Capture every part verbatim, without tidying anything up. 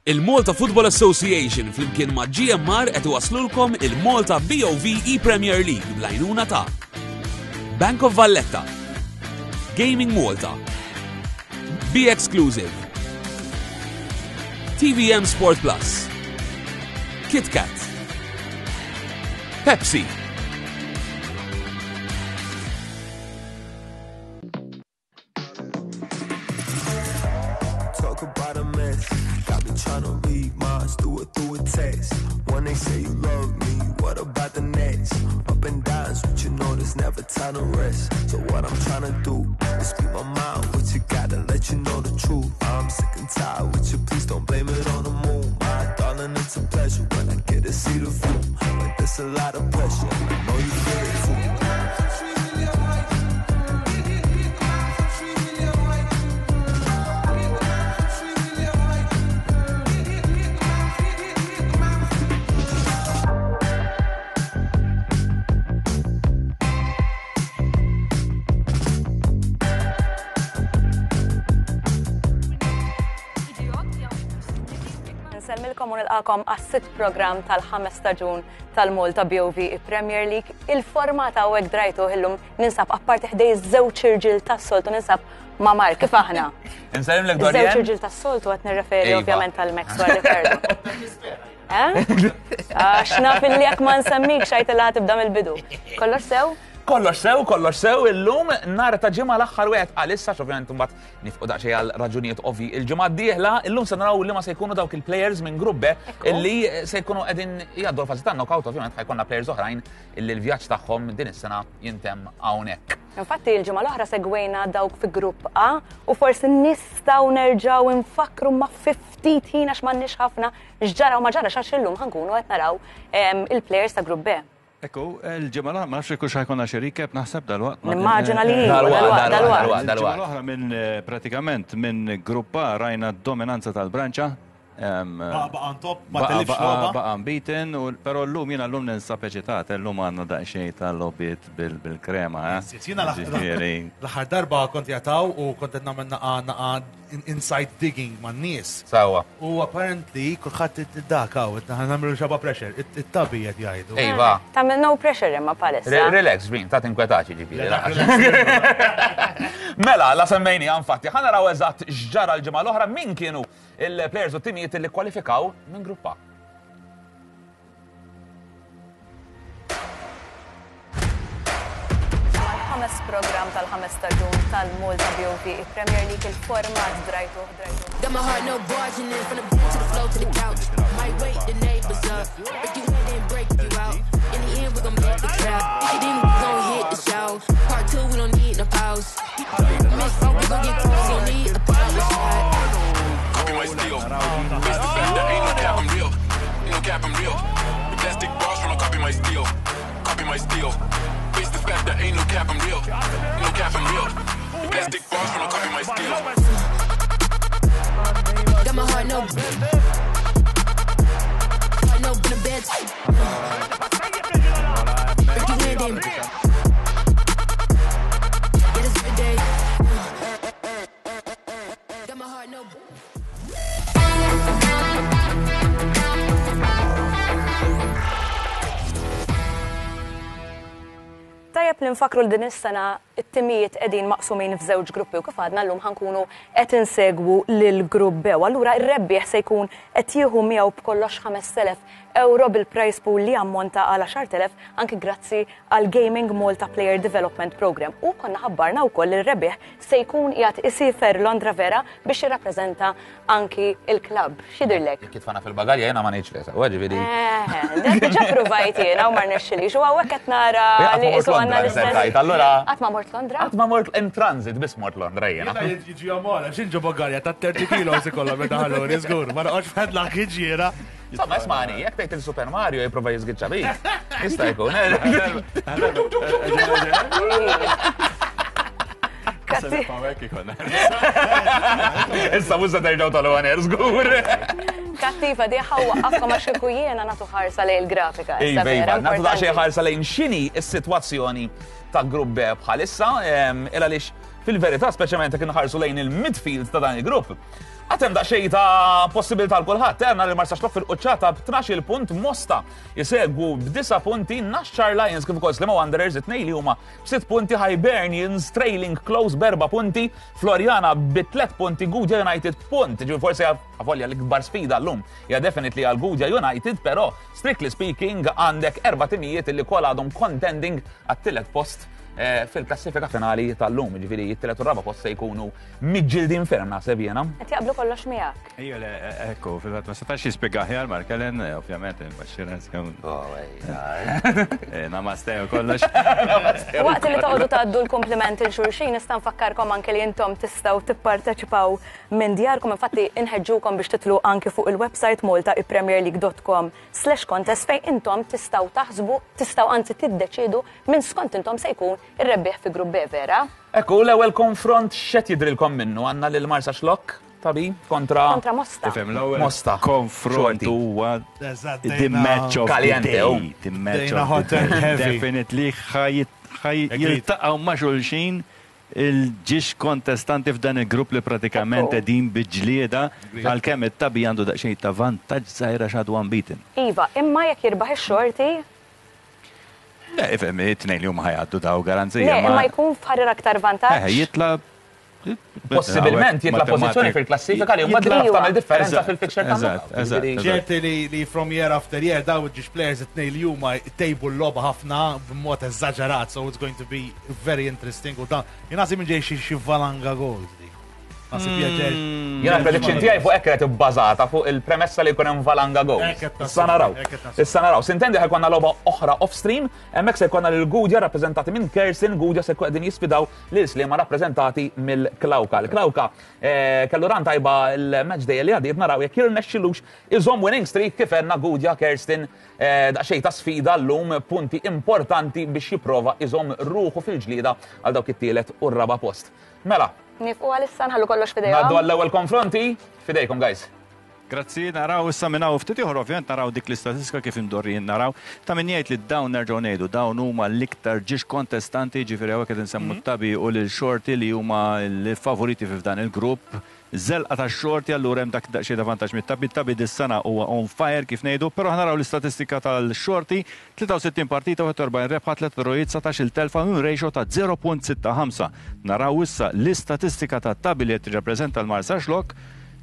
Il-Malta Football Association flimkien ma' G M R qed iwaslulkom il-Malta B O V E-Premier League bl-għajnuna ta' Bank of Valletta, Gaming Malta, Be Exclusive, T V M Sport Plus, KitKat, Pepsi. Talk about a mess. Got me trying to read minds, do it through a text. When they say you love me, what about the next? Up and downs, but you know there's never time to rest. So what I'm trying to do is speak my mind, what you gotta let you know the truth. I'm sick and tired with you, please don't blame it on the moon. My darling, it's a pleasure when I get to see the view. But there's a lot of pressure, I know you feel it too. Nsellmilkom u nilqakom għas-sitt program tal-ħames staġun tal-Malta B O V Premier League. Il-format hawnhekk drajtu illum ninsab apparti ħdej żewġ irġiel tas-soltu, ninsab ma' Mark, kif aħna? Nsellimlek. Żewġ Dorian. irġiel tas-soltu qed nirreferi Iva. ovvjament tal-Max u Ricardo. Eh? Għax naf illi jekk ma nsemmik xajt il tibda mill-bidu. Kollox sew? Kollox sew, kollox sew, illum nhar ta' Ġimgħa, l-aħħar wieħed għalissa, ovvjament mbagħad nifqu daqsxejn għal raġunijiet ovvi il-ġimgħa d-dieħla. Illum se naraw li ma se jkunu dawk il-players minn grupp B Ekku. illi se jkunu qegħdin jgħaddu l-fażi ta' knockout. Ovvjament ħa jkollna players oħrajn illi l-vjaġġ tagħhom din is-sena jintemm hawnhekk. Infatti il-ġimgħa l-oħra segwejna dawk fi grupp A u forsi nistgħu nerġgħu nfakru ma fi ftit ħin, għax m'għandniex ħafna, x'ġara u ma ġara, għax illum ħa nkunu qed naraw em, il-players ta' grupp B. Ekku, il-ġimgħa l-oħra, ma nafx jekk ħa jkollna xi recap, naħseb dalwaqt. Nimmaġina li iva, Dalwaqt, dalwaqt, dalwaqt, dalwaqt. dalwaqt. Il-ġimgħa l-oħra minn eh, pratikament minn grupp A rajna d-dominanza tal-Branċa. Em, Baqa baqa on top, ma Baqa telifx baqa logħba. baqa unbeaten, u però llum jiena llum ninsab eċitat, llum għandna daqsxejn tal-logħbiet bil-krema, eh? Jiena Ġifieri, l-aħħar darba kont jataw u kont qed nagħmel naqa naqa inside digging man-nies. Sawa. U apparently kulħadd id-dak hawn, nagħmlu xaba pressure, it-tabi qed jgħidu. Iva. Tagħmel no pressure imma palissa. Re- Relax, Vin, ta' tinkwetax ġifieri. Mela, la semmejni infatti, ħa naraw eżatt x'ġara l-ġimgħa l-oħra, min kienu il-players u timijiet li kwalifikaw minn grupp A. Ħames program tal-ħames staġun tal-Malta B O V Premier League, il-format drajtu drajtu. Got my heart, no barging in from the bed to the floor to the couch. Might wake the neighbors up. Break you in, then break you out. In the end, we gon' make the crowd. Then we gon' hit the show. Part two, we don't need no pause. Miss, we gon' get close, don't need a power shot. Copy my steel. Face the fact that ain't no cap, I'm real. Ain't no cap, I'm real. The plastic bars from copy my steel. Copy my steel. Face the fact that ain't no cap, I'm real. Ain't no cap, I'm real. The plastic bars from copy my steel. Got my heart, no. Heart, no, in the bed. Break you in, then. Yeah, it's every day. Got my heart, no. Tajjeb li nfakru l din is-sena it-timijiet qegħdin maqsumin f'żewġ gruppi u kif għadna llum ħa nkunu qed insegwu lil grupp B. U allura r-rebbieħ se jkun qed jieħu miegħu b'kollox ħamest elef euro bil-prize pool li ammonta għal għaxart elef anki grazzi għal Gaming Malta Player Development Program. U konna ħabbarna wkoll li r-rebbieħ se jkun qiegħed isiefer Londra vera biex jirrappreżenta anki il-klabb. X'jidhirlek? Jekk jitfana fil-bagalja jiena ma ngħidx le, sewa ġifieri. Eh, dak diġà provajt jiena u ma rnexxilix. U hawnhekk qed nara Qatt ma li mort qisu għandna Londra, l-istess. insertajt, allura- Qatt ma mort Londra? Qatt ma mort in transit, biss mort Londra jiena. Jiena jiġi għamola, xinġu bagalja ta' thirty kilos ikollha meta ħalluni, żgur, ma noqgħodx fedlak jiġiera. Insomma, ismani, jekk tgħid il-Super Mario jipprova jiżgiċċa bik. Jista' jkun. Katti- Issa mhux se terġgħu tal-għaner żgur. Kattiva di ħawaqqafkom għax kieku jiena nagħtu ħarsa lejn il-grafika. Issa Iva, vera iva, nagħtu daqsxejn importanti. ħarsa lejn x'inhi s-sitwazzjoni ta' grupp B bħalissa, em, il għaliex Fil-verità, speċjalment jekk inħarsu lejn il-midfield ta' dan il-grupp, għad hemm daqsxejn ta' possibilità għal kulħadd. Għandna lil Marsaxlokk fil-quċċata b'tnax-il punt, Mosta jisegwu b'disa' punti, Naxxar Lions kif ukoll Sliema Wanderers it-tnejn li huma b'sitt punti, Hibernians trailing close b'erba' punti, Floriana bi tliet punti, Gudja United punt. Ġifieri forsi avolja l-ikbar sfida llum hija definitely għal Gudja United, però strictly speaking għandek erba' timijiet li kollha għadhom contending għat-tielet post eh, fil-klassifika finali tal-lum, ġifieri it-tielet u raba post se jkunu miġġildin ferm, naħseb jiena. Qed jaqblu kollox miegħek. Ejja, le, ekku, fil-fatt ma setax jispjega aħjar Mark Ellen, ovvjament, il-baxxira namaste u kollox. Waqt li toqgħodu tgħaddu l-komplimenti lil xulxin, nista' nfakkarkom anke li intom tistgħu tipparteċipaw minn djarkom. Infatti inħeġġukom biex titlu anke fuq il-website malta e premier league dot com slash contest fejn intom tistgħu taħsbu, tistgħu anzi tiddeċidu minn skont intom se jkun ir-rebbieħ fi grupp B, vera? Ekku, l-ewwel konfront x'qed jidrilkom minnu? Għandna lil Marsaxlokk tabi kontra Kontra Mosta. Tifhem, l-ewwel Mosta. konfront Xorti. huwa Eżatt, the dejna- match of the Caliente, day. oh. The match Dejna of hot the and day. heavy. Definitely ħaj ħaj Agreed. jiltaqgħu ma' xulxin il-żewġ kontestanti f'dan il-grupp li pratikament Ekku. qegħdin bi ġlieda, għalkemm it-Tabi għandu daqsxejn ta' vantaġġ żgħira għadu unbeaten. Iva, imma jekk jirbaħ ix-Xorti, Le, ifhem, it-tnejn li huma ħa jgħaddu daw garanzija. Le, imma jkun f'ħarir aktar Eh, vantaġġ. jitla Possibilment jitla pożizzjoni fil-klassifika li mbagħad Jitla- taf tagħmel differenza Eżatt, fil-fixture ta' eżatt, knockout. eżatt, Ġifieri- eżatt. Ċerti li, li from year after year daw iż-żewġ players it-tnejn li huma tejbu l-logħba ħafna b'mod eżaġerat, so it's going to be very interesting. U dan, jien minn ġej xi xi valanga goals dik. Naħseb pjaċer. Jiena prediction tiegħi fuq hekk kienet ibbażata fuq il-premessa li jkun hemm valanga goals. Hekk qed nassumi, Issa naraw. hekk qed nassumi. Issa naraw. Sintendi ħa jkollna logħba oħra off stream, hemmhekk se jkollna lil Gudja rappreżentati minn Kersin, Gudja se jkun qegħdin jisfidaw lil Sliema rappreżentati mill-Klawka. Il-Klawka eh, kellu run tajba il-match day li għadiet, naraw jekk jirnexxilux iżomm winning streak. Kif għedna, Gudja Kerstin eh, daqsxejn ta' sfida llum, punti importanti biex jipprova iżomm ruħu fil-ġlieda għal dawk it-tielet u r-raba post. Mela, Nieqfu għalissa, nħallu kollox ngħaddu f'idejhom. għall-ewwel konfronti, fidejkom, guys. Grazzi, naraw issa minn hawn ftit ieħor ovvjament naraw dik l-istatistika kif imdorrijin naraw. Ta' min jgħid li dawn, nerġgħu ngħidu, dawn huma l-iktar żewġ kontestanti, ġifieri hawnhekk qed insemmu t-Tabi u lil Xorti li huma l-favoriti f'dan il-grupp. Żelqa ta' Xorti, allura hemm dak daqsxejn ta' vantaġġ mit-Tabi. Tabi dis-sena huwa on fire, kif ngħidu, però ħa naraw l-istatistika tal-Xorti: tlieta u sittin partita, wieħed u erbgħin rebħa, tliet drawijiet, dsatax-il telfa, un ratio ta' żero punt sitta ħamsa. Naraw issa l-istatistika tat-Tabi li qed tirrappreżenta l-Marsaxlokk,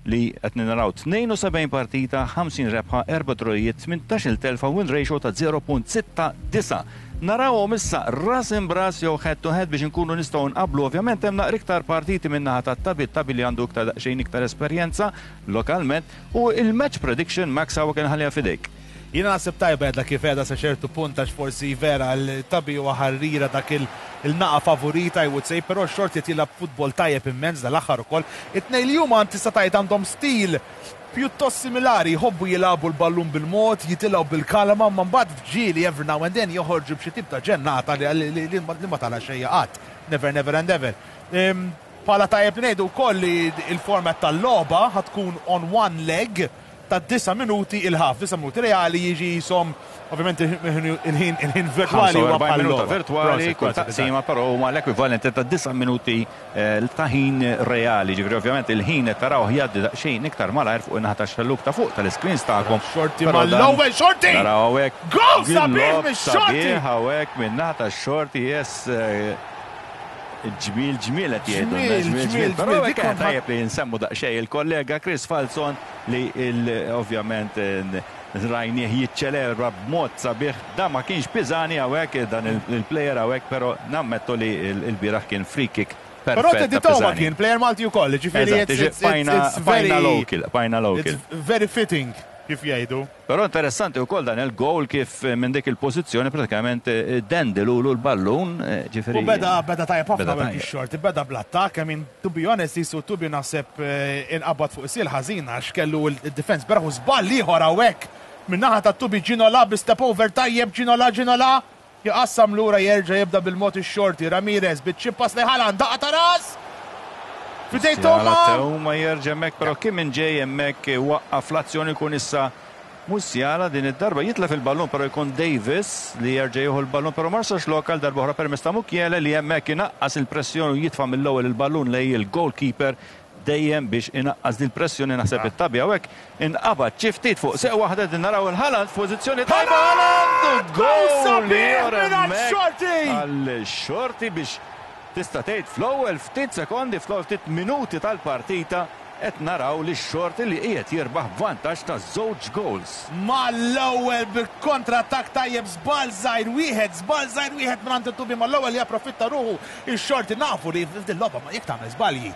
li qed naraw tnejn u sebgħin partita, ħamsin rebħa, erba' drawijiet, tmintax-il telfa, win ratio ta' żero punt sitta disa'. Narawhom issa ras imb'ras jew head to head biex inkunu nistgħu nqablu. Ovvjament hemm naqra iktar partiti minn naħa tat-Tabi, Tabi li għandu iktar daqsxejn iktar esperjenza lokalment, u il-match prediction, Max, hawn kien ħalliha f'idejk. Jiena naħseb tajba għedla kif għedha sa ċertu punt, għax forsi vera l-Tabi huwa ħarrira dak il- il-naqa favorita, I would say, però Xorti qed jilgħab futbol tajjeb immens dal-aħħar ukoll. It-tnejn li huma tista' tgħid għandhom stil pjuttost similari, jħobbu jilagħbu l-ballun bil-mod, jitilgħu bil-kalma, ma mbagħad f'ġieli every now and then joħorġu b'xi tip ta' ġennata li, li, li, li ma tala xejja qatt. Never, never and ever. Em, Pala tajjeb li ngħidu wkoll li il-format tal-logħba ħa tkun on one leg ta' disa' minuti il-half, disa' minuti reali jiġi jisom, ovvjament il-ħin il-ħin virtuali huwa ħamsa u erbgħin bħal minuta logħba. virtuali, Prosit, kull prosit, taqsima, però huma l-ekwivalenti ta' disa' minuti eh, ta' ħin reali. Ġifieri ovvjament il-ħin qed taraw jgħaddi daqsxejn iktar malajr fuq in-naħa tax-xelluk ta' fuq tal-screens tagħkom. Xorti Però dan- mal-ewwel, Xorti! Naraw hawnhekk. Goal sabiħ Gil-lob mix-Xorti! sabiħ hawnhekk min-naħa tax-Xorti, yes. eh, Ġmil, ġmil qed jgħidu. Ġmiel, ġmiel, ġmiel, Però ġmiel, hekk dik kont tajjeb li nsemmu daqsxejn il-kollega Chris Falzon li il- ovvjament eh, rajnieh jiċċelebra b'mod sabiħ. Da ma kienx Pisani hawnhekk, dan il- il-player hawnhekk, però nammettu li il- il-bieraħ kien free kick Però perfett Teddy ta' Toma Pisani. kien player Malti wkoll, ġifieri Eżatt, it's- it's- bajna it's very bajna local, bajna local. It's very fitting, kif jgħidu. Però interessanti wkoll dan il-goal, kif eh, minn dik il-pożizzjoni pratikament eh, dendilu l-ballun, eh, ġifieri. U beda beda tajjeb ħafna Beda beda tajjeb. Xorti, beda bl-attak, I mean, to be honest, jisu Tubi naħseb eh, inqabad fuq sil ħażin għax kellu il-defense beraħu. Żball ieħor hawnhekk min-naħa ta' Tubi, Ginola bi step over tajjeb, Ginola, Ginola jaqassam lura, jerġa' jibda bil-mod ix-Xorti, Ramirez biċ-chip pass lejn Haaland, daqqa ta' ras! Fidej Toma! Teuma jerġa' hemmhekk, però kien minn ġej hemmhekk waqqaf l-azzjoni, kun issa Musiala din id-darba jitlef il-ballun, però jkun Davis li jerġa' jieħu l-ballun, però Marsaxlokk għal darba oħra permezz ta' Mukiele li hemmhekk inaqqas il-pressjoni u jitfa' mill-ewwel il-ballun lejn il-goalkeeper dejjem biex inaqqas din il-pressjoni. Naħseb it-Tabi hawnhekk inqabad xi ftit fuq seq waħda. Din naraw il-Haaland f'pożizzjoni tajba, Haaland, goal Xorti! Għal Xorti biex tista' tgħid fl-ewwel ftit sekondi, fl-ewwel ftit minuti tal-partita qed naraw li x-Xorti li qiegħed jirbaħ vantaġġ ta' żewġ goals. Mal-ewwel bil-kontrattak tajjeb, żball żgħir wieħed, żball żgħir wieħed minn it-Tubi, mal-ewwel japprofitta ruħu ix-Xorti. Nafu li f'din logħba ma jekk tagħmel żbalji.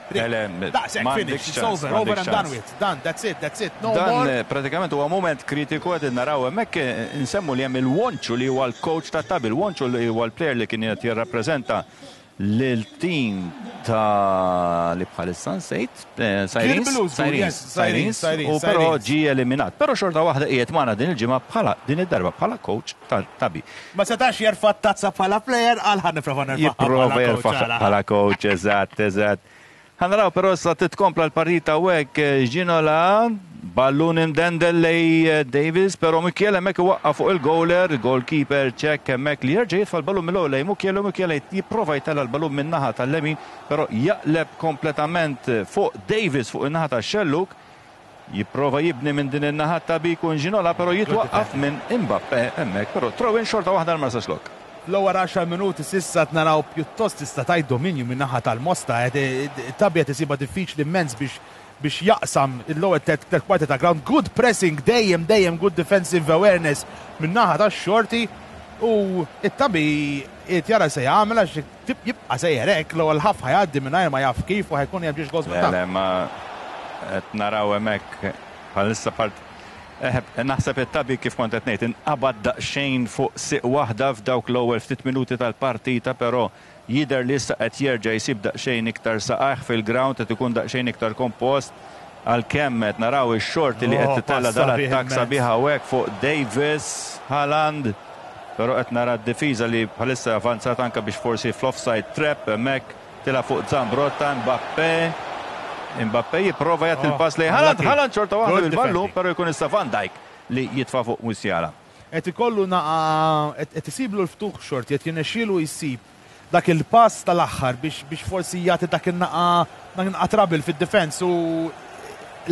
Daqshekk, finish, it's over, over and done with. Done, that's it, that's it, no more. Dan pratikament huwa moment kritiku qed naraw hemmhekk. Insemmu li hemm il-Wonċu li huwa l-coach tat-Tabi, il-Wonċu li huwa l-player li kien qed jirrappreżenta lil-team ta' li bħalissa nsejt, Sirens, Sirens, Sirens, u però ġie eliminat. Però xorta waħda qiegħed magħna din il-ġimgħa bħala din id-darba bħala coach tal-Tabi. Ma setax jerfa' tazza bħala player, għal ħa nipprova nerfa' Jipprova jerfa' bħala coach, eżatt, eżatt. Ħa naraw però sa titkompla l-partita hekk. Ginola, ballun imdendel lejn Davis, però Mukiele hemmhekk iwaqqa' fuq il-goaler, goalkeeper ċek hemmhekk li jerġa' jitfa' l-ballun mill-ewwel lejn Mukiele, Mukiele jipprova jtella' l-ballun min-naħa tal-lemin, però jaqleb kompletament fuq Davis fuq in-naħa tax-xelluk. Jipprova jibni minn din in-naħa ta' jkun Ginola, però jitwaqqaf minn Mbappe hemmhekk, però throw-in xorta waħda l-Marsaxlokk. L-ewwel għaxar minuti s'issa naraw pjuttost tista' tgħid dominju minn naħa tal-Mosta. Tabi qed isibha diffiċli immens biex biex jaqsam l-ewwel tliet kwarti ta' ground. Good pressing dejjem, dejjem good defensive awareness minn naħa tax-Xorti u it-Tabi qed jara se jagħmel għax jibqa' sejjer hekk, l-ewwel ħaf ħa jgħaddi mingħajr ma jaf kif u ħa jkun hemm ġiex goals. Le, ma qed naraw hemmhekk bħalissa part naħseb it-Tabi, kif kont qed ngħid, inqabad daqsxejn fuq siq waħda f'dawk l-ewwel ftit minuti tal-partita, però jidher li issa qed jerġa' jsib daqsxejn iktar saqajh fil-ground, qed ikun daqsxejn iktar kompost, għalkemm qed naraw ix-Xorti li qed titella' dal-attakk sabiħ hawnhekk fuq Davis, Haaland, però qed nara d-difiża li bħalissa avanzat anke biex forsi fl-offside trap hemmhekk tila fuq Zambrotta, Mbappe. Mbappe jipprova jagħti il-pass lejn Haaland, Haaland xorta waħda bil-ballun, però jkun issa Van Dijk li jitfa' fuq Musiala. Qed ikollu naqa qed isiblu l-ftuħ Xorti, qed jirnexxielu jsib dak il-pass tal-aħħar biex biex forsi jagħti dak in-naqa dak naqa trouble fid-defense u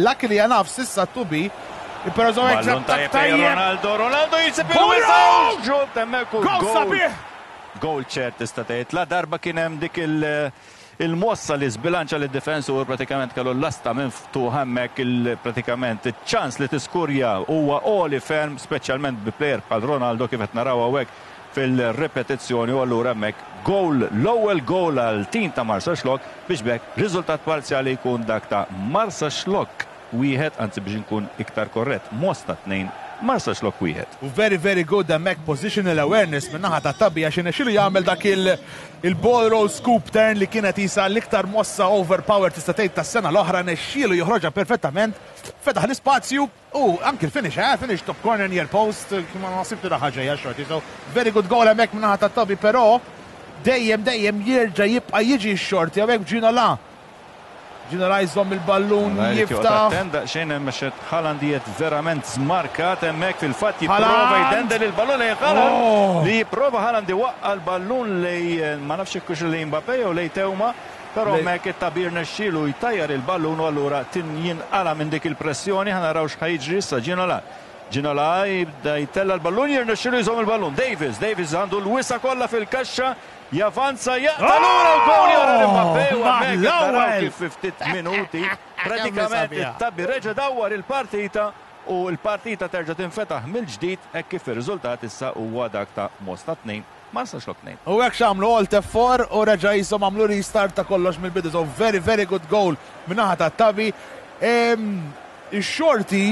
luckily enough s'issa Tubi. Però tajjeb Ronaldo, Ronaldo jisib il-wisa! Ġut hemmhekk u goal. Goal ċert tista' tgħid. La darba kien hemm dik il- il-mossa li zbilanċa li d-difensur pratikament kellu l-lasta minn ftuħ hemmhekk, il-pratikament ċans li tiskurja huwa għoli ferm, speċjalment bi player bħal Ronaldo kif qed naraw hawnhekk fil-ripetizzjoni, u allura hemmhekk goal, l-ewwel goal għal tim ta' Marsaxlokk biex b'hekk riżultat parzjali jkun dak ta' Marsaxlokk wieħed, anzi biex nkun iktar korrett, Mosta tnejn, Marsaxlokk wieħed. U very, very good hemmhekk positional awareness minn naħa ta' Tabi għax irnexxielu jagħmel dak il-ball roll scoop turn li kienet isa l-iktar mossa overpower tista' tgħid tas-sena l-oħra, rnexxielu joħroġha perfettament, fetaħ l-ispazju u anki l-finish, eh, finish top corner near post, ma nasibtu ħaġa hija Xorti. So very good goal hemmhekk minn naħa ta' Tabi, però dejjem dejjem jerġa' jibqa' jiġi x-Xorti hawnhekk. Ginola. Ginola jżomm il-ballun, jiftaħ. Daqsxejn hemm xed Haaland jiet verament żmarkat hemmhekk, fil-fatt jipprova jdendel il-ballun lejn Haaland Oh! li jipprova Haaland iwaqqa' l-ballun lejn, ma nafx hekk lejn Mbappe jew lejn Teuma, però hemmhekk it-Tabi rnexxielu jtajjar il-ballun u allura tin jinqala minn dik il-pressjoni. Ħa naraw x'ħa jiġri issa. Ginola. Ginola jibda jtella l-ballun, jirnexxielu jżomm il-ballun. Davis, Davis għandu l-wisa kollha fil-kaxxa, javanza, jaqta' lura u goal jara Mbappe u hemmhekk naraw kif fi ftit minuti pratikament it-Tabi reġa' dawwar il-partita u l-partita terġa' tinfetaħ mill-ġdid hekk kif ir-riżultat issa huwa dak ta' Mosta tnejn, Marsaxlokk tnejn. U hekk x'għamlu, alt F four u reġa' jisom għamlu restart ta' kollox mill-bidu. So very, very good goal min-naħa ta' Tabi. Ix-Xorti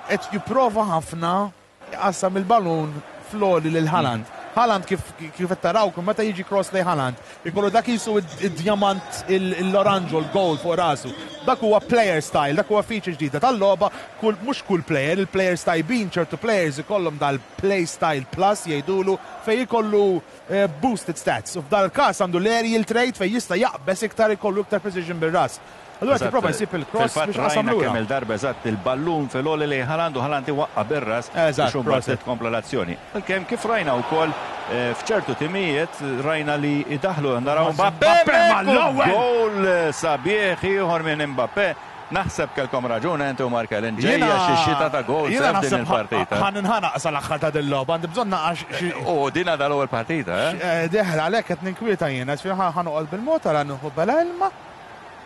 qed jipprova ħafna jqassam il-ballun floli lil Haaland. Haaland kif kif qed taraw meta jiġi cross lejn Haaland, ikollu dak jisu id-diamant l-oranġo, l-gold fuq rasu. Dak huwa player style, dak huwa feature ġdida tal-logħba, kull mhux kull player, il-players tajbin, ċertu players ikollhom dal-play style plus jgħidulu fejn ikollu eh, boosted stats. U f'dal każ għandu l-aerial trait fejn jista' jaqbes iktar, ikollu iktar precision bir-ras. Allura tipprova jsib il-cross biex qasam lura. Kemm il-darba eżatt il-ballun fil-għoli lejn Haaland u Haaland iwaqqa' bir-ras biex imbagħad tkompla l-azzjoni. Għalkemm kif rajna wkoll f'ċertu timijiet rajna li idaħlu naraw Mbappé goal sabiħ ieħor minn Mbappé. Naħseb kelkom raġun inti u Markelin ġejja xi xita ta' goal f'din il-partita. Ħa ninħanaq sal-aħħar ta' din logħba, għandi bżonn naqax xi. U din għadha l-ewwel partita, eh? Deħla għalhekk qed ninkwieta jiena, ġifieri ħa noqgħod bil-mod ara nieħu bela ilma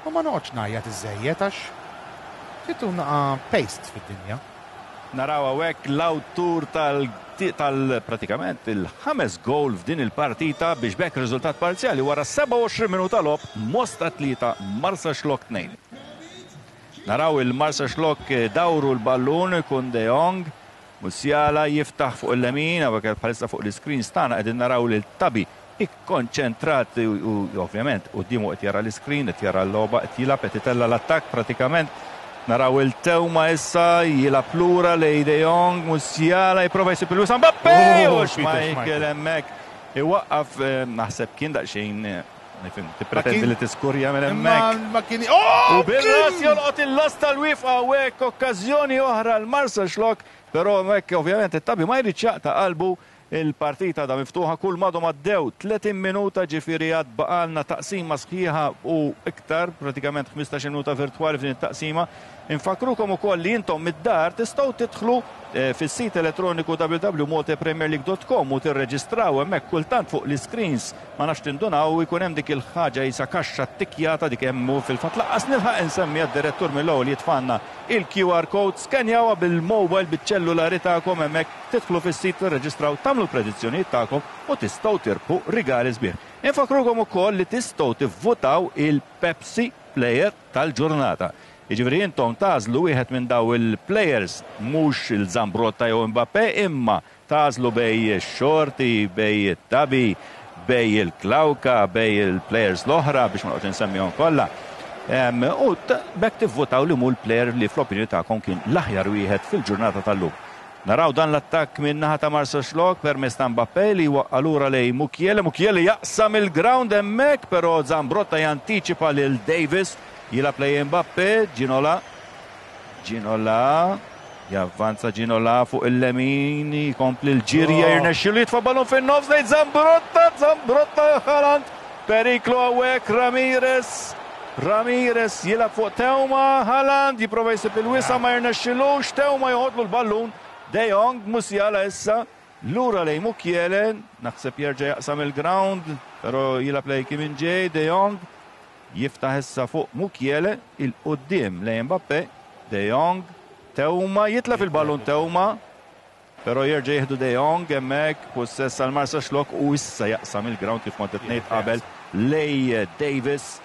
u ma noqgħodx ngħajjat iżejjed għax trid naqa' paste fid-dinja. Naraw hawnhekk l-awtur tal tal pratikament il-ħames goal f'din il-partita biex b'hekk riżultat parzjali wara sebgħa u għoxrin minuta logħob Mosta tlieta Marsaxlokk tnejn. Naraw il-Marsaxlokk dawru l-ballun kun De Jong, Musiala jiftaħ fuq il-lemin, hawnhekk bħalissa fuq l-screen tagħna qegħdin naraw lil Tabi ikkonċentrat u ovvjament quddiemu qed jara l-screen, qed jara l-logħba, qed jilgħab, qed itella' l-attakk pratikament. Naraw il-Tewma issa jilgħab lura lej De Jong, Musiala jipprova jsib il-wisa' Mbappé! U Schmeichel hemmhekk iwaqqaf, naħseb kien daqsxejn nifhem, tippretendi li tiskurja minn hemmhekk. Ma kien oh! U bil-ras jolqot il-las tal-wifqa hawnhekk okkażjoni oħra l-Marsaxlokk, però hemmhekk ovvjament it-Tabi ma jridx jaqta' qalbu. Il-partita da miftuħa kull madhom għaddew tletin minuta, ġifieri għad baqalna taqsima sħiħa u iktar, pratikament ħmistax-il minuta virtwali f'din it-taqsima. Infakrukom ukoll li intom mid-dar tistgħu tidħlu fis-sit elettroniku w w w punt malta premier league dot com u tirreġistraw hemmhekk kultant fuq l-screens, ma nafx tindunaw jkun hemm dik il-ħaġa jisa kaxxa ttikjata dik hemm u fil-fatt laqqas nilħaq insemmi għad-direttur mill-ewwel jitfanna il-Q R code, skenjawha bil-mobile biċ-ċellulari tagħkom hemmhekk, tidħlu fis-sit, tirreġistraw, tagħmlu l-predizzjonijiet tagħkom u tistgħu tirbħu rigali sbieħ. Infakrukom ukoll li tistgħu tivvutaw il-Pepsi Player tal-ġurnata. Jiġifieri intom tażlu wieħed minn daw il-players, mhux il-Zambrotta jew Mbappé, imma tażlu bej ix-Xorti, bej it-Tabi, bej il-Klawka, bej il-players l-oħra biex ma noqgħodx insemmihom kollha. U b'hekk tivvutaw li mhu l-player li fl-opinjoni tagħkom kien l-aħjar wieħed fil-ġurnata tal-lum. Naraw dan l-attakk minn naħa ta' Marsaxlokk permezz ta' Mbappé li waqqa' lura lej Mukiele. Mukiele jaqsam il-ground hemmhekk, però Zambrotta jantiċipa lil Davis. Jilgħab lej Mbappé, Ginola. Ginola, javvanza Ginola fuq il-lemin, jkompli l-ġirja, jirnexxilu jitfa' ballun fin-nofs lejn Zambrotta, Zambrotta Haaland, periklu hawnhekk Ramirez. Ramirez jilgħab fuq Teuma, Haaland jipprova jsib il-wisa' ma jirnexxilux, Teuma joħodlu l-ballun. De Jong, Musiala issa, lura lej Mukiele, naħseb jerġa' jaqsam il-ground, però jilgħab lej Kim Min-jae, De Jong jiftaħ issa fuq Mukiele, il-qudiem lej Mbappé, De Jong, Teuma, jitlef il-ballun Teuma, però jerġa' jieħdu De Jong hemmhekk, possess għal Marsaxlokk u issa jaqsam il-ground kif kont qed ngħid qabel lej Davis.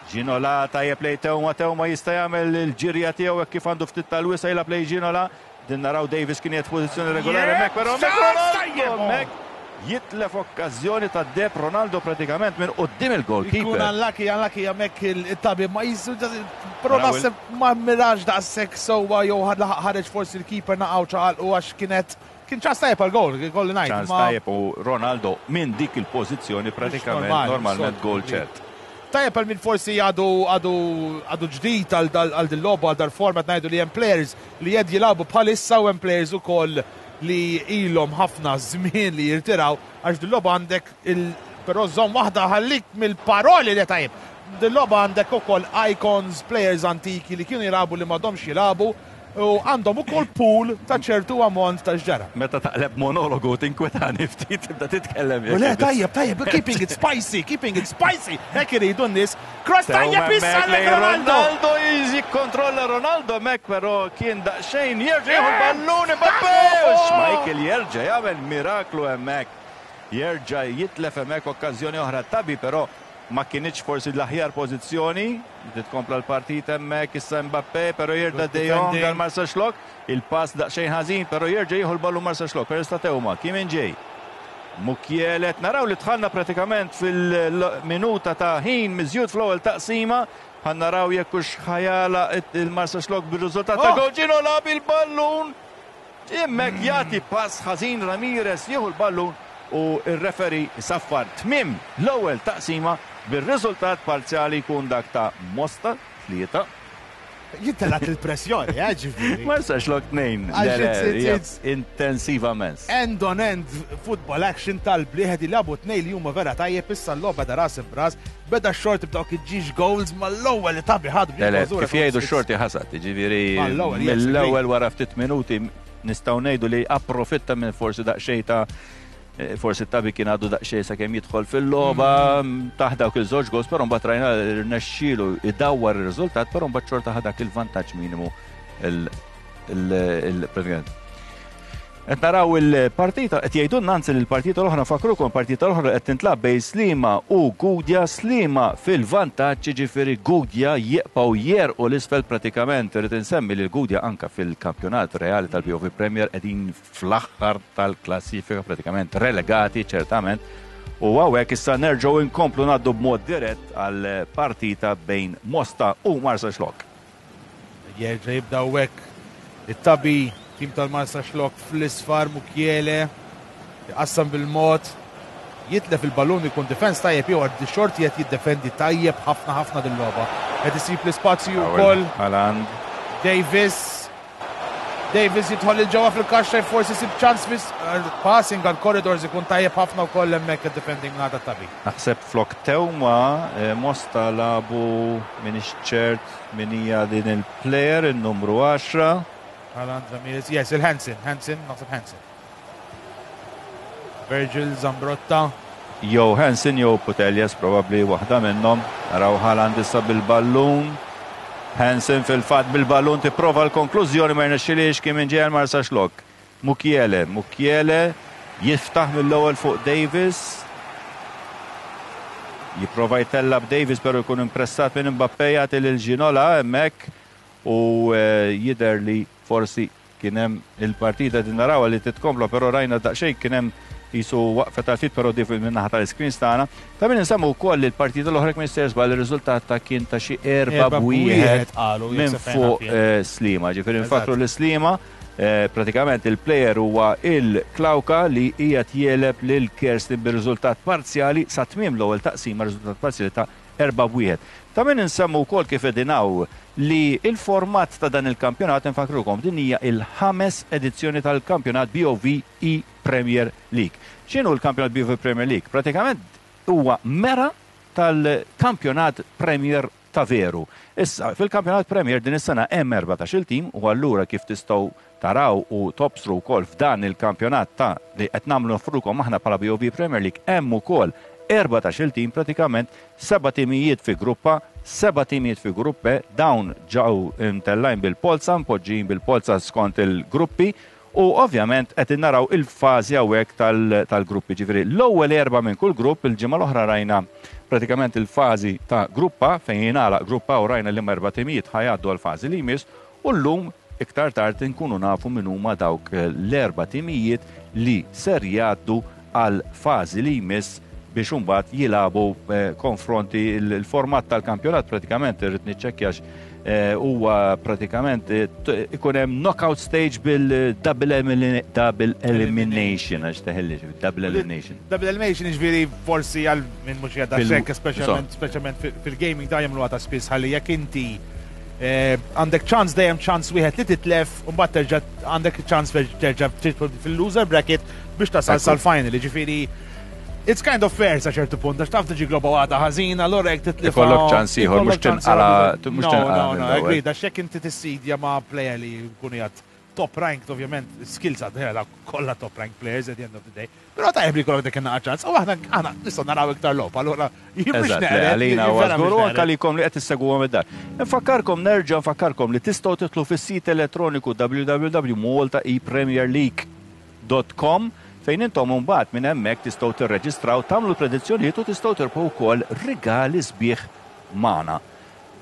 Ginola tajjeb lej Teuma, Teuma jista' jagħmel il-ġirja tiegħu hekk kif għandu ftit tal-wisa' jilgħab lej Ginola. Din naraw Davis kien qiegħed f'pożizzjoni regolari hemmhekk, però hemmhekk Ronaldo hemmhekk jitlef okkażjoni ta' deb Ronaldo pratikament minn quddiem il-goalkeeper. Ikun unlucky, unlucky hemmhekk il-tabib ma jisu, però naħseb ma mirax daqshekk sewwa jew ħareġ forsi l-keeper naqgħu ċaqalqu għax kienet kien ċans tajjeb għal goal, kolli ngħid, Ċans ma tajjeb u Ronaldo minn dik il-pożizzjoni pratikament Mhux normali, normalment soltu, goal ġdid. ċert. Tajjeb għal min forsi għadu, għadu, għadu ġdid għal dal-, għal din logħba, għal dal-format, ngħidu li hemm players li qed jilagħbu bħalissa u hemm players ukoll li ilhom ħafna żmien li jirtiraw, għax din logħba għandek il-, però żomm waħda ħallik mill-paroli li tajjeb. Din logħba għandek ukoll icons, players antiki li kienu jilagħbu li m'għadhomx jilagħbu u għandhom ukoll pool ta' ċertu ammont ta' xġara. Meta taqleb monologu tinkwetani ftit tibda titkellem U le, jekk tajjeb, tajjeb, keeping it spicy, keeping it spicy. Hekk iridu n-nies. Cross Tew tajjeb issa hemmhekk lejn lejn Ronaldo. Ronaldo jikkontrolla Ronaldo hemmhekk, però kien daqsxejn jerġa' jieħu l-ballun Mbappé. Oh! Schmeichel jerġa' jagħmel miraklu hemmhekk. Jerġa' jitlef hemmhekk okkażjoni oħra Tabi, però ma kienx forsi l-aħjar pożizzjoni. Titkompla l-partita hemmhekk issa Mbappé, però jerġa' Good De Jong defending. għal Marsaxlokk. Il-pass daqsxejn ħażin, però jerġa' jieħu l-ballun Marsaxlokk. Però sta Teuma, Kim Min-jae. Mukiele, naraw li dħalna pratikament fil-minuta ta' ħin miżjud fl-ewwel taqsima. Ħa naraw jekk hux ħajala il-Marsaxlokk bir-riżultat ta' Oh! goal. Ginola bil-ballun. Hemmhekk jagħti pass ħażin Ramirez jieħu l-ballun u r-referee saffar tmiem l-ewwel taqsima bir-riżultat parzjali jkun dak ta' Mosta tlieta. Jittelat il-pressjoni, eh, ġifieri. Marsaxlokk tnejn. Għax Le, le, it's- it's- hija it's- Intensivament. End on end football action tal-blieħed jilagħbu tnejn li huma vera tajjeb, issa l-logħba da ras b'ras, beda x-Xorti b'dawk iġġiex goals mal-ewwel li Tabi ħadu. Le, le, kif jgħidu x-Xorti ħasad, ġifieri Mal-ewwel, yes, mill-ewwel wara ftit minuti nistgħu ngħidu li approfitta minn forsi daqsxejn ta' eh, forsi Tabi kien għadu daqsxejn sakemm jidħol fil-logħba taħ dawk il-żewġ goals, però mbagħad rajna rnexxielu idawwar ir-riżultat, però mbagħad xorta ħa dak il-vantaġġ minimu il- il- il- pratikament. Qed naraw il-partita, qed jgħidulna anzi li l-partita l-oħra, fakrukom, partita l-oħra qed tintlab bejn Sliema u Gudja, Sliema fil-vantaġġ, ġifieri Gudja jibqgħu jerqu l-isfel pratikament. Irid insemmi li l-Gudja anka fil-kampjonat reali tal-B O V Premier qegħdin fl-aħħar tal-klassifika, pratikament relegati ċertament. U hawnhekk issa nerġgħu inkomplu ngħaddu b'mod dirett għal partita bejn Mosta u Marsaxlokk. Jerġa' jibda hekk it-Tabi, tim tal-Marsaxlokk fl-isfar, Mukiele, jqassam bil-mod, jitlef il-ballun, ikun defense tajjeb jew għad Xorti qed jiddefendi tajjeb ħafna ħafna dil-logħba. Qed isib l-ispazju wkoll. Haaland. Davis. Davis jidħol il-ġewwa fil-kaxxa, forsi sib ċans fis passing għal corridors, ikun tajjeb ħafna wkoll hemmhekk id-defending ngħata Tabi. Naħseb flok Teuma, eh, Mosta lagħbu, minix ċert min hija din il-player, il-numru għaxra. Haaland, Ramirez, yes, il-Hansen, Hansen, naħseb Hansen. Virgil Zambrotta. Jew Hansen jew Puteljas, probabli waħda minnhom. Naraw Haaland issa bil-ballun. Hansen fil-fatt bil-ballun tipprova l-konklużjoni, ma rnexxilix, kien minn ġejja Marsaxlokk. Mukiele, Mukiele jiftaħ mill-ewwel fuq Davis. Jipprova jtella b'Davis, però jkun impressat minn Mbappé, jagħti lil Ginola hemmhekk u eh, jidher li forsi kien hemm il-partita din narawha li titkompla, però rajna daqsxejn kien hemm jisu waqfet tal ftit, però di minn naħa tal-screens tagħna. Ta' min insemmu wkoll li l-partita l-oħra minn stess żball ir-riżultat ta' kien ta' xi erba' Erba' b'wieħed qalu, minn jekk se fuq fejn naf eh, Sliema. Ġifieri nfakru li Sliema eh, pratikament il-player huwa il-Klawka li qiegħed jegħleb lil Kerstin bir-riżultat parzjali sa tmiem l-ewwel taqsima, riżultat parzjali ta' erba' b'wieħed. Ta' min insemmu wkoll kif edinaw li il-format ta' dan il-kampjonat, infakrukom din hija il-ħames edizzjoni tal-kampjonat B O V E Premier League. X'inhu l-kampjonat B O V Premier League? Pratikament huwa mera tal-kampjonat Premier ta' veru. Issa, fil-kampjonat Premier din is-sena hemm erbatax-il tim u allura kif tistgħu taraw u tobsru wkoll f'dan il-kampjonat ta' li qed nagħmlu nofrukom aħna bħala B O V Premier League hemm ukoll erbatax-il tim, pratikament seba' timijiet fi grupp A, seba' timijiet fi grupp B, dawn ġew imtellajn bil-polza, mpoġġijin bil-polza skont il-gruppi. U ovvjament qed naraw il-fażi hawnhekk tal-gruppi. Ġifieri l-ewwel erba' minn kull grupp, il-ġimgħa l-oħra rajna pratikament il-fażi ta' grupp A fejn jingħalaq grupp A u rajna li erba' timijiet ħa jgħaddu għal-fażi li jmiss, u llum iktar tard inkunu nafu min huma dawk l-erba' timijiet li ser jgħaddu għal fażi li jmiss biex imbagħad jilagħbu eh, konfronti. Il-format tal-kampjonat pratikament irrid niċċekkjax eh, huwa pratikament eh, ikun hemm knockout stage bil-double double elimination, għax teħilli double elimination. Double elimination, ġifieri forsi għal minn mhux jgħadda xekk, speċjalment speċjalment fil-gaming da jagħmlu ta' spiss ħalli jekk inti għandek ċans, dejjem ċans wieħed li titlef, u mbagħad terġa' għandek ċans terġa' fil-loser bracket biex tasal sal-final, ġifieri it's kind of fair sa ċertu punt, għax taf tiġi globa waħda ħażina, allura jekk titlef. Ikollok ċans ieħor, mhux tinqala. Mhux tinqala. No, no, agree, għax jekk inti tissidja ma' player li jkun jgħad top ranked, ovvjament, skills għad kollha top ranked players at the end of the day. Però tajjeb li jkollok dik in ċans, u aħna aħna nistgħu naraw iktar logħob, allura jien mhux neqred. Għalina u żgur anke għalikom li qed issegwu id-dar. Nfakkarkom, nerġa' nfakkarkom li tistgħu tidħlu fis-sit elettroniku w w w punt malta e premier league punt com fejn intom mbagħad minn hemmhekk tistgħu tirreġistraw, tagħmlu predizzjonijiet u tistgħu tirbħu wkoll rigali sbieħ magħna.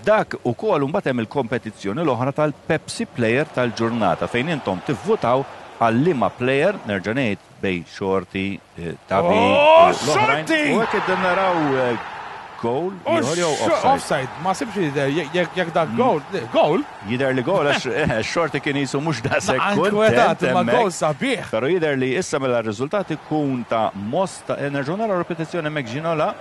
Dak ukoll mbagħad hemm il-kompetizzjoni l-oħra tal-Pepsi Player tal-ġurnata fejn intom tivvutaw għal liema player, nerġa' ngħid, bejn Xorti, eh, Tabi, Oh, Xorti! U hekk qed naraw eh, goal ieħor jew offside? Offside, ma sibx jidher jekk dak goal, goal? Jidher li goal għax eh, Xorti kien jisu mhux daqshekk Ankwetat, kuntent ma hemmhekk. goal sabiħ. Però jidher li issa mela r-riżultat ikun ta' Mosta, eh, nerġgħu naraw repetizzjoni hemmhekk Ginola.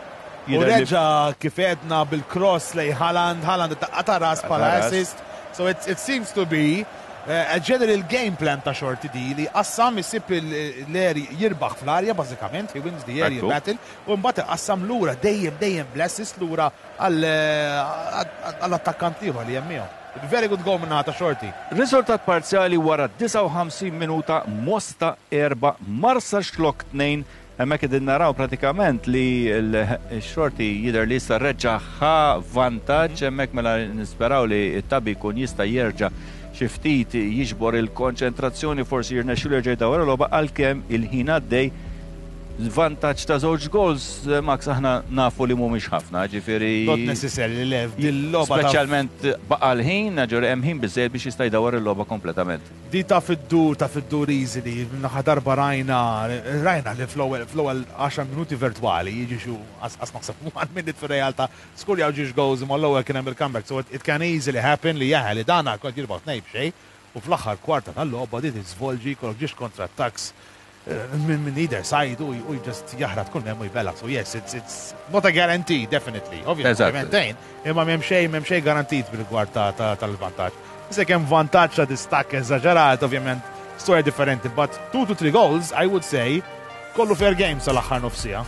U reġa kif għedna bil-cross lejn Haaland, Haaland ta' ras bħala assist. So it, it seems to be uh, a general game plan ta' Xorti di li qassam isib l-eri jirbaħ fl-arja bażikament, he wins the aerial battle, u mbagħad qassam lura dejjem dejjem bl-assist lura għall-attakkant ieħor li hemm miegħu. Very good goal minna ta' Xorti. Riżultat parzjali wara disgħa u ħamsin minuta, Mosta erba', Marsaxlokk tnejn. Hemmhekk qegħdin naraw pratikament li l-Xorti jidher li issa reġa' ħa vantaġġ, hemmhekk mela nisperaw li t-Tabi jkun jista' jerġa' xi ftit jiġbor il-konċentrazzjoni, forsi jirnexxielu jerġa' jdawwar il-logħba għalkemm il-ħin għaddej. Vantaġġ ta' żewġ goals, Max, aħna nafu li mhumiex ħafna, ġifieri. Not necessarily, le, dil-logħba ta' Speċjalment baqa' l-ħin, ġifieri hemm ħin biżżejjed biex jista' jdawwar il-logħba kompletament. Di ta' fid-dur, ta' fid-dur easily, naħa darba rajna, rajna li fl-ewwel, fl-ewwel għaxar minuti virtwali, jiġi xu, as, as naħseb one minute fir-realtà, skurjaw ġiex goals imma l-ewwel kien hemm il-comeback, so it, it can easily happen li jaħel li dana kont jirbaħ tnejn b'xejn, u fl-aħħar kwarta tal-logħba di tiżvolġi jkollok ġiex kontra-attacks minn min either side u u just jaħrat kull hemm u jbella. So yes, it's, it's not a guarantee, definitely. Obviously, imma m'hemm xejn, m'hemm xejn garantit bil-rigward tal-vantaġġ. Issa kemm vantaġġ ta' distakk eżaġerat, ovvjament, storja differenti, but two to three goals, I would say, kollu fair game sal-aħħar nofsija.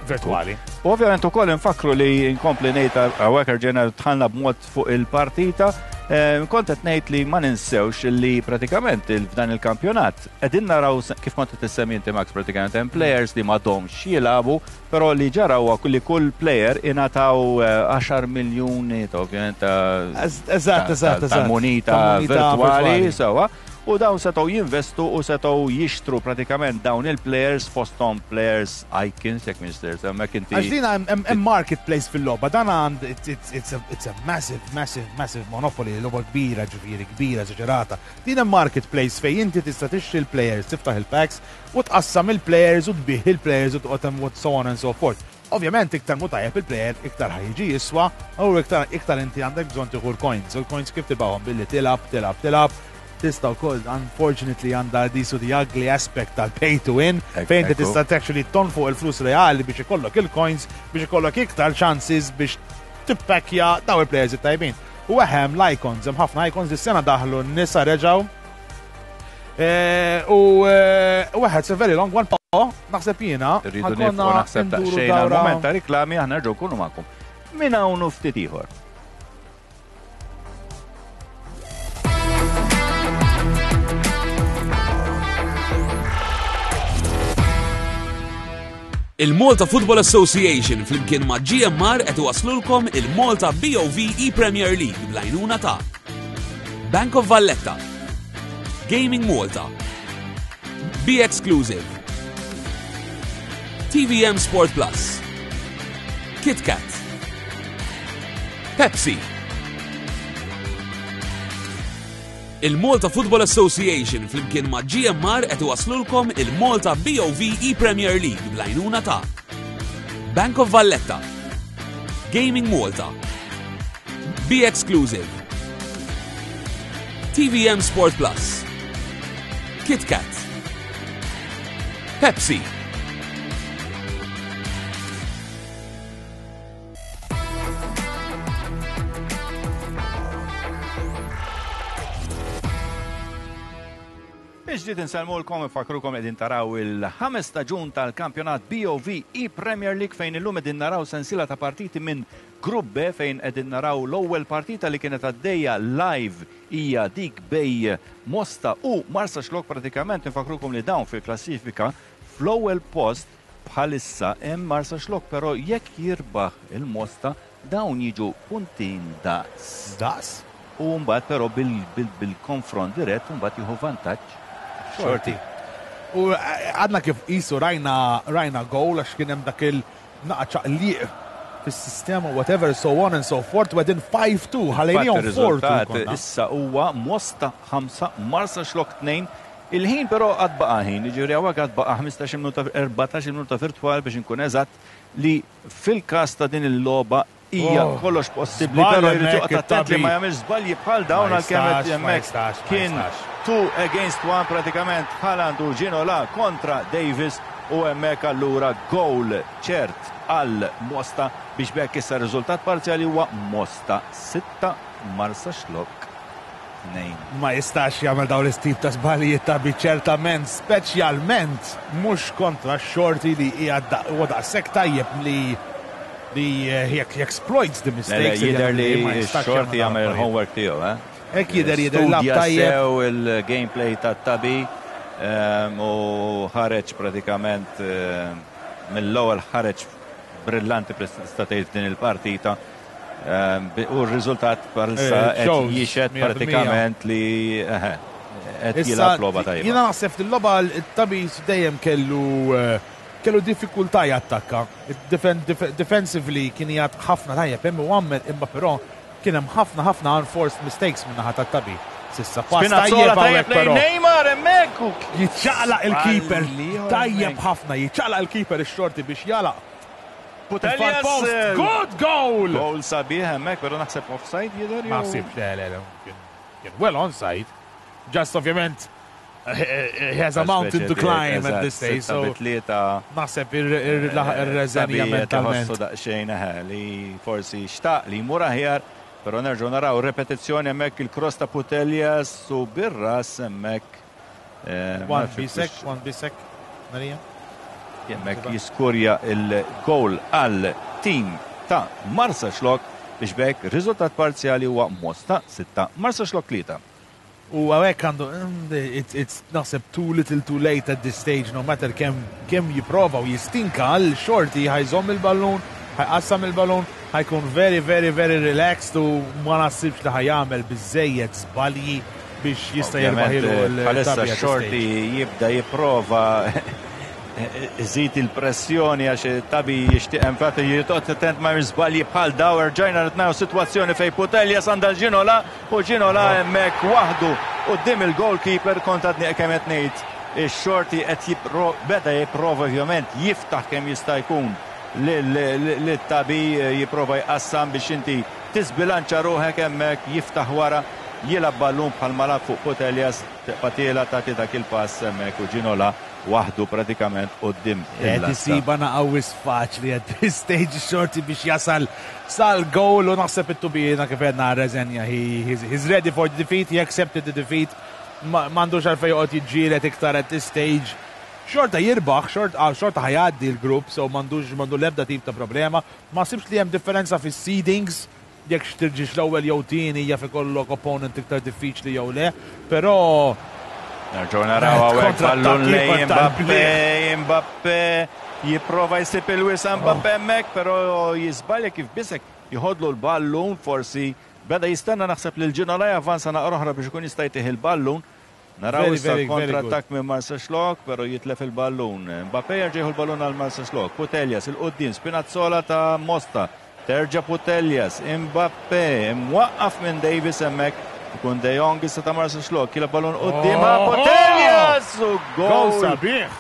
Virtuali. U ovvjament ukoll nfakru li nkompli ngħid hawnhekk rġejna dħalna b'mod fuq il-partita. Eh, kont qed ngħid li ma ninsewx li pratikament f'dan il-kampjonat qegħdin naraw kif kont qed issemmi inti Max, pratikament hemm players li m'għadhomx jilagħbu, però li ġara huwa li kull player ingħataw, eh, għaxar miljuni ta' ovvjament ta' Eżatt, eżatt, ta' eżatt. munita Ta' munita virtuali, virtuali. sewwa. U dawn setgħu jinvestu u setgħu jixtru pratikament dawn il-players, fosthom players icons, jekk minister, hemmhekk inti. Għax din hemm, hemm marketplace fil-logħba, dan għand it's, it's, it's, a, it's a massive, massive, massive monopoly, logħba kbira, ġifieri kbira, eżaġerata. Din hemm marketplace fejn inti tista' tixtri l-players, tiftaħ il-packs u tqassam il-players u tbih il-players u toqgħod hemm so on and so forth. Ovvjament iktar mu tajjeb il-player, iktar ħa jiġi jiswa, u iktar, iktar inti għandek bżonn tieħu l-coins. U l-coins kif tibgħuhom? Billi tilab, tilab, tilab. Tista' wkoll, unfortunately, għandha disu the ugly aspect tal-pay to win, Ek- fejn inti ekku. tista' actually tonfoq il-flus reali biex ikollok il-coins, biex ikollok iktar chances biex tippakkja daw il-players it-tajbin. U hemm l-icons, hemm ħafna icons, dis-sena daħlu n-nisa reġgħu. Eh, U eh, u it's a very long one, po, naħseb jiena. Rridu ħa konna nifqu naħseb nduru daqsxejn dawra. għal-moment ta' riklami, aħna nerġgħu nkunu magħkom. Minn hawn u ftit ieħor. Il-Malta Football Association flimkien ma' G M R qed iwaslulkom il-Malta B O V E-Premier League bl-għajnuna ta' Bank of Valletta, Gaming Malta, Be Exclusive, T V M Sport Plus, KitKat, Pepsi. Il-Malta Football Association flimkien ma' G M R qed iwaslulkom il-Malta B O V E-Premier League bl-għajnuna ta' Bank of Valletta, Gaming Malta, Be Exclusive, T V M Sport Plus, KitKat, Pepsi. Iġdid insellmulkom, infakrukom qegħdin taraw il-ħames staġun tal-kampjonat B O V E-Premier League, fejn illum qegħdin naraw sensiela ta' partiti minn Grupp B, fejn qegħdin naraw l-ewwel partita li kienet għaddejja live hija dik bejn Mosta u Marsaxlokk. Pratikament infakrukom li dawn fil-klassifika fl-ewwel post bħalissa hemm Marsaxlokk, però jekk jirbaħ il-Mosta dawn jiġu puntin daqs. Daqs? U mbagħad però bil-konfront dirett mbagħad jieħu vantaġġ Xorti. U eh, għadna kif isu rajna rajna goal għax kien hemm dak il-naqa ċaqliq fis-sistema, whatever, so on and so forth, within five two, ħallejnihom four two Ir-riżultat konna. issa huwa Mosta ħamsa, Marsaxlokk tnejn. Il-ħin però għad baqa' ħin, jiġifieri hawnhekk għad baqa' ħmistax-il minuta, erbatax-il minuta virtwal biex inkun eżatt, li fil-każ ta' din il-logħba hija Oh, kollox possibbli, żball però jrid hemmhekk joqgħod attent li it-tabib. ma jagħmilx żbalji bħal dawn Ma għalkemm qed jistax, ma hemmhekk jistax, ma kien jistax. two against one pratikament, Haaland u Ginola kontra Davis, u hemmhekk allura goal ċert għal Mosta biex b'hekk issa r-riżultat parzjali huwa Mosta sitta, Marsaxlokk tnejn. Ma jistax jagħmel dawn l-istip ta' żbalijiet ta' ċertament, speċjalment mhux kontra x-Xorti li hija huwa daqshekk tajjeb li li he exploits the mistakes. Jidher li x-Xorti jagħmel il-homework tiegħu, eh? Hekk jidher, jidher lab tajjeb. Sew il-gameplay tat-Tabi u ħareġ pratikament mill-ewwel, ħareġ brillanti tista' tgħid din il-partita. U r-riżultat bħalissa qed jixhed pratikament li qed jilgħab logħba tajba. Jiena naħseb fil-logħba it-Tabi dejjem kellu kellu diffikultà jattakka. Defensively kien jgħat ħafna tajjeb hemm u għamel, imma però kien hemm ħafna ħafna unforced mistakes minn naħa tat-Tabi. S'issa pass tajjeb hawnhekk però. Neymar hemmhekk. Jiċċaqlaq il-keeper tajjeb ħafna, jiċċaqlaq il-keeper ix-Xorti biex jalaq. Putellas. Good goal! Goal sabiħ hemmhekk, però naħseb offside jidher. Ma naħsibx, le, le, le. Kien well onside. Just ovvjament he has a mountain to climb at this stage. So naħseb ir-reżenja mentalment. Daqsxejn li forsi xtaq li jmur aħjar, però nerġgħu naraw repetizzjoni hemmhekk, il-cross ta' Putellas u bir-ras hemmhekk. Wan Bisek, Wan Bisek, Marija. Hemmhekk jiskurja il-goal għal tim ta' Marsaxlokk biex b'hekk riżultat parzjali huwa Mosta sitta, Marsaxlokk tlieta. U hawnhekk għandu, it's naħseb too little too late at this stage, no matter kemm kemm jipprova u jistinka għal Xorti, ħa jżomm il-ballun, ħa jqassam il-ballun, ħa jkun very, very, very relaxed u ma naħsibx li ħa jagħmel biżejjed żbalji biex jista' jirbaħilu. Bħalissa Xorti jibda jipprova iżid il-pressjoni għax Tabi jixtieq, infatti jitoqgħod attent ma żbalji bħal daw. Rġajna nitnaw sitwazzjoni fej Putellas għandha Ginola u Ginola hemmhekk waħdu quddiem il-goalkeeper. Kont għadni kemm qed ngħid, ix-Xorti qed beda jipprova ovvjament jiftaħ kemm jista' jkun lit-Tabi, jipprova jqassam biex inti tisbilanċa ruħek hemmhekk, jiftaħ wara, jilgħab ballun bħal malab fuq Putellas, tibqa' tiela tagħti dak il-pass hemmhekk u Ginola waħdu pratikament quddiem. Qed isiba naqawis faċli at this stage Xorti biex jasal sal goal u naħseb it-tubina kif għedna reżenja. He's ready for the defeat, he accepted the defeat. M'għandux għalfejn joqgħod jiġġieled iktar at this stage. Xorta jirbaħ, xorta ħa jgħaddi l-grupp, so m'għandux m'għandu l-ebda tip ta' problema. Ma sibx li hemm differenza fis-seedings jekk tiġix l-ewwel jew tieni, jaf ikollok opponent iktar diffiċli jew le, però Nerġgħu naraw hawnhekk ballun lejn Mbappe, Mbappe jipprova jsib il-wisa, Mbappe hemmhekk, però jiżbalja kif Bisek jħodlu l-ballun, forsi beda jistenna naħseb lil Ginola javvanza naqra oħra biex ikun jista' jtih il-ballun. Naraw issa kontrattakk minn Marsaxlokk, però jitlef il-ballun. Mbappe jerġa' jieħu l-ballun għal Marsaxlokk. Putellas il-quddiem, Spinazzola ta' Mosta. Terġa' Putellas, Mbappe, imwaqqaf minn Davis hemmhekk. Ikun De Jong issa ta' Marsaxlokk, jilgħab ballun quddiem Putellas u gol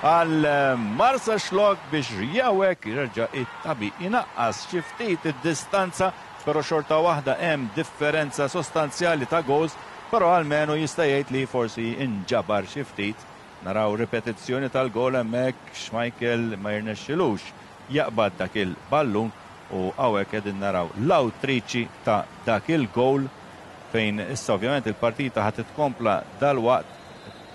għal Marsaxlokk biex jawek jerġa' it-Tabi inaqqas xi ftit id-distanza, però xorta waħda hemm differenza sostanzjali ta' goals, però almenu jista' jgħid li forsi inġabar xi ftit. Naraw ripetizzjoni tal-gol hemmhekk, Schmeichel ma jirnexxilux jaqbad dak il-ballun u hawnhekk qegħdin naraw l-awtriċi ta' dak il-goal fejn issa ovvjament il-partita ħa titkompla dal-waqt.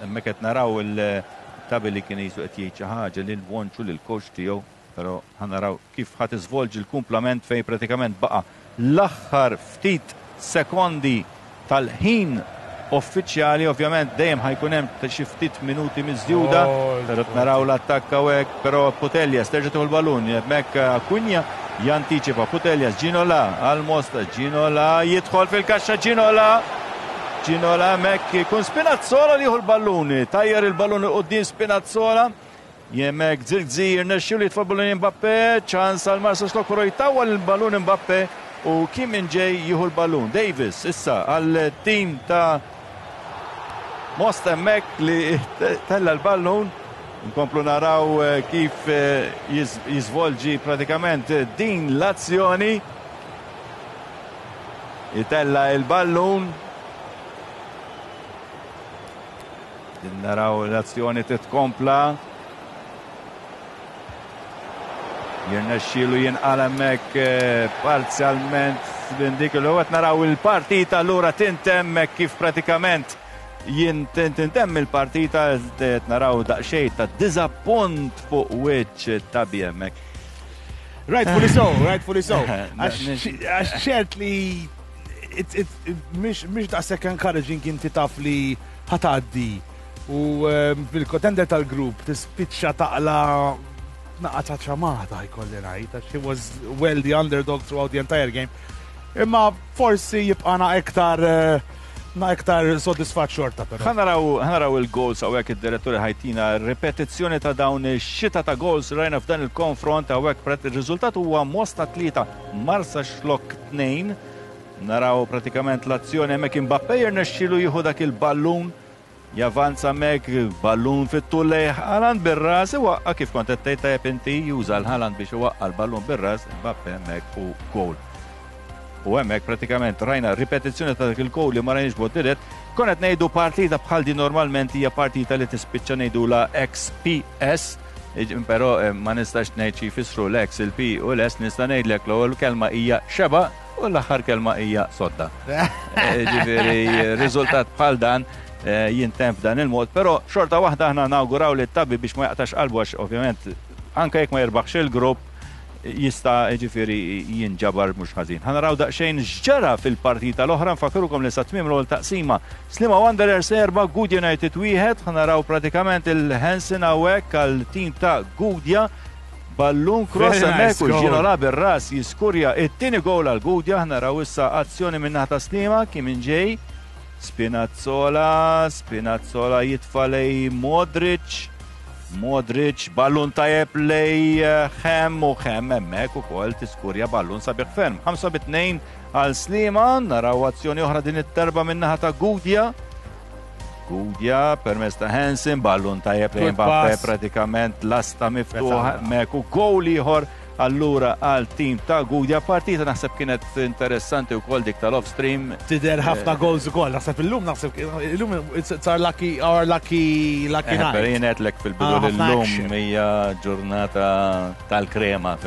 Hemmhekk qed naraw il-Tabi li kien jisu qed jgħid xi ħaġa lil Wonċu, lil coach tiegħu, però ħa naraw kif ħa tiżvolġi l-kumplament fejn pratikament baqa' l-aħħar ftit sekondi tal-ħin uffiċjali. Ovvjament dejjem ħa jkun hemm xi ftit minuti miżjuda, però naraw l-attakk hawnhekk, però Putellas terġa' tieħu l-ballun, hemmhekk Cunha jantiċipa Putellas, Ginola għal Mosta, Ginola jidħol fil-kaxxa, Ginola, Ginola hemmhekk jkun Spinazzola li jieħu l-ballun, tajjar il-ballun quddiem Spinazzola. Hemmhekk Zirkzee jirnexxilu jitfa' ballun Mbappe, ċans għal Marsaxlokk, però jtawwal il-ballun Mbappe u Kim Min-jae jieħu l-ballun. Davis issa għal tim ta' Mosta hemmhekk li tella l-ballun. Nkomplu naraw kif jiżvolġi pratikament din l-azzjoni. Jitella il-ballun. Naraw l-azzjoni titkompla. Jirnexxielu jinqal hemmhekk parzjalment minn dik il qed naraw il-partita allura tintemm kif pratikament tintemm il-partita qed naraw daqsxejn ta' diżappunt fuq wiċċ Tabi hemmhekk. Rightfully so, rightfully so. Għax ċert li mhix daqshekk encouraging inti taf li ħa tgħaddi u fil-contender tal-grupp tispiċċa taqla naqa ta' ċamata jkolli ngħid, għax he was well the underdog throughout the entire game. Imma forsi jibqa' iktar na iktar soddisfat xorta però. Ħa naraw il-goals hawnhekk id-diretturi ħa jtina ripetizzjoni ta' dawn ix-xita ta' goals rajna f'dan il-konfront hawnhekk ir-riżultat huwa Mosta tlieta Marsaxlokk tnejn. Naraw pratikament l-azzjoni hemmhekk Mbappé jirnexxielu jieħu dak il-ballun javanza hemmhekk ballun fit-tul lejn Haaland bir-ras iwaqqa' kif kont qed tgħid tajjeb inti juża l-Haaland biex iwaqqa' l-ballun bir-ras Mbappé hemmhekk u goal. U hemmhekk pratikament rajna ripetizzjoni ta' dak il-goal li ma rajniex b'mod dirett. Kont qed ngħidu partita bħal din normalment hija partita li tispiċċa ngħidula X P S, però ma nistax ngħid xi jfissru l-X, il-P u l-S, nista' ngħidlek l-ewwel kelma hija xeba u l-aħħar kelma hija sodda. Ġifieri riżultat bħal dan jintemm f'dan il-mod, però xorta waħda aħna nawguraw li Tabi biex ma jaqtax qalbu għax ovvjament anke jekk ma jirbaħx il-grupp jista' ġifieri jinġabar mhux ħażin. Ħa naraw daqsxejn x'ġara fil-partita l-oħra, nfakrukom li sa tmiem l-ewwel taqsima Sliema Wanderers erba' Gudja United wieħed, ħa naraw pratikament il-Hansen hawnhekk għal tim ta' Gudja. Ballun cross hemmhekk u Ginola bir-ras jiskurja it-tieni goal għal Gudja. Ħa naraw issa azzjoni min-naħa ta' Sliema kien minn ġej. Spinazzola, Spinazzola jitfa' lejn Modric. Modric, ballun tajjeb lejn Hem u Hem hemmhekk ukoll tiskurja ballun sabiħ ferm. Ħamsa bi tnejn għal Sliema, naraw azzjoni oħra din it-terba min-naħa ta' Gudja. Gudja permezz ta' Hansen, ballun tajjeb lejn Mbappé pratikament lasta miftuħa hemmhekk u goal ieħor allura għal tim ta' Gudja. Partita naħseb kienet interessanti wkoll dik tal-off-stream. Tidher ħafna goals ukoll, naħseb illum naħseb illum it's our lucky our lucky lucky night. Per jien għedtlek fil-bidu Ah, ħafna l-lum action. hija ġurnata tal-krema.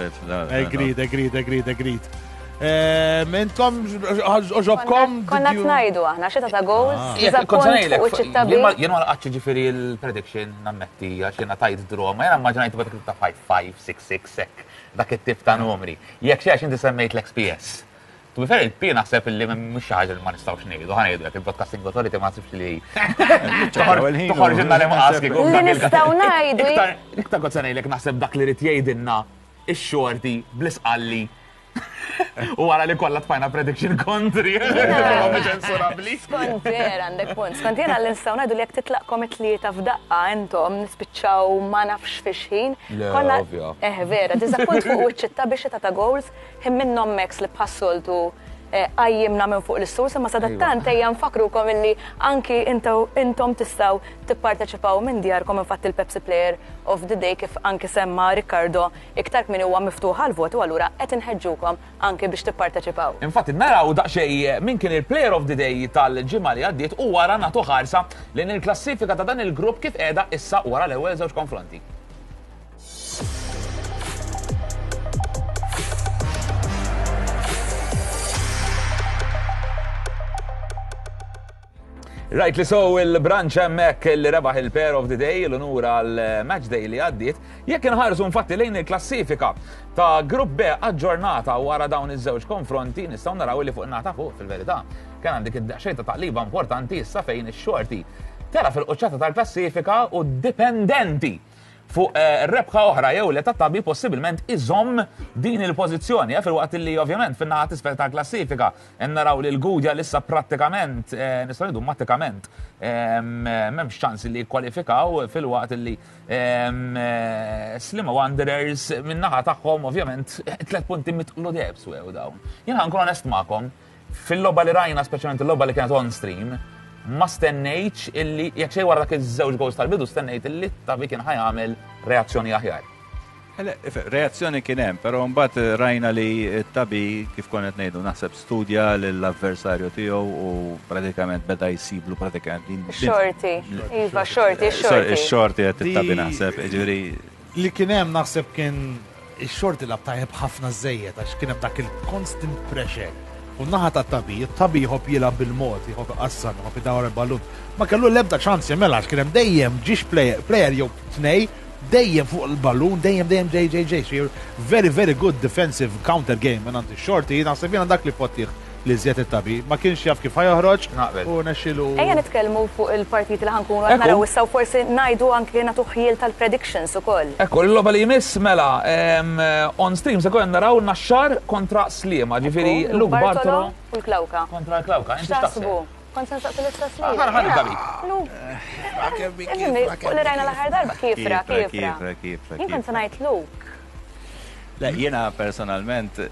Agreed, agreed, agreed, agreed. Intom għoġobkom? Konna tnajdu aħna, xita ta' goals, Jekk kont diżappunt se ngħidlek, fuq iċ-ċittabi. jien ma- Jien ma laqatx ġifieri l-prediction nammetti għax jiena tajt draw, ma jiena immaġinajt dak ta' five five, six six, hekk, dak it-tip ta' numri. Jekk xi għax inti semmejt l-X P S. To be fair, il-P naħseb illi mhux xi ħaġa li ma nistgħux ngħidu, ħa ngħidu jekk il-Broadcasting Authority ma naħsibx li toħorġilna li maqas kieku. Li nistgħu ngħidu Iktar iktar kont se ngħidlek naħseb dak li rid jgħidilna ix-xorti bl-isqalli. U wara li kollha tfajna prediction kontri. Ċensurabbli. Skont vera għandek punt. Skont jena li nistgħu ngħidu li jekk titlaqkom it-tlieta f'daqqa intom nispiċċaw ma nafx fix ħin. Le, Konna- ovvja. Eh vera, diżappunt fuq wiċċ biex ta' goals, ħin minnhom Max li bħas-soltu eh, qajjimna minn fuq l-istus, imma sadattant ejja nfakrukom illi anki intaw- intom tistgħu tipparteċipaw minn djarkom. Infatti il-Pepsi Player of the Day, kif anki semma Riccardo iktar kmin, huwa miftuħ għal-votu, allura qed inħeġġukom anki biex tipparteċipaw. Infatti, naraw daqsxejn min kien il-Player of the Day tal-ġimgħa li għaddiet u wara nagħtu ħarsa lejn il-klassifika ta' dan il-grupp kif qiegħda issa wara l-ewwel żewġ konfronti. Right li so il-branch hemmhekk li rebaħ il-Player of the Day, l-unur għal match day li għaddiet. Jekk inħarsu infatti lejn il-klassifika ta' Grupp B aġġornata wara dawn iż-żewġ konfronti, nistgħu naraw li fuq nata fuq fil-verità kien għandek id-daqsxejn ta' taqliba importanti issa fejn ix-xorti tela fil-quċċata tal-klassifika u dipendenti fuq eh, rebħa oħra jew li tat-Tabi possibilment iżomm din il-pożizzjoni, eh, fil-waqt li ovvjament fin-naħa t'isfel tal-klassifika hemm naraw li l-Gudja lissa prattikament, eh, nistgħu ngħidu mattikament, em, eh, m'hemmx ċans li jikkwalifikaw, fil-waqt li em, eh, Sliema Wanderers min-naħa tagħhom ovvjament tliet punti mitqlu deheb swew dawn. Jien ħa nkun onest magħkom, fil-logħba li rajna, speċjalment il-logħba li kienet on stream, ma stennejtx illi jekk xejn wara dak iż-żewġ goals tal-bidu stennejt illi Tabi kien ħa jagħmel reazzjoni aħjar. Ele, reazzjoni kien hemm, però mbagħad rajna li Tabi, kif konna ngħidu, naħseb studja lill-avversarju tiegħu u pratikament beda jsiblu pratikament din. Xorti, iva, xorti, Sorry, xorti. Ix-xorti qed Di- it-Tabi naħseb, ġifieri Li kien hemm naħseb kien Ix-Xorti lagħab tajjeb ħafna żejjed għax kien hemm dak il-constant pressure. U naħa ta' Tabi, Tabi jħobb jilgħab bil-mod, jħobb iqassam, jħobb idawar il-ballun. Ma kellu l-ebda ċans jagħmel għax kien hemm dejjem ġiex player, player jew tnej, dejjem fuq il-ballun, dejjem dejjem ġej ġej ġej. So very very good defensive counter game minn għand ix-Xorti, naħseb jiena dak li pottih li żjed it-Tabi. Ma kienx jaf kif ħa joħroġ Naqbel. u nexxilu. Ejja nitkellmu fuq il-partiti li ħa nkunu qed Ekku. naraw issa u forsi ngħidu anke nagħtu ħjiel tal-predictions ukoll. Ekku, l-logħba li jmiss mela, em, on stream se konna naraw Naxxar kontra Sliema, ġifieri Ekku, Luke Bartolo u l-Klawka. kontra l-Klawka. Inti X'taħsbu? x'taħseb? Kont se nsaqsi l-istess Ah, lilek. ħa- ħa nibda Jiena, bik. Luke, ifhimni, fuq li rajna l-aħħar darba, kiefra, Kiefra, kiefra. kiefra, kiefra, Jien kont se kiefra. ngħid Luke. Le, jiena personalment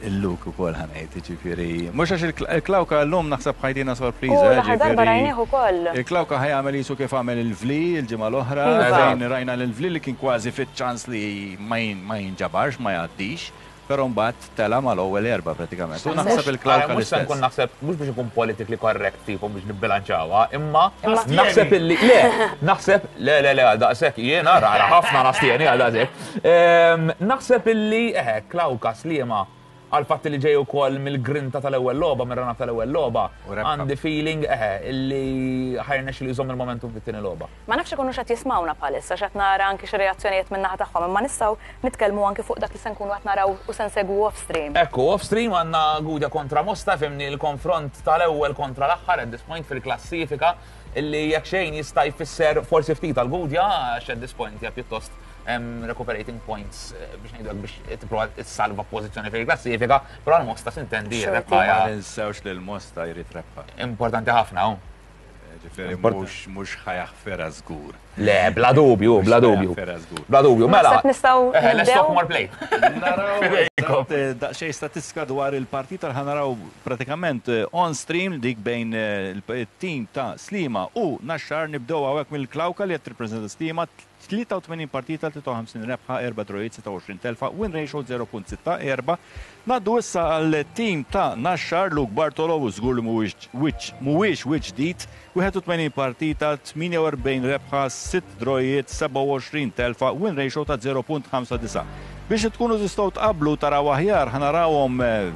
il-Luke ukoll ħa ngħid, ġifieri. Mhux għax il-Klawka l-lum naħseb ħa jtina U sorpriża. l-aħħar darba ġifieri- rajnieh ukoll. Il-Klawka ħa jagħmel jisu kif għamel il-Vli il-ġimgħa l-oħra, Iva. fejn rajna l-Vli li kien kważi fit-ċans li ma jin- ma jinġabarx, ma jgħaddix, però mbagħad tela mal-ewwel erba' pratikament. U naħseb il-Klawka Mhux se nkun l-istess. naħseb, mhux biex ikun politically correct tipo biex nibbilanċawha, imma Imma- naħseb illi le, naħseb le le le għal daqshekk jiena rara ħafna nastieni għal daqshekk. Ehm, Naħseb illi eħe Klawka Sliema għal fatt li ġej ukoll mill-grinta tal-ewwel logħba, mir-rana tal-ewwel logħba, U rebħa. għandi feeling eħe illi ħa jirnexxilu jżomm il-momentum fit-tieni logħba. Ma nafx ikunu x'qed jismawna bħalissa, x'qed nara anki xi reazzjonijiet minn naħa tagħhom, imma nistgħu nitkellmu anki fuq dak li se nkunu qed naraw u se nsegwu off stream. Ekku, off-stream għandna Gudja kontra Mosta, fimni l-konfront tal-ewwel kontra l-aħħar at this point fil-klassifika illi jekk xejn jista' jfisser forsi ftit għal-Gudja, għax at this point hija pjuttost em, recuperating points eh, biex ngħidu hekk biex tipprova tissalva pożizzjoni fil-klassifika, però għal-Mosta s'intendi Xorti. rebħa Ma hija ninsewx li l-Mosta jrid rebħa. importanti ħafna. hu. Ġifieri Important. mhux mhux ħa jaħfirha żgur. Le, bla dubju, bla dubju. Ħa jaħfirha żgur. Bla dubju, mela. Naħseb nistgħu Eh, let's nibdew? talk more play. Naraw Fidejkom. eżatt, eh, daqsxejn statistika dwar il-partita li ħa naraw pratikament eh, on stream dik bejn eh, il-team ta' Sliema u Naxxar. Nibdew hawnhekk mill-Klawka li qed tirrepreżenta Sliema, tlieta u tmenin partita, tlieta u ħamsin rebħa, erba' drawijiet, sitta u għoxrin telfa, win ratio żero punt sitta erba'. Ngħaddu issa għal team ta' Naxxar, Luke Bartolo, u żgur li mhuwiex wiċċ mhuwiex wiċċ ġdid, wieħed u tmenin partita, tmienja u erbgħin rebħa, sitt drawijiet, sebgħa u għoxrin telfa, win ratio ta' żero punt ħamsa disa'. Biex tkunu tistgħu tqablu taraw aħjar ħa narawhom eh,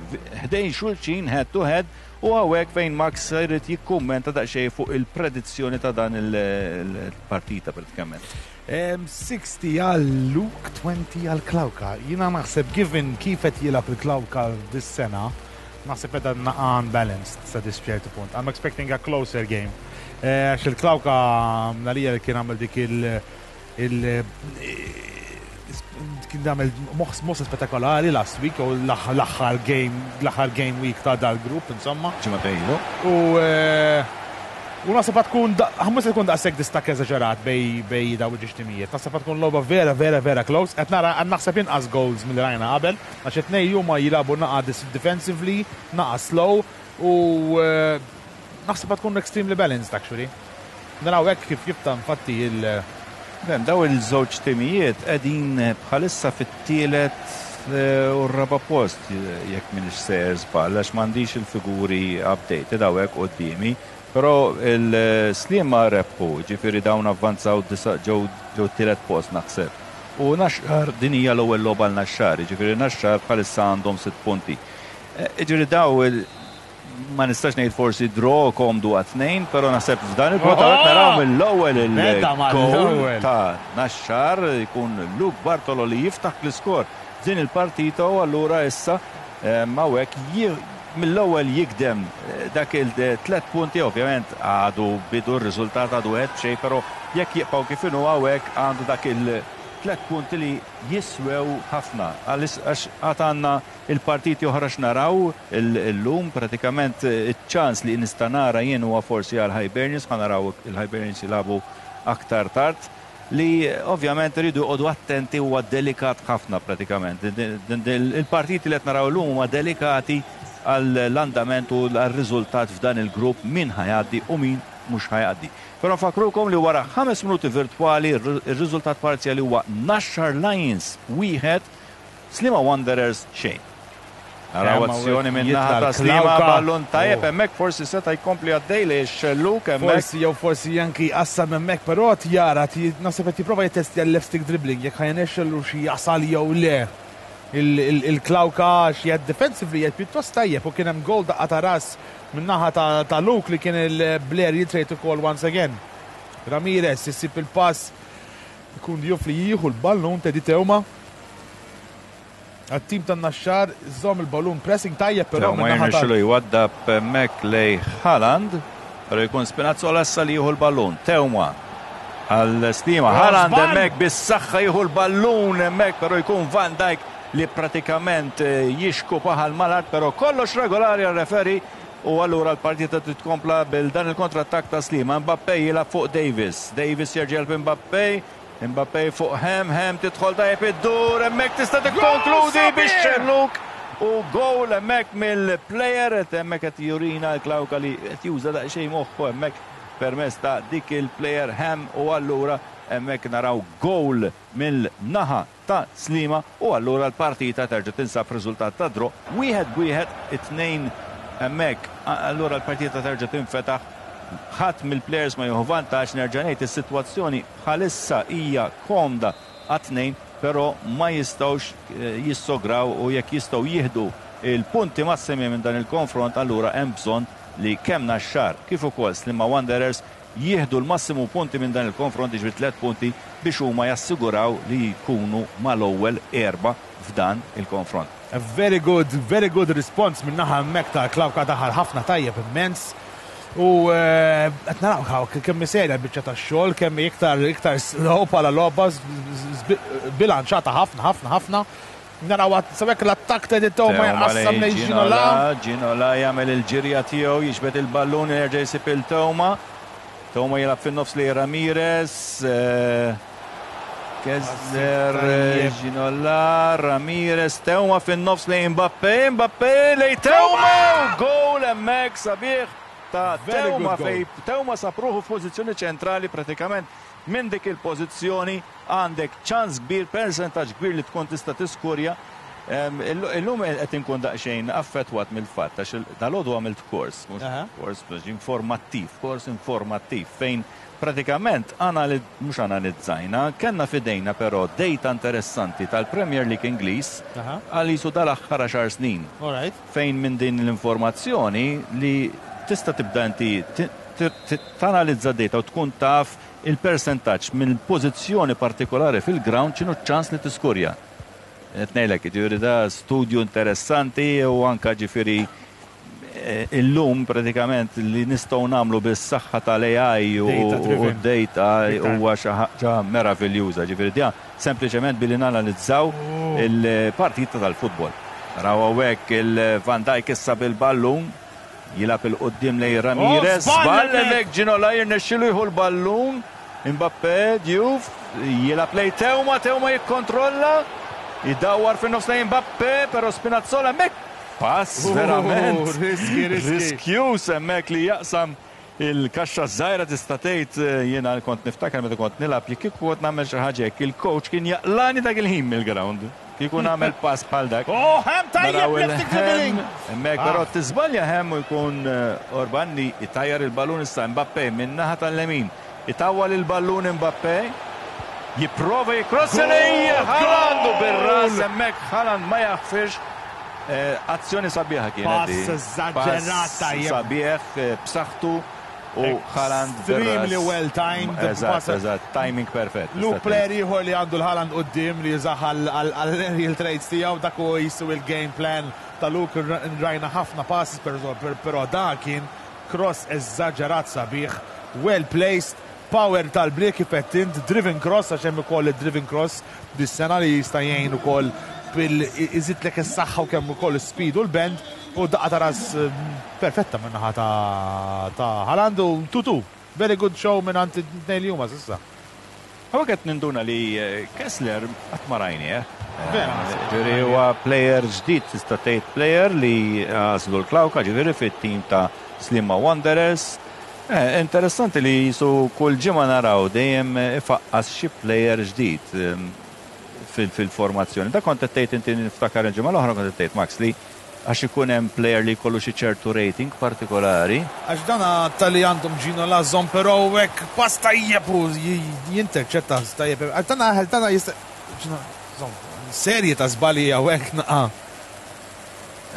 ħdejn xulxin head to head u hawnhekk fejn Max jrid jikkummenta daqsxejn fuq il-predizzjoni ta' dan il-partita pratikament. Em, sittaħxin għal Luke, għoxrin għal Klawka. Jiena naħseb given kif qed jilgħab il-Klawka dis-sena, naħseb qed naqa unbalanced sa dis ċertu punt. I'm expecting a closer game. Eh, Għax il-Klawka nalija li kien għamel dik il- il- kien għamel moħs moħs spettakolari last week u l-aħħar game l-aħħar game week ta' dal-grupp insomma. Ġimgħa ilu. U eh, u naħseb tkun mhux se tkun daqshekk distakk eżaġerat bejn bejn daw iż-żewġ timijiet. Naħseb tkun logħba vera vera vera close. Qed nara qed naħseb inqas goals milli rajna qabel għax it-tnejn huma jilagħbu naqa dis- defensively, naqa slow u eh, naħseb tkun extremely balanced actually. Naraw hekk kif jibta infatti il- Bem, daw il-żewġ timijiet qegħdin bħalissa fit-tielet eh, u r-raba post jekk m'iniex sejjer żball għax m'għandix il-figuri updated hawnhekk quddiemi. Però il-Sliema rebħu, ġifieri dawn avvanzaw disa ġew ġew tielet post naħseb. U Naxxar din hija l-ewwel logħba għal Naxxar, ġifieri Naxxar bħalissa għandhom sitt punti. Eh, Ġifieri daw il- ma nistax ngħid forsi draw komdu għat-tnejn, però naħseb f'dan il-punt hawnhekk naraw mill-ewwel Beda il-goal mal-ewwel. ta' Naxxar jkun Luke Bartolo li jiftaħ l-iskor din il-partita u allura issa hawnhekk mill-ewwel jikdem eh, dak il-tlet punti. Ovvjament għadu bidu, r-riżultat għadu qed xejn, però jekk jibqgħu kif inhu hawnhekk għandu dak il-tlet punti li jiswew ħafna għax għad għandna il-partiti oħra x'naraw illum. Pratikament eh, iċ-ċans li nista' nara jien huwa forsi għal Hibernians, ħa naraw il-Hibernians jilagħbu aktar tard, li ovvjament rridu joqogħdu attenti, huwa delikat ħafna pratikament. Il-partiti li qed naraw illum huma delikati għall-andament u għall-riżultat f'dan il-grupp, min ħa jgħaddi u min mhux ħa jgħaddi. Però nfakrukom li wara ħames minuti virtwali ir-riżultat parzjali huwa Naxxar Lions wieħed, Sliema Wanderers xejn. Naraw azzjoni minn naħa ta' Sliema, ballun tajjeb hemmhekk, forsi seta' jkompli għaddej li xelluk hemmhekk. Forsi jew forsi anki qassam hemmhekk, però jara naħseb qed jipprova jittestja l-left stick dribbling jekk ħa jirnexxielu xi jasal jew le. Il-Klawka xi defensively qed pjuttost tajjeb u kien hemm goal daqqa ta' ras min-naħa ta' Luke li kien il-Blair jitrejt ukoll once again. Ramirez issib il-pass, ikun Diouf li jieħu l-ballun, Teddy Teuma. Għat-tim tan-Naxxar żomm il-ballun, pressing tajjeb però. Ma jirnexxilu jwaddab hemmhekk lej Haaland, però jkun Spinazzola issa li jieħu l-ballun. Teuma għal Sliema. Haaland hemmhekk bis-saħħa jieħu l-ballun hemmhekk, però jkun Van Dijk li pratikament jixku paħal mal-art, però kollox regolari għal-referi u allura l-partita titkompla bil dan il kontrattak ta' Sliema. Mbappé jilgħab fuq Davis. Davis jerġa' Mbappé. Mbappé fuq Hem, Hem tidħol tajjeb id-dur, hemmhekk tista' tikkonkludi biex xelluk u goal hemmhekk mill-player, hemmhekk qed jurina l-Klawka li qed juża daqsxejn moħħu hemmhekk permezz ta' dik il-player Hem u allura hemmhekk naraw goal mill-naħa ta' Sliema u allura l-partita terġa' tinsab riżultat ta' draw wieħed b'wieħed, it-tnejn hemmhekk, allura l-partita terġa' tinfetaħ. Ħadd mill-players ma jieħu vantaġġ, nerġa' ngħid is-sitwazzjoni bħalissa hija komda għat-tnejn, però ma jistgħux jissograw u jekk jistgħu jieħdu il-punti massimi minn dan il-konfront, allura hemm bżonn li kemm Naxxar kif ukoll Sliema Wanderers jieħdu l-massimu punti minn dan il-konfront, jiġifieri tliet punti, biex huma jassiguraw li jkunu mal-ewwel erba' f'dan il-konfront. A very good, very good response minn naħa hemmhekk ta' Klawka, daħal ħafna tajjeb immens. U qed naraw kemm serja l-biċċa tax-xogħol, kemm iktar iktar slow bħala logħba, bilanċata ħafna ħafna ħafna. Naraw sewek l-attakk ta' Teuma jqassam lejn Ginola. Ginola jagħmel il-ġirja tiegħu, jiġbed il-ballun, jerġa' jsib il-Teuma. Teuma jilgħab fin-nofs li Ramirez. Kessler, Ginola, Ramirez, Teuma fin-nofs lejn Mbappé, Mbappé lejn Teuma! Goal hemmhekk sabiħ ta' Teuma fej Teuma sab ruħu f'pożizzjoni ċentrali, pratikament minn dik il-pożizzjoni għandek ċans kbir, percentaġġ kbir li tkun tista' tiskurja. Illum qed inkun daqsxejn affettwat mill-fatt għax dalgħodu għamilt kors, mhux kors informattiv, kors informattiv fejn pratikament mhux analizzajna, kellna f'idejna però data interessanti tal-Premier League Ingliż għal jisu dal-aħħar għaxar snin. Fejn minn din l-informazzjoni li tista' tibda inti tanalizza data u tkun taf il-percentaġġ minn pożizzjoni partikolari fil-ground x'inhu ċ-ċans li tiskurja. Qed ngħidlek, jiġifieri da studju interessanti u anka ġifieri illum pratikament li nistgħu nagħmlu bis-saħħa tal-A I u d-data huwa xi ħaġa meraviljuża. Ġifieri dia sempliċement billi nanalizzaw il-partita tal-futbol. Naraw hawnhekk il-Van Dijk issa bil-ballun jilgħab il-qudiem lejn Ramirez, żball hemmhekk, Ginola jirnexxilu jieħu l-ballun, Mbappé, Diouf, jilgħab lejn Teuma, Teuma jikkontrolla, jdawwar fin-nofs lejn Mbappé, però Spinazzola hemmhekk pass verament riski, riski. Riskjuż hemmhekk li jaqsam il-kaxxa żgħira tista' tgħid. Jiena kont niftakar meta kont nilgħab, jekk kieku kont nagħmel xi ħaġa hekk, il-coach kien jaqlani dak il-ħin mill-ground. Kieku nagħmel pass bħal dak. Oh, Hem tajjeb left dribbling. Hemmhekk però tiżbalja Hem u jkun Orban li jtajjar il-ballun. Issa Mbappé minn naħa tal-lemin. Itawwal il-ballun Mbappé. Jipprova jikrossa lejn Haaland u bir-ras hemmhekk Haaland ma jaħfirx. Azzjoni sabiħa kienet. Pass eżaġerat tajjeb. Sabiħ, b'saħħtu u Haaland. Extremely well timed. Eżatt, eżatt, timing perfett. Lu player ieħor li għandu l-Haaland quddiem li jużah għal-aerial traits tiegħu, dak hu jisu il-game plan ta' Luke, rajna ħafna passes, però da kien cross eżaġerat sabiħ, well placed, power tal-bliek kif qed int, driven cross, għax hemm ukoll id-driven cross dis-sena li jista' jgħin ukoll bil iżidlek is-saħħa u kemm ukoll is-speed u l-bend u daqqa ta' ras perfetta minn naħa ta' ta' Haaland u two two. Very good show minn għand it-tnejn li huma s'issa. Hawnhekk qed ninduna li Kessler qatt ma rajnieh. Vera. Ġifieri huwa player ġdid, tista' tgħid player li għażlu l-Klawka ġifieri fit-tim ta' Sliema Wanderers. Eh, interessanti li jisu kull ġimgħa naraw dejjem ifaqqas xi player ġdid fil-formazzjoni. Da kont qed tgħid inti, niftakar il-ġimgħa l-oħra kont qed tgħid, Max, li Għax ikun hemm player li jkollu xi ċertu rating partikolari. Għax dana tal-li għandhom Ginola żomm, però hekk pass tajjeb u jinterċetta tajjeb. Għax dana dana jista' serje ta' żbalji hawnhekk naqa'.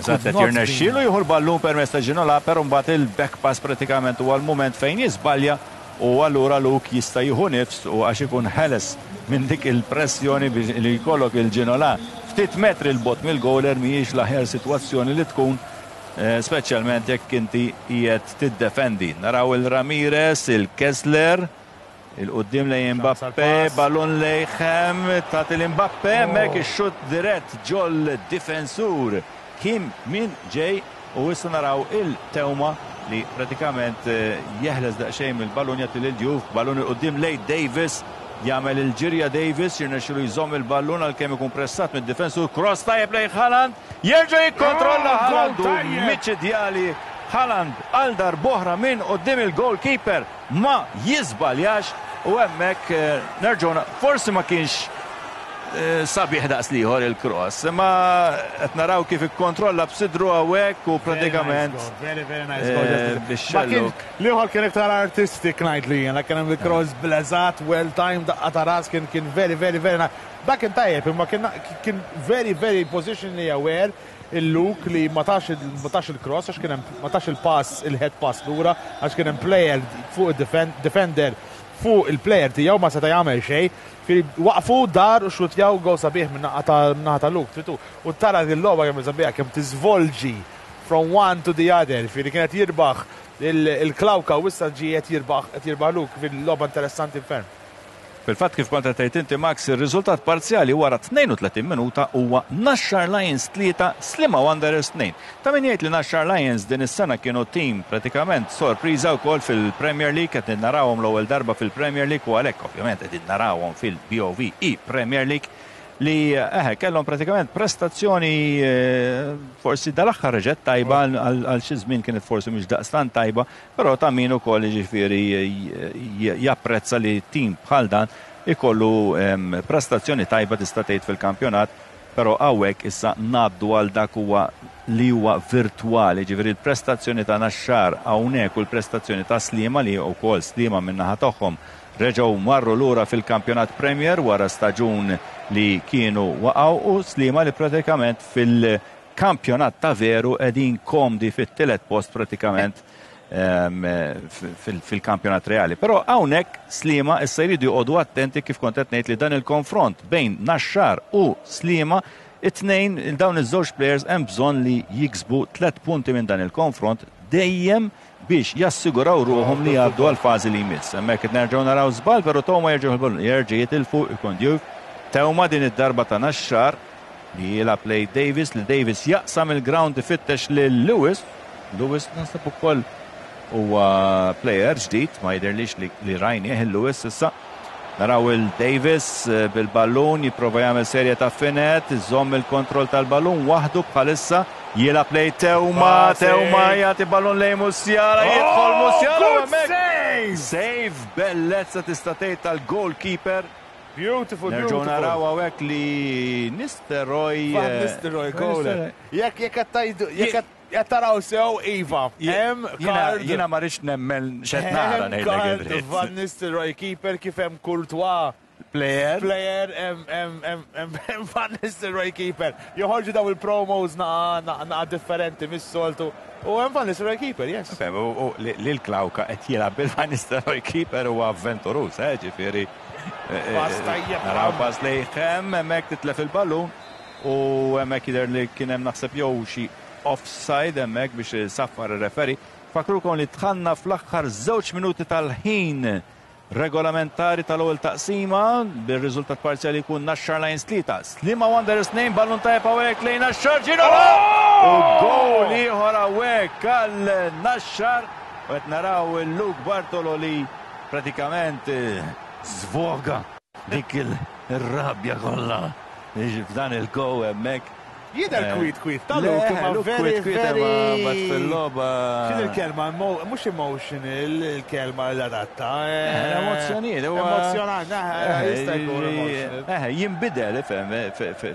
Eżatt, qed jirnexxielu jieħu l-ballun permezz ta' Ginola, però mbagħad il-back pass pratikament huwa l-mument fejn jiżbalja u allura Luke jista' jieħu nifs u għax ikun ħeles minn dik il-pressjoni li jkollok il-Ginola. Ftit metri 'l bogħod mill-goaler mhijiex l-aħjar sitwazzjoni li tkun, speċjalment jekk inti qiegħed tiddefendi. Naraw il-Ramirez, il-Kessler, il-qudiem lejn Mbappe, ballun lejn Hem, tagħti l-Mbappe, hemmhekk ix-xutt dirett ġol difensur Kim Min Ġej u issa naraw il-Tewma li pratikament jeħles daqsxejn mill-ballun jagħti lil Diouf, ballun il-qudiem lejn Davis, jagħmel il-ġirja Davis, jirnexxilu jżomm il-ballun għalkemm ikun pressat mid-difensur, cross tajjeb lejn Haaland, jerġa' jikkontrolla Haaland u miċidjali Haaland għal darb'oħra minn quddiem il-goalkeeper ma jiżbaljax u hemmhekk nerġgħu forsi ma kienx sabiħ daqs liħor il-cross, imma qed naraw kif ikkontrolla b'sidru hawnhekk u pratikament very, very nice goal. Bix-xelluk. L-ieħor kien iktar artistic ngħid li jiena, kien hemm il-cross bleżat, well timed, daqqa ta' ras kien kien very, very, very nice. Dak kien tajjeb, imma kien kien very, very positionally aware il-Luke li ma tax ma tax il-cross għax kien hemm ma tax il-pass, il-head pass lura għax kien hemm player fuq il-defender fuq il-player tiegħu ma seta' jagħmel xejn. Waqfu dar u xutjaw gol sabiħ minn naħa ta' Luke, tritu. U tara l-logħba kemm sabiħ kemm tiżvolġi from one to the other. Firri kienet jirbaħ il-Klawka u issa ġie qed jirbaħ qed jirbaħ Luke fil-logħba interessanti ferm. Fil-fatt kif kont qed tgħid inti Max, ir-riżultat parzjali wara tnejn u tletin minuta huwa Naxxar Lions tlieta, Sliema Wanderers tnejn. Ta' min jgħid li Naxxar Lions din is-sena kienu tim pratikament sorpriża wkoll fil-Premier League, qed narawhom l-ewwel darba fil-Premier League u għalhekk ovvjament qegħdin narawhom fil-B O V E Premier League li eħe kellhom pratikament prestazzjoni forsi dal-aħħar reġgħet tajba għal xi żmien kienet forsi mhux daqstant tajba, però ta' min ukoll jiġifieri japprezza li tim bħal dan ikollu prestazzjoni tajba tista' tgħid fil-kampjonat, però hawnhekk issa ngħaddu għal dak huwa li huwa virtwali, ġifieri l-prestazzjoni ta' Naxxar hawnhekk u l-prestazzjoni ta' Sliema li wkoll Sliema min-naħa tagħhom reġgħu marru lura fil-kampjonat Premier wara staġun li kienu waqgħu u Sliema li pratikament fil-kampjonat ta' veru qegħdin komdi fit-tielet post pratikament fil-kampjonat reali. Però hawnhekk Sliema issa jridu joqogħdu attenti kif kont qed ngħid li dan il-konfront bejn Naxxar u Sliema, it-tnejn dawn iż-żewġ players hemm bżonn li jiksbu tliet punti minn dan il-konfront dejjem biex jassiguraw ruħhom li jgħaddu għal fażi li jmiss. Hemmhekk qed nerġgħu naraw żball, però Toma jerġgħu l-ballun, jerġa' jitilfu ikun Diouf. Tewma din id-darba ta' Naxxar li jilgħab lejn Davis, li Davis jaqsam il-ground ifittex lil Lewis. Lewis naħseb ukoll huwa player ġdid, ma jidhirlix li, li rajnieh il-Lewis issa. Naraw il-Davis bil-ballun jipprova jagħmel serje ta' finet, iżomm il-kontroll tal-ballun waħdu bħalissa, jilgħab lejn Tewma, Pass. Tewma jagħti ballun lejn Musiala, jidħol Oh, Musiala good hemmhekk. save! Save bellezza tista' tgħid tal-goalkeeper. Beautiful, Nerġgħu beautiful. naraw hawnhekk li Nistelrooy, Van eh, Nistelrooy, Van goal. Nistelrooy. Jekk, jekk qed tgħidu, jekk qed qed taraw sew, Iva, Je- hemm jiena- card. Jiena ma rridx nemmen x'qed nara Hemm ngħidlek card id-dritt. Van Nistelrooy keeper kif hemm Courtois Player. Player, hemm, hemm, hemm, hemm, hemm Van Nistelrooy keeper. Joħorġu daw il-promos naqa, naqa, naqa differenti mis-soltu. U hemm Van Nistelrooy keeper, yes. Fem, u, u, li, li l-Klawka qed jilgħab bil-Van Nistelrooy keeper huwa avventuruż, eh, ġifieri. Eh, eh, Pass tajjeb, Naraw Ram. pass lejn Hem, hemmhekk titlef il-ballun u hemmhekk jidher li kien hemm naħseb jew xi offside hemmhekk biex saffar ir-referi. Fakrukom li dħalna fl-aħħar żewġ minuti tal-ħin regolamentari tal-ewwel taqsima bir-riżultat parzjali jkun Naxxar Lions tlieta. Sliema Wanderers tnejn, ballun tajjeb hawnhekk lejn Naxxar Ginola! U goal ieħor hawnhekk għal Naxxar. U qed naraw il-Luke Bartolo li pratikament, eh, zvoga dik il-rabja kollha f'dan il-goal hemmhekk. Jidher Eh, kwit kwit, ta' Le, Luke, imma Luke very, kwit kwit, very imma bat fil-logħba. X'in il-kelma, emo-, mhux emotional, il-kelma l-adatta, eh, Eh, emozzjonijiet, huwa Emozjonanti. Kultant, eh, jista' jkun emotional. Eh, jinbidel, ifhem,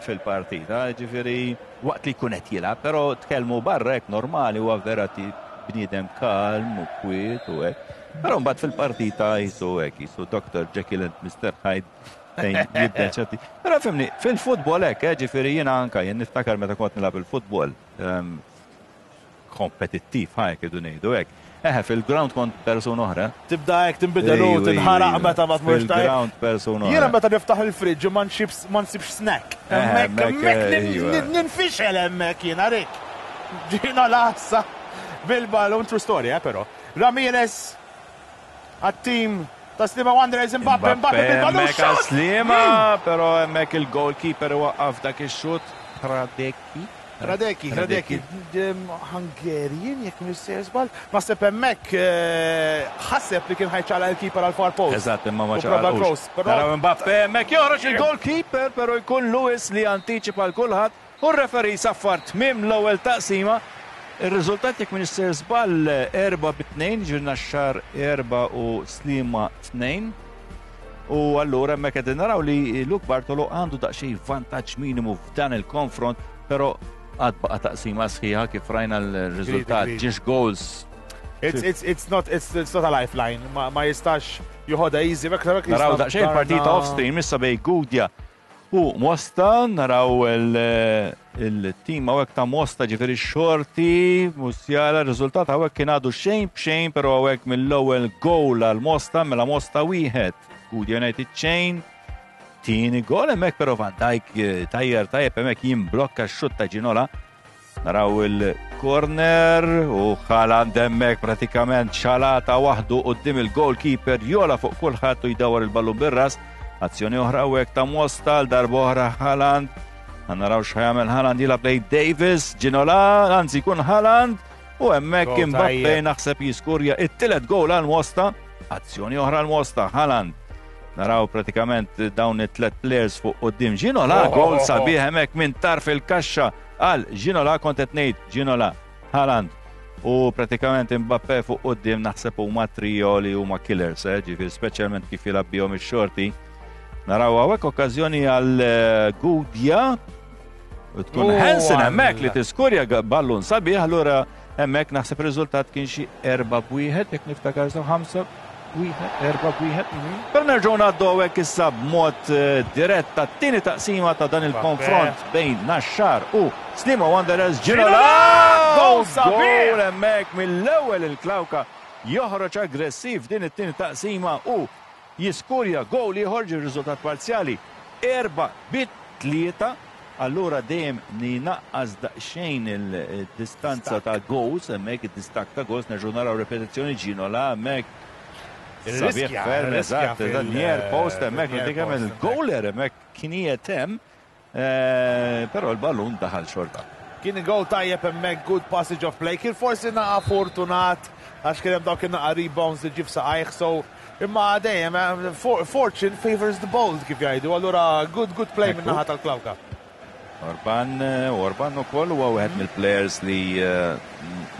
fil-partita, ġifieri waqt li jkun qed jilgħab, però tkellmu barra hekk normali huwa vera ti bniedem kalm u kwiet u hekk. Però mbagħad fil-partita jisu hekk, jisu Doctor Jekyll and Mister Hyde fejn jibdel ċerti. Però fimni, fil-futbol hekk, eh, ġifieri jiena anka jien niftakar meta kont nilgħab il-futbol ehm, kompetittiv, ħajk idu ngħidu hekk. Eħe, fil-ground kont persuna oħra. Tibda hekk tinbidel u Ejju, tinħaraq ejju, meta ma tmurx tajjeb. Fil-ground persuna Jiena oħra. meta niftaħ il-fridge u ma nsibx ma nsibx snack. Eh, Hemmhekk hemmhekk, hemmhekk nin- ejwa. nin- ninfixel hemmhekk jiena rik. Ġina lassa bil-ballon, true story, eh, però. Ramirez għat-team ta' Sliema Wanderers, Mbappe, Mbappe bil-ballon, hemmhekk għal shot! Sliema, però hemmhekk il-goalkeeper waqqaf dak ix-xut. Radecki. Radecki, Radecki, Hungarian, jekk missir żball. Naħseb hemmhekk eh, ħaseb li kien ħa jċaqlaq il-keeper għal far post. Eżatt, imma ma U prova ċaqalqux. cross, però Naraw Mbappe hemmhekk joħroġ il-goalkeeper, però jkun Lewis li antiċipa l kulħadd u r-referee saffar tmiem l-ewwel taqsima. Ir-riżultat, jekk m'iniex sejjer żball, erba' bit-tnejn, ġifieri Naxxar erba' u Sliema tnejn. U allura hemmhekk qegħdin naraw li Luke Bartolo għandu daqsxejn vantaġġ minimu f'dan il-konfront, però għad baqa' taqsima sħiħa kif rajna l-riżultat Agreed, agreed. ġiex goals. It's, it's, it's not it's, it's not a lifeline. Ma, ma jistax joħodha easy. Bek, bek Naraw jista' daqsxejn partita darna- off stream issa bejn Gudja u Mosta, naraw il- il-team hawnhekk ta' Mosta, ġifieri Xorti, Musiala, r-riżultat hawnhekk kien għadu xejn b'xejn, però hawnhekk mill-ewwel goal għal Mosta, mela Mosta wieħed, Gudja United xejn. Tieni gol hemmhekk, però Van Dijk eh, tajjer tajjeb hemmhekk jimblokka x-xutt ta' Ginola. Naraw il-corner u Haaland hemmhekk pratikament xalata waħdu quddiem il-goalkeeper, jola fuq kulħadd u jdawar il-ballun bir-ras. Azzjoni oħra hawnhekk ta' Mosta, l darba oħra Haaland. Ħa naraw x'ħa jagħmel Haaland, jilgħab lejn Davis, Ginola, anzi jkun Haaland u hemmhekk Goal Mbappe tajjeb. naħseb jiskurja it-tielet goal għal Mosta. Azzjoni oħra għal Mosta, Haaland. Naraw pratikament dawn it-tlet players fuq quddiem Ginola, Oh, goal oh, oh. sabiħ hemmhekk minn tarf il-kaxxa għal Ginola, kont qed ngħid Ginola, Haaland u pratikament Mbappe fuq quddiem, naħseb huma trio li huma killers, eh, ġifieri speċjalment kif jilgħab bihom ix-Xorti. Naraw hawnhekk okkażjoni għal eh, Gudja u tkun Oh, Hansen hemmhekk li għal- tiskurja ga- ballun sabiħ, allura hemmhekk naħseb riżultat kien xi erba' b'wieħed, jekk niftakar sew, ħamsa wieħed, erba' b'wieħed. Però nerġgħu ngħaddu hawnhekk issa b'mod eh, dirett tat-tieni taqsima ta' dan il-konfront bejn Naxxar u Sliema Wanderers. Ginola! Goal sabiħ! Goal hemmhekk mill-ewwel, il-Klawka joħroġ aggressiv din it-tieni taqsima u jiskurja goal ieħor, ġi riżultat parzjali erba' bit tlieta. Allura dejjem ninaqqas daqsxejn il-distanza ta' goals hemmhekk, id-distakk ta' goals. Nerġgħu naraw repetizzjoni, Ginola hemmhekk sabiħ Irriskja, ferm, irriskja eżatt, fil- eżatt, near post hemmhekk, fil-near pratikament post il-goaler hemmhekk kien qiegħed hemm, eh, però l-ballun daħal xorta. Kien goal tajjeb hemmhekk, good passage of play. Kien forsi naqa fortunat għax kien hemm dawk naqa rebounds li ġib saqajh, so imma dejjem eh, for- fortune favors the bold, kif jgħidu. Allura good good play minn naħa tal-Klawka. Orban, eh, Orban ukoll huwa wieħed mill-players li eh,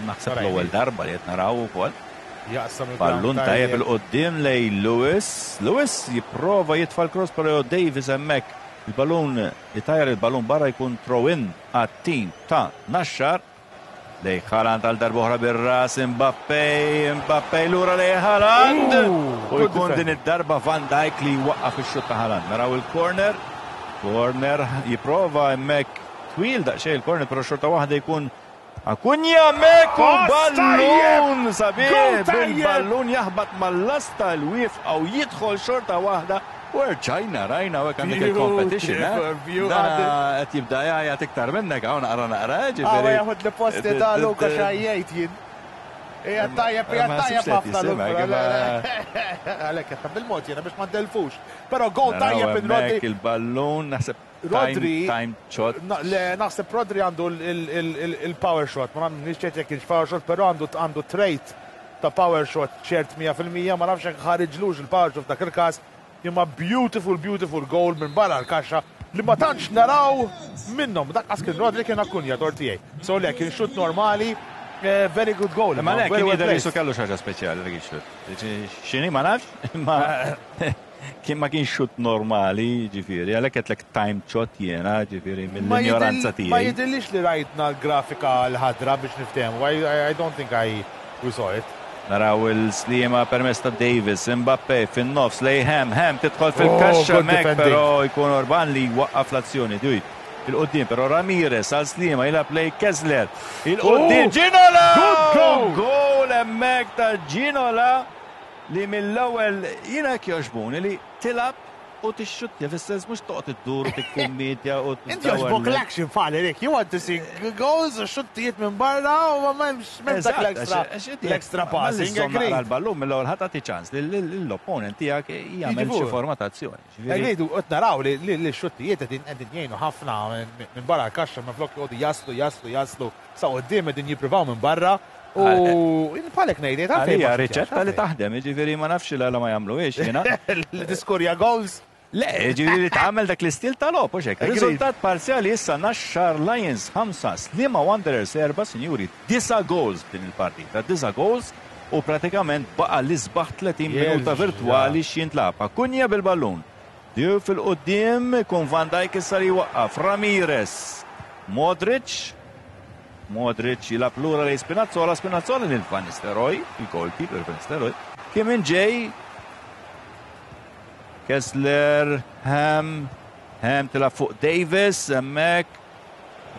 naħseb Rajni. l-ewwel darba li qed naraw ukoll. Jaqsam il-ground. Ballun tajjeb il-qoddim lejn Lewis. Lewis jipprova jitfa' l-cross, però Davis hemmhekk il-ballun itajjar il-ballun barra, jkun throw-in għat-team ta' Naxxar. Lejn Haaland għal darba oħra bir-ras, Mbappe, Mbappe lura lejn Haaland. U Good jkun defense. din id-darba Van Dijk li waqqaf ix-xut ta' Haaland. Naraw il-corner. Corner jipprova hemmhekk twil daqsxejn il-corner, però xorta waħda jkun Akunja hemmhekk u Pass ballun tajjeb! sabiħ Goal tajjeb! bil-ballun jaħbat mal-lasta l-wifqa u jidħol xorta waħda. U rġajna rajna hawnhekk għandek il-competition, eh? Beautiful, Dana qed jibda jgħajjat iktar minnek hawn naqra naqra, Għawa ġifieri. jaħud li posti ta' Luka xajjejt jien. Ija tajjeb, ija Ma tajjeb sibx li ħafna qed Luka. jisimek, imma- Għalek, qed bil-mod jiena biex ma ndelfux. Però goal Naraw tajjeb in hemmhekk Rodri. il-ballun, naħseb Rodri- time time shot. Na- Le, naħseb Rodri għandu il- il- il- il-power shot, ma nafx ċert jekk kienx power shot, però għandu għandu trait ta' power shot ċert mija fil-mija, ma nafx jekk ħariġlux il-power shot f'dak il-każ, imma beautiful, beautiful goal minn barra l-kaxxa li ma tantx naraw minnhom. Dak qas kien Rodri, kien Akunja tortijaj. So le, kien shoot normali, eh, very good goal. Ma le, very kien well jidher placed. jisu kellu xi ħaġa speċjali dak ix-xut. X'inhi ma nafx, imma Kien ma kienx xut normali, ġifieri, għalhekk qedlek time shot jiena, ġifieri, mill-ignoranza Ma tiegħi. jidhirlix li rajtna l-grafika l-ħadra biex niftehmu. I, I, I don't think I we saw it. Naraw il-Sliema permezz ta' Davis, Mbappe fin-nofs lejn Hem, Hem tidħol fil-kaxxa Oh, good mek, defending. però jkun Orban li waqqaf l-azzjoni. Duj, 'il quddiem però Ramirez għal Sliema jilgħab lejn Kessler. 'Il quddiem Oh, Ginola! Good goal! Goal hemmhekk ta' Ginola li mill-ewwel jiena hekk jogħġbuni li tilgħab u tixxuttja, fis-sens mhux toqgħod iddur u tikkummedja u Inti jogħġbok l-action fali, Rick. You want to see goals u xuttijiet minn barra u ma m'hemmx m'hemmx dak l-extra l-extra passing. Agreed. L-ballun mill-ewwel ħadd tagħti ċans li l-opponent tiegħek jagħmel xi Jiġifieri. forma ta' azzjoni. Ġifieri, Agreed, u qed naraw li li li x-xuttijiet qegħdin qegħdin jgħinu ħafna minn minn barra l-kaxxa, minn flok joqogħdu jaslu, jaslu, jaslu sa quddiem, qegħdin jippruvaw minn barra u bħalek ngħidiet għalfejn Għalija ma riċetta li taħdem, ġifieri ma nafx la ma jagħmluhiex jiena. Li tiskorja goals. Le, ġifieri li tagħmel dak l-istil tal-logħob, u hekk. Agreed. Riżultat parzjali issa Naxxar Lions ħamsa, Sliema Wanderers erba', sinjuri, disa' goals din il-partita, disa' goals u pratikament baqa l-isbaħ tletin minuta Jerġa'. virtuali x'jintlagħab. Akunja bil-ballun. Dju fil-qoddim kun Van Dijk issa li waqqaf Ramirez. Modric. Modric jilgħab lura lejn Spinazzola, Spinazzola lil Van Nistelrooy, il-goalkeeper Van Nistelrooy. Kim min ġej? Kessler, Ham, Ham tilgħab fuq Davis, hemmhekk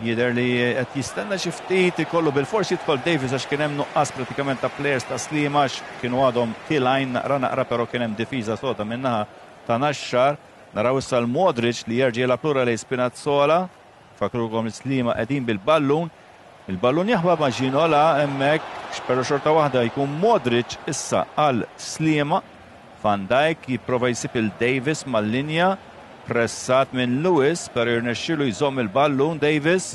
jidher li qed jistenna xi ftit ikollu bil-fors jidħol Davis għax kien hemm nuqqas pratikament ta' players ta' Sliema għax kienu għadhom tilgħin naqra naqra, però kien hemm difiża soda min-naħa ta' Naxxar. Naraw issa l-Modric li jerġa' jilgħab lura lejn Spinazzola. Fakrukom Sliema qegħdin bil-ballun. Il-ballun jaħba ma' Ginola hemmhekk, però xorta waħda jkun Modric issa għal Sliema. Van Dijk jipprova jsib il-Davis mal-linja, pressat minn Lewis, pero jirnexxilu jżomm il-ballun Davis,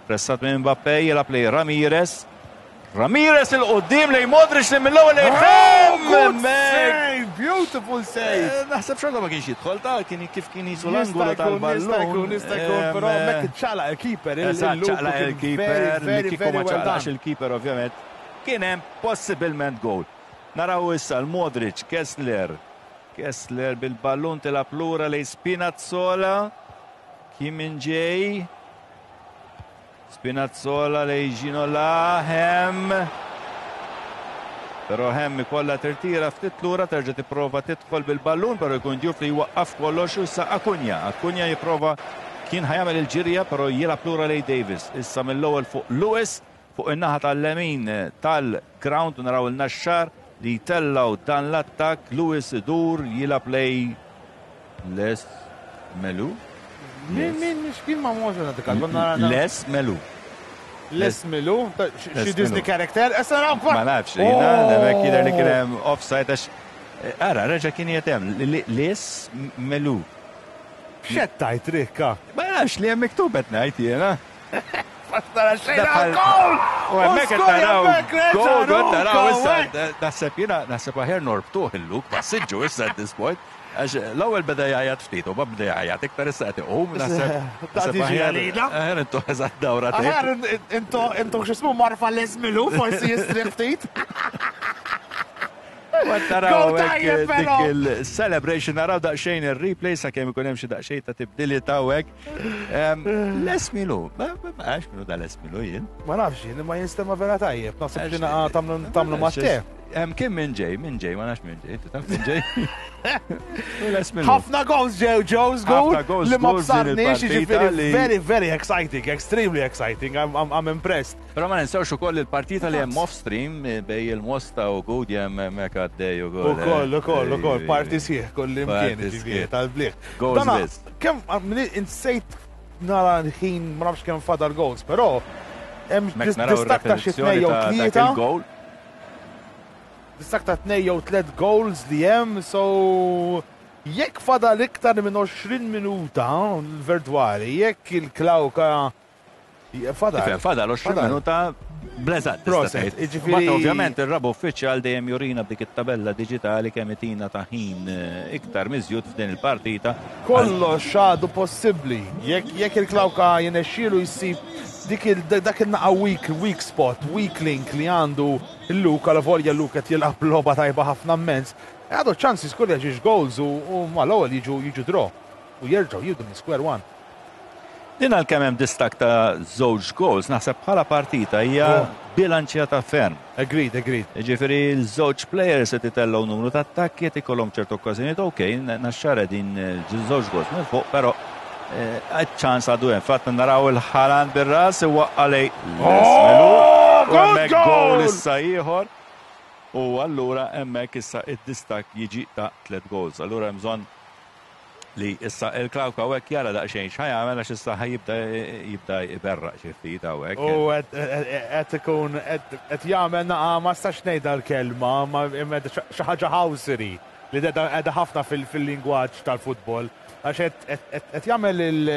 pressat minn Mbappe, jilgħab lejn Ramirez. Ramirez 'il quddiem lejn Modric li mill-ewwel lejn Oh, good hemmhekk. save! Beautiful save! Eh, Naħseb xorta ma kienx jidħol ta' kien kif kien jisu Jista' l-angolu jkun, jista' tal-ballun. jkun, jista' jkun, Em, però hemmhekk iċċaqlaq il-keeper. Eżatt, ċaqlaq il-keeper, li kieku ma ċaqlaqx il-keeper ovvjament. Kien hemm possibilment goal. Naraw issa l-Modric, Kessler. Kessler bil-ballun tilgħab lura lejn Spinazzola. Kim min ġej? Spinazzola lejn Ginola, Hem. Però Hem ikolla tirtira ftit lura, terġa' tipprova tidħol bil-ballun, però jkun Diouf li jwaqqaf kollox u issa Akunja. Akunja jipprova kien ħa jagħmel il-ġirja, però jilgħab lura lejn Davis. Issa mill-ewwel fuq Lewis, fuq in-naħa tal-lemin tal-ground naraw il-Naxxar li jtellaw dan l-attak. Lewis idur jilgħab lejn Les Melu. Min, min, x'kien ma mhux għandek għal Les Melu. Les Milu, ta- xi Les Disney Milu. character, issa naraw. Ma nafx, jiena, hemmhekk jidher li kien hemm offside għax ara, reġa' kien jetem, Les Melu. X'qed tgħid, Rikka? Ma nafx li hemm miktub qed ngħid jiena. Tara xejn Daħal- gol! U hemmhekk qed naraw gol, gol naraw issa. Naħseb jiena, naħseb aħjar norbtuh il-Luk, ma siġġu issa at this point. Għax l-ewwel beda jgħajjat ftit u ma beda jgħajjat iktar, issa qed iqum, naħseb. Ta' Naħseb tiġi aħjar għalina. aħjar intu eżatt dawra Aħjar intu intu x'ismu marfa Les Milu, forsi jistrieħ ftit. Naraw Goal hekk tajjeb, dik però. il-celebration, naraw daqsxejn il-replay sakemm ikun hemm xi daqsxejn ta' tibdili ta' hekk. Les Milu, ma ma għax minnu da Les Milu jien. Ma nafx jien, ma jinstema vera tajjeb. Naħseb xi naqa tagħmlu tagħmlu matte. Hemm kien minn ġej, minn ġej, ma nafx minn ġej, taf minn ġej. U Les Milu. Ħafna goals ġew ġew żgur Ħafna goals li ma żgur din bsarniex, il-partita jiġifieri li- very, very exciting, extremely exciting. I'm, I'm, I'm impressed. Però ma ninsewx ukoll il-partita li hemm off stream eh, bejn il-Mosta u Gudja hemmhekk għaddej ukoll. Ukoll, ukoll, ukoll, parti sieħ, kull imkien, Parti ġifieri, sħiħ. tal-bliħ. Goals Dana, biss. kemm, insejt nara l-ħin, ma nafx kemm fadal goals, però hemm Mek naraw distak ta' xi tnejn ir-repetizzjoni jew ta' dak tlieta, il-goal. Distak ta' tnejn jew tliet goals li hemm, so jekk fadal iktar minn għoxrin minuta virtuali, jekk il-Klawka fadal. Ifhem, fadal għoxrin Fadal. Minuta bleżat. Proset, jiġifieri- Mbagħad ovvjament ir-raba' uffiċjal dejjem jurina b'dik it-tabella diġitali kemm itina ta' ħin eh, iktar miżjud f'din il-partita. Kollox għadu possibbli. Jekk jekk il-Klawka jirnexxielu jsib dik il dak il-naqa weak, weak spot, weak link li għandu il-Luka, la volja Luka qed jilgħab logħba tajba ħafna immens. Għadu ċans jiskorja żewġ goals u mal-ewwel jiġu jiġu draw u jerġgħu jibdu minn square one. Din għalkemm hemm distakk ta' żewġ goals, naħseb bħala partita hija Oh. bilanċjata ferm. Agreed, agreed. Ġifieri l-żewġ players qed itellgħu numru ta' attakki, qed ikollhom ċertu okkażjonijiet, ok, Naxxar din żewġ goals minn fuq, però ċans għadu hemm. Fatt naraw il-Haaland bir-ras iwaqqa' lejn Oh, u good hemmhekk goal goal! issa ieħor. U allura hemmhekk issa id-distakk jiġi ta' tliet goals. Allura hemm bżonn li issa il-Klawka hawnhekk jara daqsxejn x'ħa jagħmel, għax issa ħa jibda jibda jberraq xi ftit hawnhekk. U qed ikun qed jagħmel naqa, ma stax ngħidha l-kelma, ma imma xi ħaġa housery li qiegħda ħafna fil-lingwaġġ tal-futbol. Għax qed jagħmel il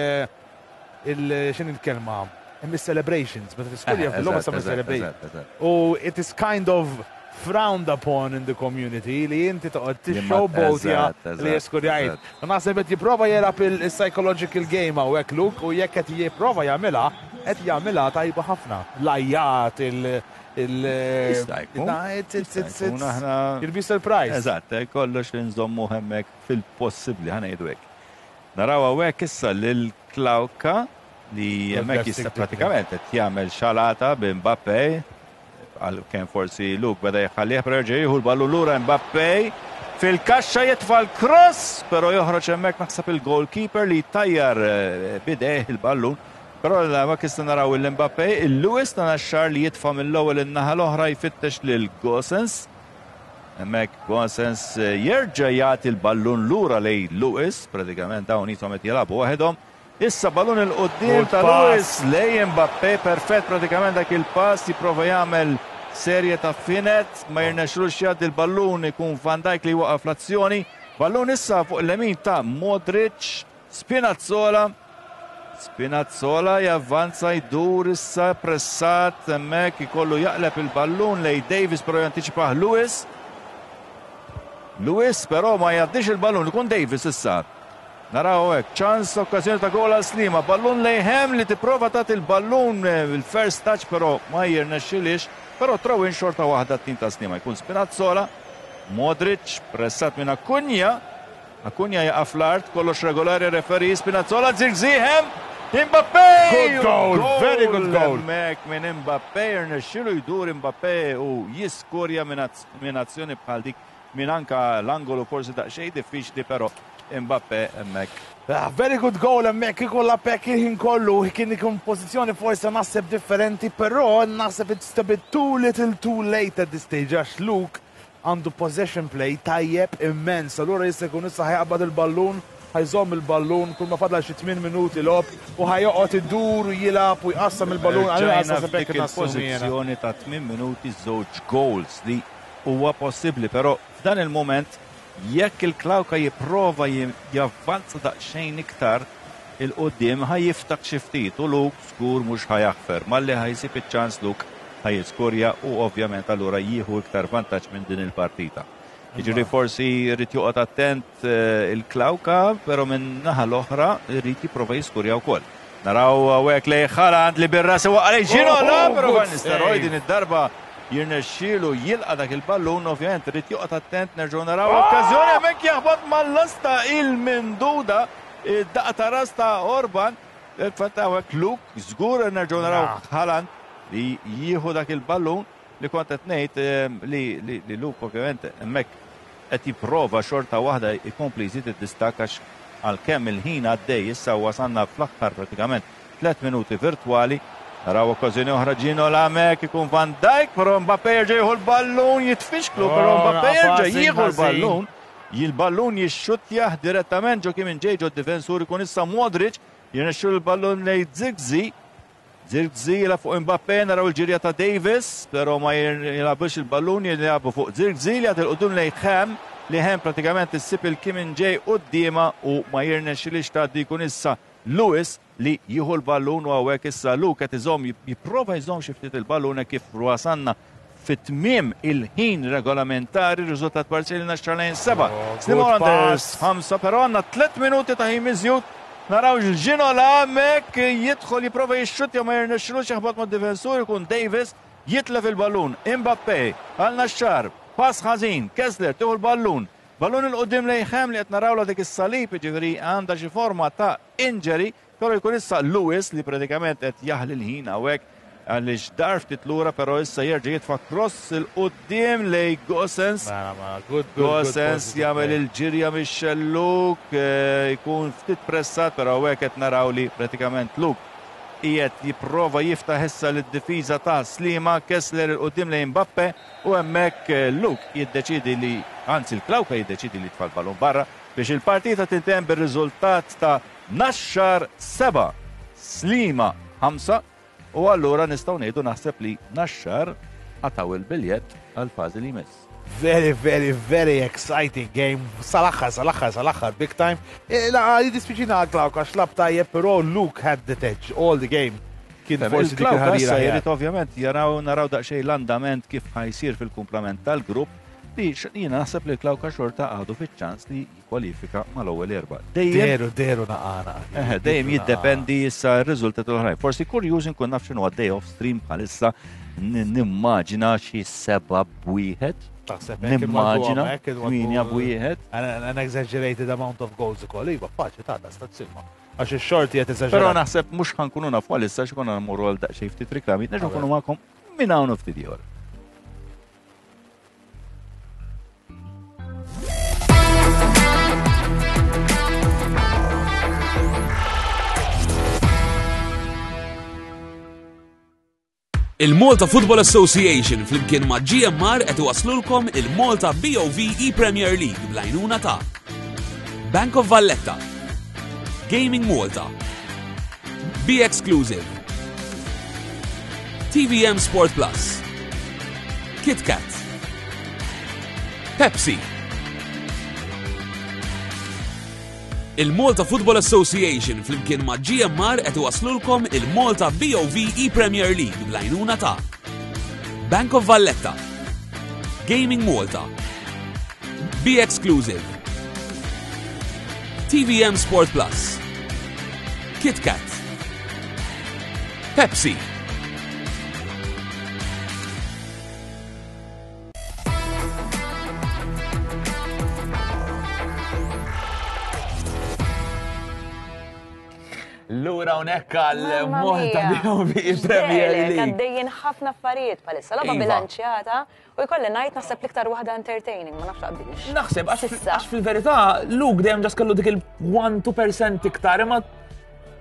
il x'inhi il-kelma? Hemm celebrations, meta tiskurja fil-logħba sa celebration. U it is kind of frowned upon in the community li inti toqgħod tixxowboatja li jeskurjajt. U naħseb qed jipprova jilgħab il-psychological game hawnhekk Luke, u jekk qed jipprova jagħmilha, qed jagħmilha tajba ħafna. L-ajjat, il- il- Jista' jkun. Jista' jkun, aħna- You'll be surprised. Eżatt, eh, kollox li nżommu hemmhekk fil-possibbli, ħa ngħidu hekk. Naraw hawnhekk issa lil Klawka li hemmhekk jista' pratikament qed jagħmel xalata bi Mbappe, għal kemm forsi Luke beda jħallih, però jerġa' jieħu l-ballu lura Mbappe fil-kaxxa, jitfa' l-cross, però joħroġ hemmhekk naħseb il-goalkeeper li tajjar eh, bidejh il-ballun. Però ma kista naraw il-Mbappe, il-Lewis ta' Naxxar li jitfa' mill-ewwel in-naħa l-oħra, jfittex lil Gosens. Hemmhekk Gosens eh, jerġa' jagħti l-ballun lura lejn Lewis, pratikament dawn qishom qed jilagħbu waħedhom. Issa ballun 'il quddiem Good ta' pass. Lewis lejn Mbappe, perfett pratikament dak il-pass, jipprova jagħmel serje ta' finet, ma jirnexxilux jgħaddi l-ballun, ikun Van Dijk li waqaf l-azzjoni. Ballun issa fuq il-lemin ta' Modric, Spinazzola. Spinazzola javvanza, jdur issa pressat hemmhekk, ikollu jaqleb il-ballun lejn Davis, però jantiċipah Lewis. Lewis però ma jgħaddix il-ballun, ikun Davis issa. Naraw hekk, ċans, okkażjoni ta' gol għal Sliema, ballun lejn Hem li tipprova tagħti il-ballun eh, il-first touch, però ma jirnexxilix, però throw-in xorta waħda t-tim ta' Sliema. Jkun Spinazzola, Modric pressat minn Acuna, Acuna jaqa' fl-art, kollox regolari referee, Spinazzola, Zirkzee, Hem, Mbappe! Good goal, very good goal. Hemmhekk minn Mbappe, irnexxilu jdur Mbappe u jiskurja minn azz- minn azzjoni bħal dik, minn anka l-angolu forsi daqsxejn diffiċli, però Mbappe hemmhekk. Ah, very good goal hemmhekk, ikolla pek il-ħin kollu, kien ikun pożizzjoni forsi naħseb differenti, però naħseb it's a bit too little too late at this stage, għax Luke għandu possession play tajjeb immens, allura jista' jkun issa ħa jaqbad il-ballun, ħa jżomm il-ballun, kull ma fadla xi tmien minuti logħob u ħa joqgħod idur u jilgħab u jqassam il-ballun, għalina Ġajna naħseb f'dik hekk nassumi jiena. il-pożizzjoni ta' tmien minuti, żewġ goals li huwa possibbli, però f'dan il-moment jekk il-Klawka jipprova jim- javvanza daqsxejn iktar 'il quddiem, ħa jiftaħ xi ftit u Luke żgur mhux ħa jaħfer. Malli ħa jsib iċ-ċans Luke ħa jiskurja u ovvjament allura jieħu iktar vantaġġ minn din il-partita. Jiġifieri forsi jrid joqgħod attent eh, il-Klawka, però minn naħa l-oħra jrid jipprova jiskurja wkoll. Naraw hawnhekk lejn Haaland li bir-ras waqqa lejn Ginola, Oh, però good Van Nistelrooy save. din id-darba jirnexxielu jilqa' dak il-ballun, ovvjament irid joqgħod attent, nerġgħu naraw okkażjoni hemmhekk, jaħbad mal-lasta il-minduda, id-daqqa ta' ras ta' Orban. Fatt hawnhekk Luke żgur, nerġgħu naraw Haaland li jieħu dak il-ballun li kont qed ngħid eh, li li li Luke ovvjament hemmhekk qed jipprova xorta waħda jkompli jżid id-distakk, għax għalkemm il-ħin għaddej, issa wasanna fl-aħħar pratikament tliet minuti virtwali. Naraw okkażjoni oħra, Ginola hemmhekk, ikun Van Dijk, però Mbappe jerġa' jieħu l-ballun, jitfixklu, però Oh, Mbappe jerġa' passing jieħu ħażin. l-ballun. Il-ballun jixxuttjah direttament ġo kien ġej ġo difensur, ikun issa Modric, jirnexxu l-ballun lejn Zirkzee. Zirkzee jilgħab fuq Mbappe, naraw il-ġirja ta' Davis, però ma jilgħabux il-ballun, jilgħabu fuq Zirkzee li jagħti 'l quddiem lejn Hem, li Hem pratikament issib il-Kim ġej quddiema u ma jirnexxilix tgħaddi, jkun issa Lewis li jieħu l-ballun u hawnhekk issa Luke qed iżomm, jipprova jżomm xi ftit il-ballun hekk kif wasanna fit-tmiem il-ħin regolamentari, riżultat parzjali Naxxar Lions seba', Oh, Sliema good Wanderers pass. ħamsa, però għandna tliet minuti ta' ħin miżjud. Naraw il-Ginola hemmhekk jidħol, jipprova jixxuttja, ma jirnexxilux, jaħbad ma' difensur, ikun Davis jitlef il-ballun. Mbappe għal Naxxar, pass ħażin, Kessler tieħu l-ballun. Ballun 'il quddiem lejn Ham li qed narawla dik is-salib, jiġifieri għandha xi forma ta' injury, però jkun issa Lewis li pratikament qed jaħli l-ħin hawnhekk għaliex dar ftit lura, però issa jerġa' jitfa' cross 'il quddiem lejn Gosens. Mela, mela, good, good, good Gosens positive jagħmel play. il-ġirja mix-xelluk, eh, jkun ftit pressat, però hawnhekk qed naraw li pratikament Luke qiegħed jipprova jiftaħ issa lid-difiża ta' Sliema, Kessler 'il quddiem lejn Mbappe u hemmhekk eh, Luke jiddeċidi li, anzi l-Klawka jiddeċidi li jitfa' l-ballun barra biex il-partita tintemm bir-riżultat ta' Naxxar seba', Sliema ħamsa, u allura nistgħu ngħidu naħseb li Naxxar qatgħu il-biljett għal fażi li jmiss. Very, very, very exciting game. Sal-aħħar, sal-aħħar, sal-aħħar, big time. Eh, La, jiddispjaċina Klawka, għax lagħab tajjeb, però Luke had the edge all the game. Kien forsi dik Il-Klawka il-ħarira issa ħjar. jrid ovvjament jaraw naraw daqsxejn l-andament kif ħa jsir fil-kumplament tal-grupp li x- jiena naħseb li l-Klawka xorta għadu fiċ-ċans li jikkwalifika mal-ewwel erba'. Dejjem Deru, deru naqana. Eħe, dejjem jiddependi issa r-riżultat l-oħrajn. Forsi kurjuż inkun naf x'inhu għaddej off stream bħalissa n- nimmaġina xi seba' b'wieħed. Taħseb hekk Nimmaġina inwaddu hekk inwaddu- tmienja b'wieħed. An, an exaggerated amount of goals ukoll. Iva, faċli ta' stazzilma. Għax ix-xorti qed Però eżaġerat. naħseb mhux ħa nkunu nafu għalissa x'konna nmorru għal daqsxejn ftit riklami, nerġgħu nkunu magħkom minn hawn u ftit ieħor. Il-Malta Football Association flimkien ma' G M R qed iwaslulkom il-Malta B O V E-Premier League bl-għajnuna ta' Bank of Valletta, Gaming Malta, Be Exclusive, T V M Sport Plus, KitKat, Pepsi. Il-Malta Football Association flimkien ma' G M R qed iwaslulkom il-Malta B O V E-Premier League bl-għajnuna ta' Bank of Valletta, Gaming Malta, Be Exclusive, T V M Sport Plus, KitKat, Pepsi. Lura hawnhekk għal Mamma Malta mia. B O V Premier X'delek, League. għaddejjin ħafna affarijiet bħalissa, logħba Iva. bilanċjata u jkolli ngħid naħseb l-iktar waħda entertaining, ma nafx taqbilx. Naħseb, għax S'issa. għax fil-verità, Luke dejjem just kellu dik il-one-two percent iktar, imma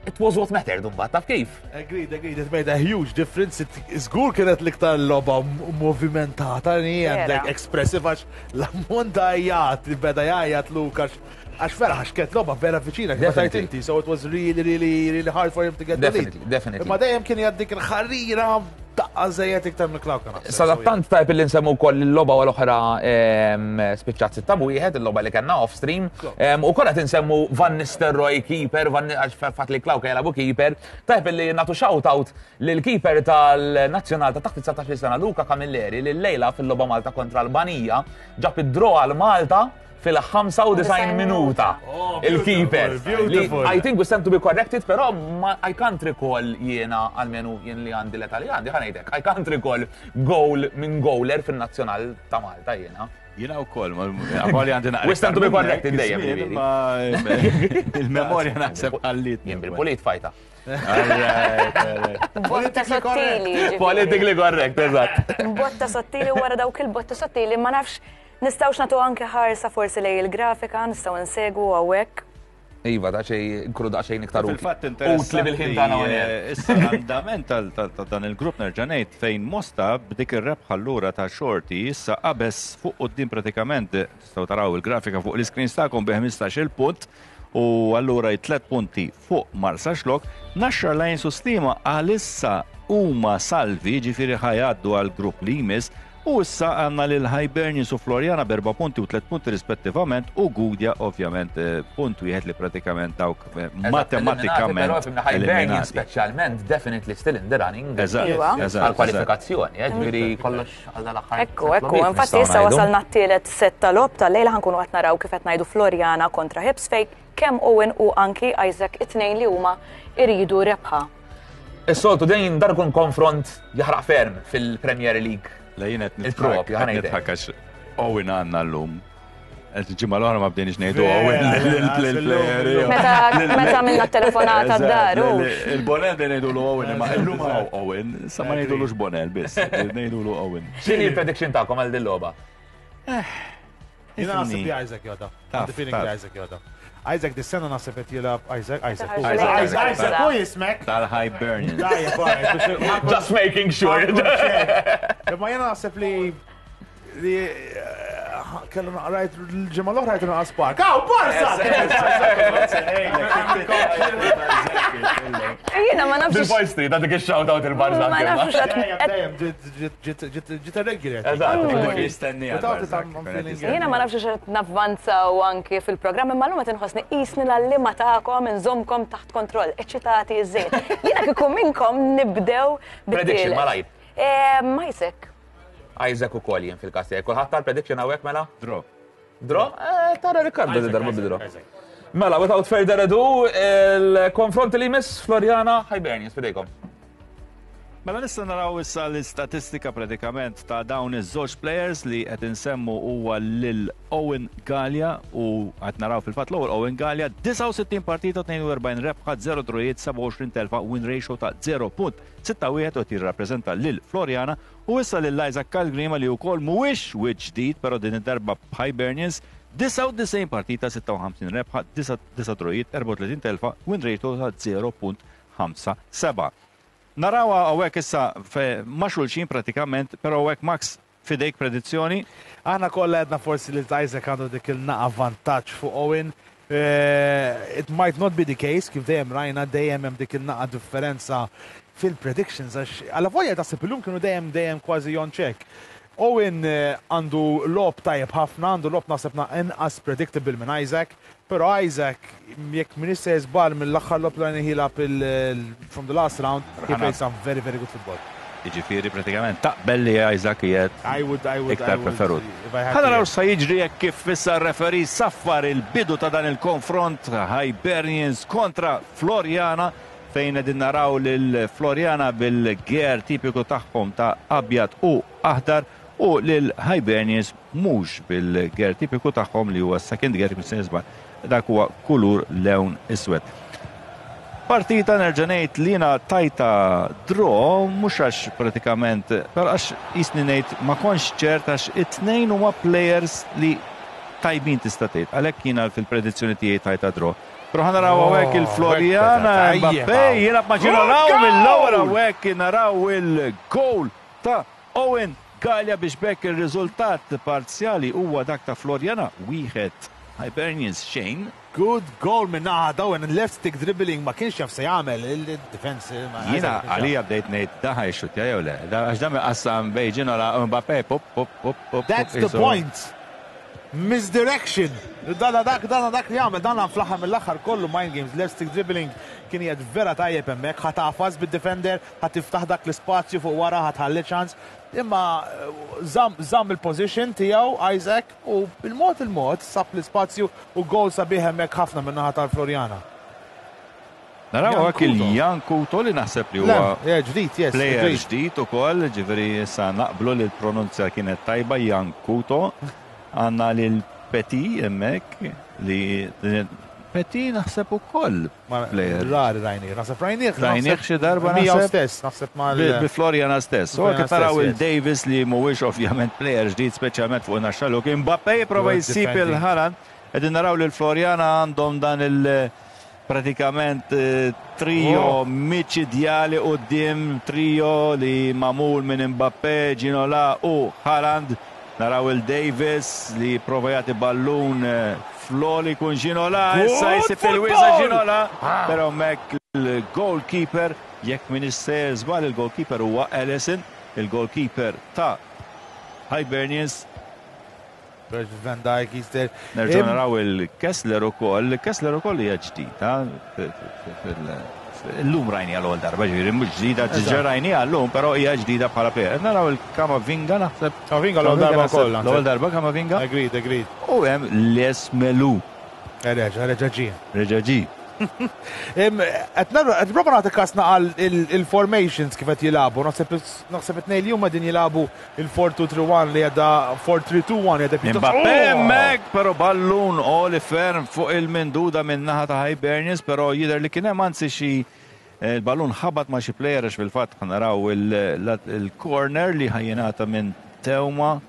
it was what mattered mbagħad, taf kif? Agreed, agreed. It made a huge difference. It- Żgur kienet l-iktar logħba movimentata li Vera. għandek expressive għax l-ammont ta' għajat li beda jgħajat Luke għax għax vera għax kienet logħba vera viċina kif tajt Definitely. inti. So it was really, really, really hard for him to get the lead. Definitely, definitely. Imma dejjem kien jgħaddik il-ħarira daqqa żejjed iktar minn Klawka naħseb. Sadattant tajb li nsemmu wkoll il-logħba u l-oħra em, spiċċat sitta b'wieħed, il-logħba li kellna off stream. Em, U kollha tinsemmu Van Nistelrooy keeper, Van għax fatt li Klawka jilagħbu keeper. Tajb li nagħtu shout out lil keeper tal-nazzjonal ta' taħt dsatax-il sena Luca Camilleri li llejla fil-logħba Malta kontra Albanija ġab id-draw għal Malta fil-ħamsa u disgħin minuta. Oh, Il-keeper. beautiful, Li beautiful. I think we stand to be corrected, però ma, I can't recall jiena, almenu jien li għandi l-età li għandi, ħa ngħidlek, I can't recall goal minn goaler fin-nazzjonal ta' Malta jiena. Jiena wkoll, għali għandi naqra. We stand to be corrected dejjem, ġifieri. Ma il-memorja naħseb għallit. Jien bil-pulit fajta. Botta sottili. ġifieri. Politically correct, eżatt. Botta sottili wara dawk il-botta sottili ma nafx nistgħux nagħtu anke ħarsa forsi lejn il-grafika, nistgħu nsegwu hawnhekk. Iva, da xej, nkunu da xejn iktar utli. Fil-fatt Utli bil-ħin tagħna interessanti, hawnhekk. eh, issa l-andament tal- tal- ta' dan il-grupp nerġa' ngħid fejn Mosta b'dik ir-rebħa allura ta' Xorti issa qabeż fuq quddiem pratikament, eh, tistgħu taraw il-grafika fuq l-iscreen tagħkom bi ħmistax-il punt u allura tliet punti fuq Marsaxlokk. Naxxar Lions u Sliema għalissa huma salvi, ġifieri ħa jgħaddu għal grupp li jmiss. U issa għandna lil Hibernians u Floriana b'erba' punti u tliet punti rispettivament u Gudja ovvjament eh, punt wieħed li pratikament dawk eh, matematikament Però fimna Hibernian eliminati. speċjalment definitely still in the running. Eżatt, Iva. eżatt, Għal-kwalifikazzjoni, eh, ġifieri kollox għal dal-aħħar. Ekku, ekku, infatti issa wasalna t-tielet set tal-logħob tal-lejla, ħa nkunu qed naraw kif qed ngħidu Floriana kontra Hibs fejn kemm Owen u anki Isaac it-tnejn li huma iridu rebħa. Is-soltu dejjem dar ikun konfront jaħraq ferm fil-Premier League. La jien qed Il-propju, nidħak ħa ngħidlek. nidħak għax Owen għandna llum. Ġimgħa l-oħra ma bdejniex ngħidu Owen l-player. Meta meta għamilna telefonata d-dar. Il-Bonel bdejna ngħidulu Owen, imma illum hawn Owen, sa ma ngħidulux Bonel biss, ngħidulu Owen. X'inhi l-prediction tagħkom għal din logħba? Jiena naħseb li Isaac joda. Għandi feeling li Isaac joda. Isaac dis-sena naħseb qed jilgħab Isaac, Isaac. Isaac, Isaac, u jismek. Tal-Hibernians. Just making sure. Imma jiena naħseb li li kellu naqrajt l-ġimgħa l-oħra jtu naqas park. Aw, Barca! Jiena ma nafx. Bil-Boy Street, għadik il-shout out il-Barca. Ma nafx. Ġiet irregular. Jiena ma nafx x'qed navvanzaw anki fil-programm, imma llum qed inħossni qisni l-għalliema tagħkom inżommkom taħt kontroll, eċċitati iż-żejt. Jiena kieku minnkom nibdew Prediction, malajr. Isaac. Isaac u kol jien fil-kas tiegħi. Kulħadd tal-prediction hawnhekk mela? Draw. Draw? Tara Riccardo di darba bi draw. Mela, without further ado, il-konfront li jmiss Floriana Hibernians fidejkom. Mela nista' naraw issa l-istatistika pratikament ta' dawn iż-żewġ players li qed insemmu huwa lil Owen Gallia u qed naraw fil-fatt l-ewwel Owen Gallia disgħa u sittin partita, tnejn u erbgħin rebħa, żero drojiet, sebgħa u għoxrin telfa, win ratio ta' zero punt sitta wieħed u qed jirrappreżenta lil Floriana u issa lil Isaac Calgrima li wkoll mhuwiex wiċċ ġdid però din id-darba b'Hibernians disgħa u disgħin partita, sitta u ħamsin rebħa, disa' drojiet, erbgħa u tletin telfa, win ratio ta' zero punt ħamsa seba'. Narawa hawnhekk issa ma' xulxin pratikament, però hawnhekk Max fidejk predizzjoni. Aħna kollha għedna forsi li Isaac għandu dik il-naqa vantaġġ fuq Owen. It might not be the case, kif dejjem rajna dejjem hemm dik il-naqa differenza fil-predictions għax alla volja taħseb illum kienu dejjem dejjem kważi on check. Owen għandu lob tajjeb ħafna, għandu lob naħseb inqas predictable minn Isaac, però Isaac jekk min issa żball mill-aħħar lob li jilgħab from the last round, he played some very very good football. Jiġifieri pratikament taqbel li Isaac qiegħed I would, I would, iktar I would, preferut. if I had Ħa naraw to, sa jiġri jekk kif issa r-referee saffar il-bidu ta' dan il-konfront Hibernians kontra Floriana fejn qegħdin naraw lil Floriana bil-gear tipiku tagħhom ta' abjad u aħdar u lil Hibernians mhux bil-gear tipiku tagħhom li huwa second gear kif se nisba' dak huwa kulur lewn iswed. Partita nerġa' ngħid li jiena tajta draw mhux għax pratikament, però għax jisni ngħid ma kontx ċert għax it-tnejn huma players li tajbin tista' tgħid. Għalhekk jiena fil-predizzjoni tiegħi tajta draw. Però ħa naraw hawnhekk il-Floriana, oh, Mbappé jilgħab ma' Ġino mill-ewwel hawnhekk naraw il-goal ta' Owen Gallia biex bekk ir-riżultat parzjali huwa dak ta' Floriana wieħed Hibernians xejn. Good goal minn naħa Owen, left stick dribbling ma kienx jaf se jagħmel il-defense. Jiena għalija bdejt ngħid da ħa jxuttja jew le. Għax dan qassam bejn Ġinola u Mbappé pop pop pop pop. That's the point. Misdirection. Dana dak, dana dak li jagħmel, dana fl-aħħar mill-aħħar kollu mind games, left stick dribbling kien jgħid vera tajjeb hemmhekk, ħa tagħfas bid-defender, ħa tiftaħ dak l-ispazju fuq wara, ħa tħalli ċans. Imma żamm il-position tiegħu Isaac u bil-mod il-mod sab l-ispazju u goal sabiħ hemmhekk ħafna minn naħa tal-Floriana. Naraw hekk il-Jan Kuto li naħseb li huwa ġdid, yes, player ġdid ukoll, ġifieri issa naqblu li l-pronunzja kienet tajba Jan Kuto. Għandna lil Petit hemmhekk li Petit naħseb ukoll player. Rari rajnih, naħseb rajnih. Rajnih xi darba Miegħu naħseb. stess, naħseb mal Bi Floriana stess. U Floriana kif naraw stess, il-Davis li mhuwiex ovvjament player ġdid speċjalment fuq naxxaluk. Mbappé jipprova Good jsib defending. il-Haaland. Qegħdin naraw lil Floriana għandhom dan il- pratikament trio Oh. miċidjali quddiem, trio li magħmul minn Mbappé, Ginola u Haaland. Naraw il-Davis li prova jagħti ballun floli kun Ginola, issa Good jsib il-wiesa football! Ginola, però hemmhekk il-goalkeeper, jekk min issejjer żball il-goalkeeper huwa Ellison, il-goalkeeper ta' Hibernians. Virgil van Dijk, he's there. Nerġgħu naraw il-Kessler ukoll, Kessler ukoll hija ġdida Illum rajni għal darba, ġifieri mhux ġdida, ġiġa rajni għallum, però hija ġdida bħala player. Naraw il-Kamavinga naħseb. Kamavinga l-ewwel darba wkoll. L-ewwel darba Kamavinga. Agreed, agreed. U hemm Les Melu. Reġa, reġa ġi. Reġa ġi. Qed nipprova nagħti kasna għal il-formations kif qed jilagħbu. Naħseb it-tnejn li huma din jilagħbu il-four two three one li għadha four three two one li għadha pjuttost. Mbappé hemmhekk, però ballun għoli ferm fuq il-minduda minn naħa ta' Hibernians, però jidher li kien hemm anzi xi il-ballun ħabat ma' xi player għax fil-fatt naraw il-corner li ħajjingħata minn Teuma.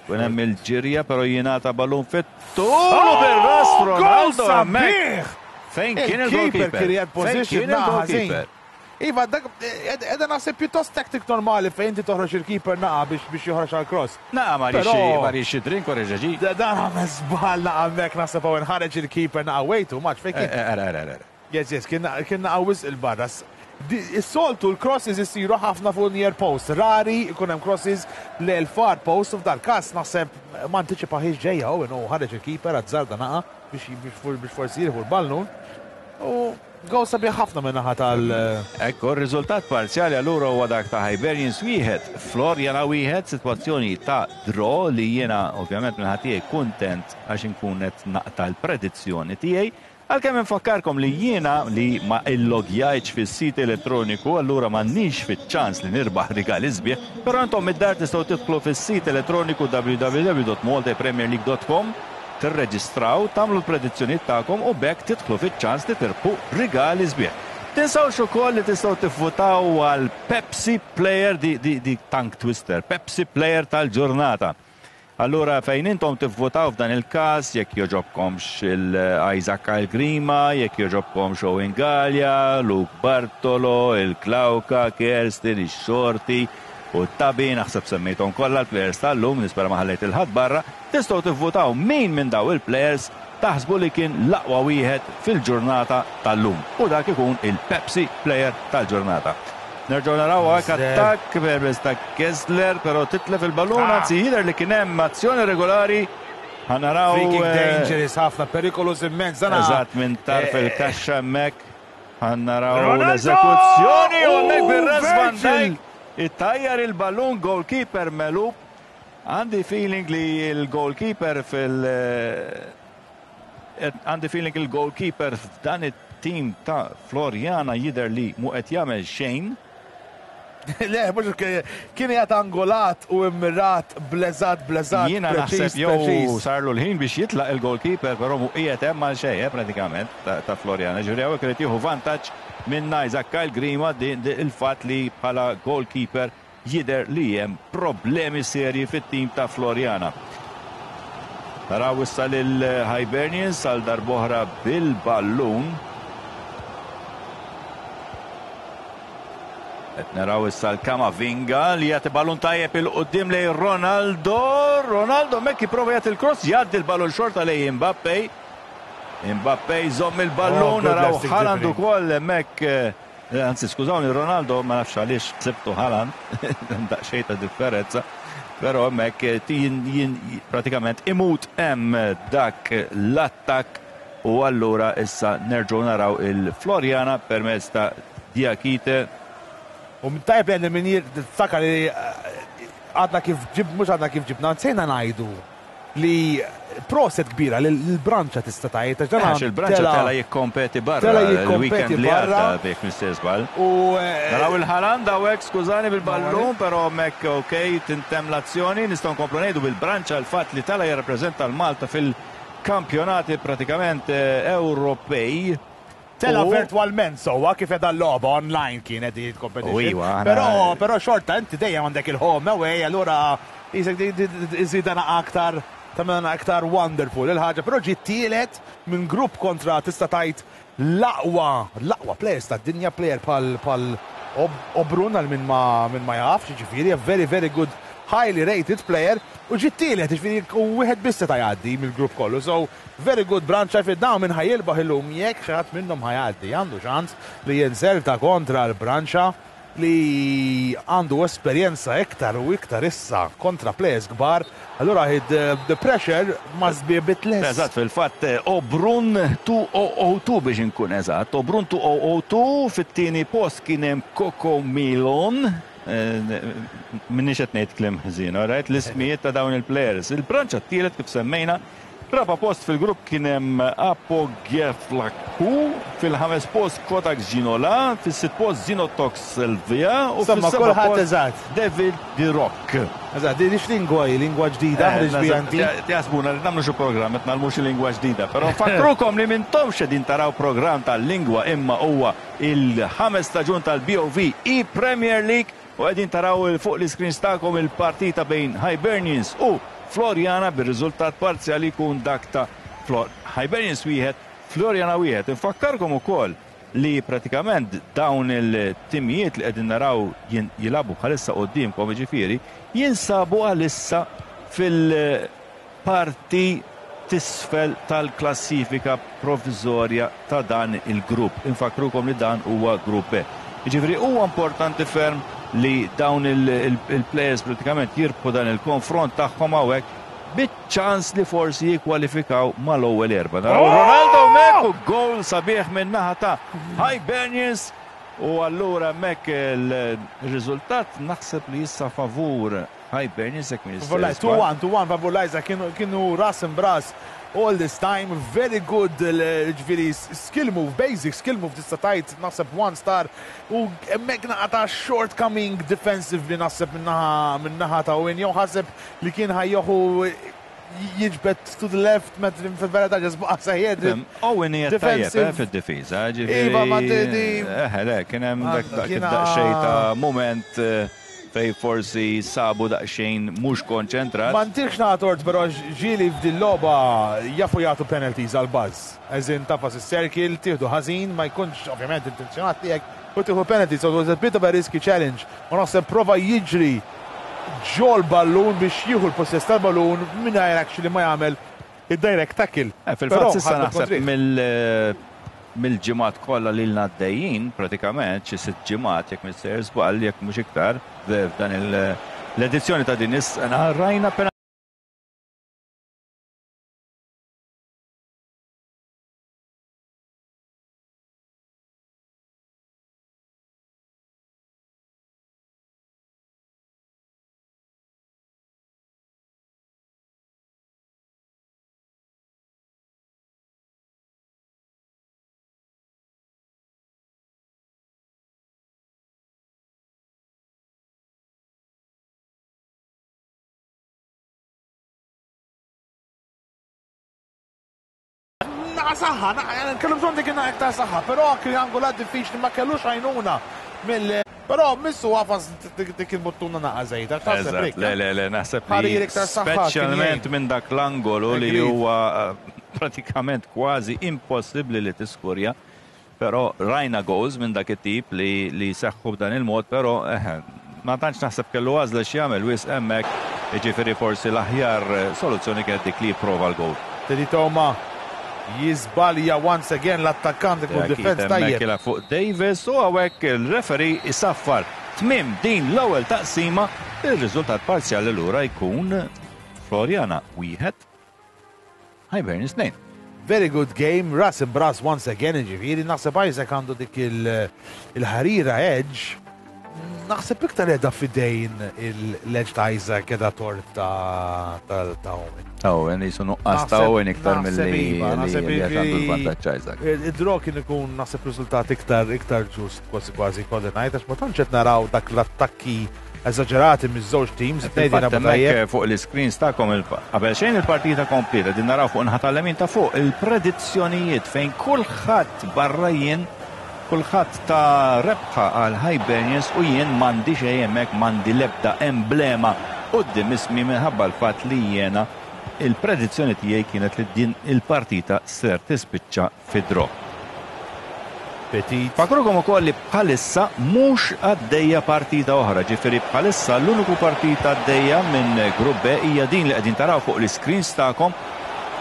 Kien hemm il-ġirja, però jingħata ballun fit-tul u bir-ras Ronaldo hemmhekk. Fejn kien il-goalkeeper? Fejn kien il-goalkeeper? Iva, dak edha naħseb pjuttost tactic normali fejn inti toħroġ il-keeper naqa biex biex joħroġ għall-cross. Naqa ma rix xi drink u reġa' ġi. Dan għamel żball naqa hemmhekk naħseb hawn inħareġ il-keeper naqa way too much fejn kien. Ara, ara, ara. Yes, yes, kien naqa wisq il-barra. Is-soltu l-crosses isiru ħafna fuq near post. Rari ikun hemm crosses lejn far post u f'dal każ naħseb ma antiċipaħiex ġejja u ħareġ il-keeper azzarda naqa biex biex forsi jieħu l-ballun. U goal sabiħ ħafna minn naħa tal. Ekku, r-riżultat parzjali allura huwa dak ta' Hibernians wieħed, Floriana wieħed, sitwazzjoni ta' draw li jiena ovvjament minn ħadd tiegħi kuntent għax inkun qed naqta' l-predizzjoni tiegħi. Għalkemm infakkarkom li jiena li ma illogjajtx fis-sit elettroniku, allura m'għandniex fiċ-ċans li nirbaħ rigali sbieħ, però intom id-dar tistgħu tidħlu fis-sit elettroniku w w w dot malta premier league dot com, tirreġistraw, tagħmlu l-predizzjonijiet tagħkom u bekk tidħlu fiċ-ċans li tirbħu rigali sbieħ. Tinsawx ukoll li tistgħu tivvutaw għal Pepsi Player di, di, di Tank Twister, Pepsi Player tal-ġurnata. Allura fejn intom tivvutaw f'dan il-każ, jekk joġobkomx il-Isaac Kyle Grima, jekk joġobkomx Owen Gallia, Luke Bartolo, il-Klauka, Kerstin, ix-Xorti u t-Tabi, naħseb semmejthom kollha l-players tal-lum, nispera ma ħallejt il-ħadd barra, tistgħu tivvutaw min minn daw il-players taħsbu li kien l-aqwa wieħed fil-ġurnata tal-lum. U dak ikun il-Pepsi Player tal-ġurnata. Nerġgħu naraw hekk attakk permezz ta' Kessler, però titlef il-ballun, anzi jidher li kien hemm azzjoni regolari. Ħa naraw, Free kick dangerous ħafna, perikolus immens. Eżatt minn tarf il-kaxxa hemmhekk. Ħa naraw l-eżekuzzjoni u hemmhekk bir-ras Van Dijk ittajjar il-ballun, goalkeeper melub. Għandi feeling li l-goalkeeper fil- għandi feeling il-goalkeeper f'dan it-team ta' Floriana jidher li mu qed jagħmel xejn. Le, mhux kien qiegħed angolat u immirat, bleżat, bleżat. Jiena naħseb jew sarlu l-ħin biex jitlaq il-goalkeeper, però mu qiegħed hemm għal xejn, pratikament ta' Floriana. Ġifieri hawnhekk irid jieħu vantaġġ minn Isaac Kyle Grima il-fatt li bħala goalkeeper jidher li hemm problemi serji fit-tim ta' Floriana. Naraw issa lil Hibernians għal darb'oħra bil-ballun. Qed naraw issa l-Kamavinga li jagħti ballun tajjeb il quddiem lejn Ronaldo. Ronaldo hemmhekk jipprova jagħti il-cross, jgħaddi l-ballun xorta lejn Mbappé. Mbappé jżomm il-ballun, naraw Haaland ukoll hemmhekk, anzi skużawni, Ronaldo ma nafx għaliex ksibtu Haaland, daqsxejn ta' differenza, però hemmhekk jien pratikament imut hemm dak l-attakk u allura issa nerġgħu naraw il-Floriana permezz ta' Diakite. U tajb li min jiftakar li għadna kif ġib, mhux għadna kif ġibna, nsejna ngħidu li proset kbira li l-branċa tista' tgħid, għax dan Għax il-branċa tela jikkompeti barra, tela jikkompeti il-weekend li barra. għadda, jekk mister żball. U, naraw il-Haaland hawnhekk, skużani bil-ballun, però hemmhekk ok, tintem l-azzjoni, nistgħu nkomplu ngħidu bil-branċa l-fatt li tela jirrappreżenta l-Malta fil-kampjonati pratikament Ewropej. Tela U virtualment sowa kif edha l-logħba online kienet di competition. U iwa, aħna Però, però xorta inti dejjem għandek il-home away, allura isek di-, di-, di-, iżidana aktar, tagħmilna aktar wonderful il-ħaġa, però ġiet tielet minn grupp kontra tista' tgħid l-aqwa, l-aqwa players tad-dinja, player pal, pal Ob-, Obrun għal min ma, min ma jafx, jiġifieri, a very, very good, highly rated player, u ġiet tielet, jiġifieri, u wieħed biss seta' jgħaddi mill-grupp kollu. So, very good branċa fi dawn minn ħajilbaħ illum jekk xi ħadd minnhom ħajgħaddi, għandu ċans li jinserta kontra l-branċa li għandu esperjenza iktar u iktar issa kontra players kbar, allura the, the pressure must be a bit less. Eżatt, fil-fatt, Obrun two oh oh two biex inkun eżatt. Obrun two oh oh two fit-tieni post kien hemm Coco Milon. Minnix qed ngħid kliem ħażin, all right? L-ismijiet ta' dawn il-players. Il-branċa t-tielet kif semmejna, Raba post fil-grupp kien hemm Apogeflaku, fil-ħames post Kodak Ginola, fis-sitt post Zinotox Selvia u fis-seba' post David Di Rock. Eżatt, di x'lingwa hi, lingwa ġdida ħriġt biha inti? Jaħsbuna li nagħmlu xi programm qed nagħmlu xi lingwa ġdida, però nfakkrukom li m'intomx qegħdin taraw programm tal-lingwa imma huwa il-ħames staġun tal-B O V E-Premier League u qegħdin taraw fuq l-iscreens tagħkom il-partita bejn Hibernians u Floriana bir-riżultat parzjali jkun dak ta' Hibernians wieħed, Floriana wieħed. Infakkarkom ukoll li pratikament dawn il-timijiet li qegħdin naraw jilagħbu bħalissa quddiemkom, jiġifieri jinsabu għalissa fil-parti t'isfel tal-klassifika provviżorja ta' dan il-grupp. Infakkrukom li dan huwa grupp B. Jiġifieri huwa importanti ferm li dawn il-players pratikament jirbħu dan il-konfront tagħhom hawnhekk biċ-ċans li forsi jikkwalifikaw mal-ewwel erba'. Naraw Ronaldo hemmhekk u goal sabiħ minn naħa ta' Hibernians u allura hemmhekk il-riżultat naħseb li issa favur Hibernians jekk minn two one, two one favur Isaac, kienu ras imb'ras all this time, very good, ġifieri skill move, basic skill move tista' tgħid, naħseb one star u hemmhekk naqa ta' shortcoming defensively naħseb min-naħa ta' Owen, jew ħaseb li kien ħa jieħu jiġbed to the left, met fil-verità ġas baqa' sejjer. Owen hija tajjeb eh, fid-difiża, ġifieri. Iva, ma di. Eh, le, kien hemm dak daqsxejn ta' moment eh, fej forsi sabu daqsxejn mhux konċentrat. Ma ntihx tort, però ġieli f'dil logħba jafu jagħtu penalties għal buzz. Eżin tagħfas is-circle, tieħdu ħażin, ma jkunx ovvjament intenzjonat tiegħek u tieħu penalty, so it was a bit of a risky challenge. U naħseb prova jiġri ġol ballun biex jieħu l-possess tal-ballun mingħajr actually ma jagħmel id-direct tackle. Eh, fil-fatt issa naħseb mill mill-ġimgħat kollha li għaddejjin, pratikament xi sitt ġimgħat jekk m'iniex żball, jekk mhux iktar, f'dan l-edizzjoni ta' din is-sena rajna Naqa saħħa, kellu bżonn dik iktar saħħa, però triangulat diffiċli, ma kellux għajnuna mill. Però missu għafas dik il-buttuna naqa żejda. Le, le, le, naħseb li speċjalment minn dak l-angolu li huwa eh, pratikament kważi impossibbli li tiskurja. Però rajna goals minn dak it-tip li li seħħu b'dan il-mod, però eh, ma tantx naħseb kellu għażla x'jagħmel wisq hemmhekk, jiġifieri forsi l-aħjar soluzzjoni kienet dik li jipprova l-goal. Teddy Toma jiżbalja once again, l-attakkant ikun defense tajjeb. Fuq Davis u hawnhekk il-referee isaffar tmim din l-ewwel taqsima, il-riżultat parzjali lura jkun Floriana wieħed, Hibernians tnejn. Very good game, ras imb'ras once again, ġifieri, naħseb Isaac għandu dik il-ħarira edge. Naħseb iktar edha fidejn il-edge ta' Isaac edha tort ta' ta' Owen. Owen jisu nuqqas ta' Owen iktar mill-li iva, għandu l-vantaġġ Isaac. Id-draw kien ikun naħseb riżultat iktar iktar ġust kważi kważi kważi ngħid, għax ma tantx qed naraw dak l-attakki eżaġerati miż-żewġ teams. Fuq l-screens tagħkom qabel xejn il-partita kompleta din naraw fuq naħa tal-lemin ta' fuq il-predizzjonijiet fejn kulħadd barra jien, kulħadd ta rebħa għal Hibernians u jien m'għandi xejn hemmhekk, m'għandi l-ebda emblema quddiem ismi minħabba l-fatt li jiena il-predizzjoni tiegħi kienet li din il-partita ser tispiċċa fi draw. Petit. Fakkrukom ukoll li bħalissa mhux għaddejja partita oħra, ġifieri bħalissa l-uniku partita għaddejja minn Grupp B hija din li qegħdin taraw fuq l-screens tagħkom,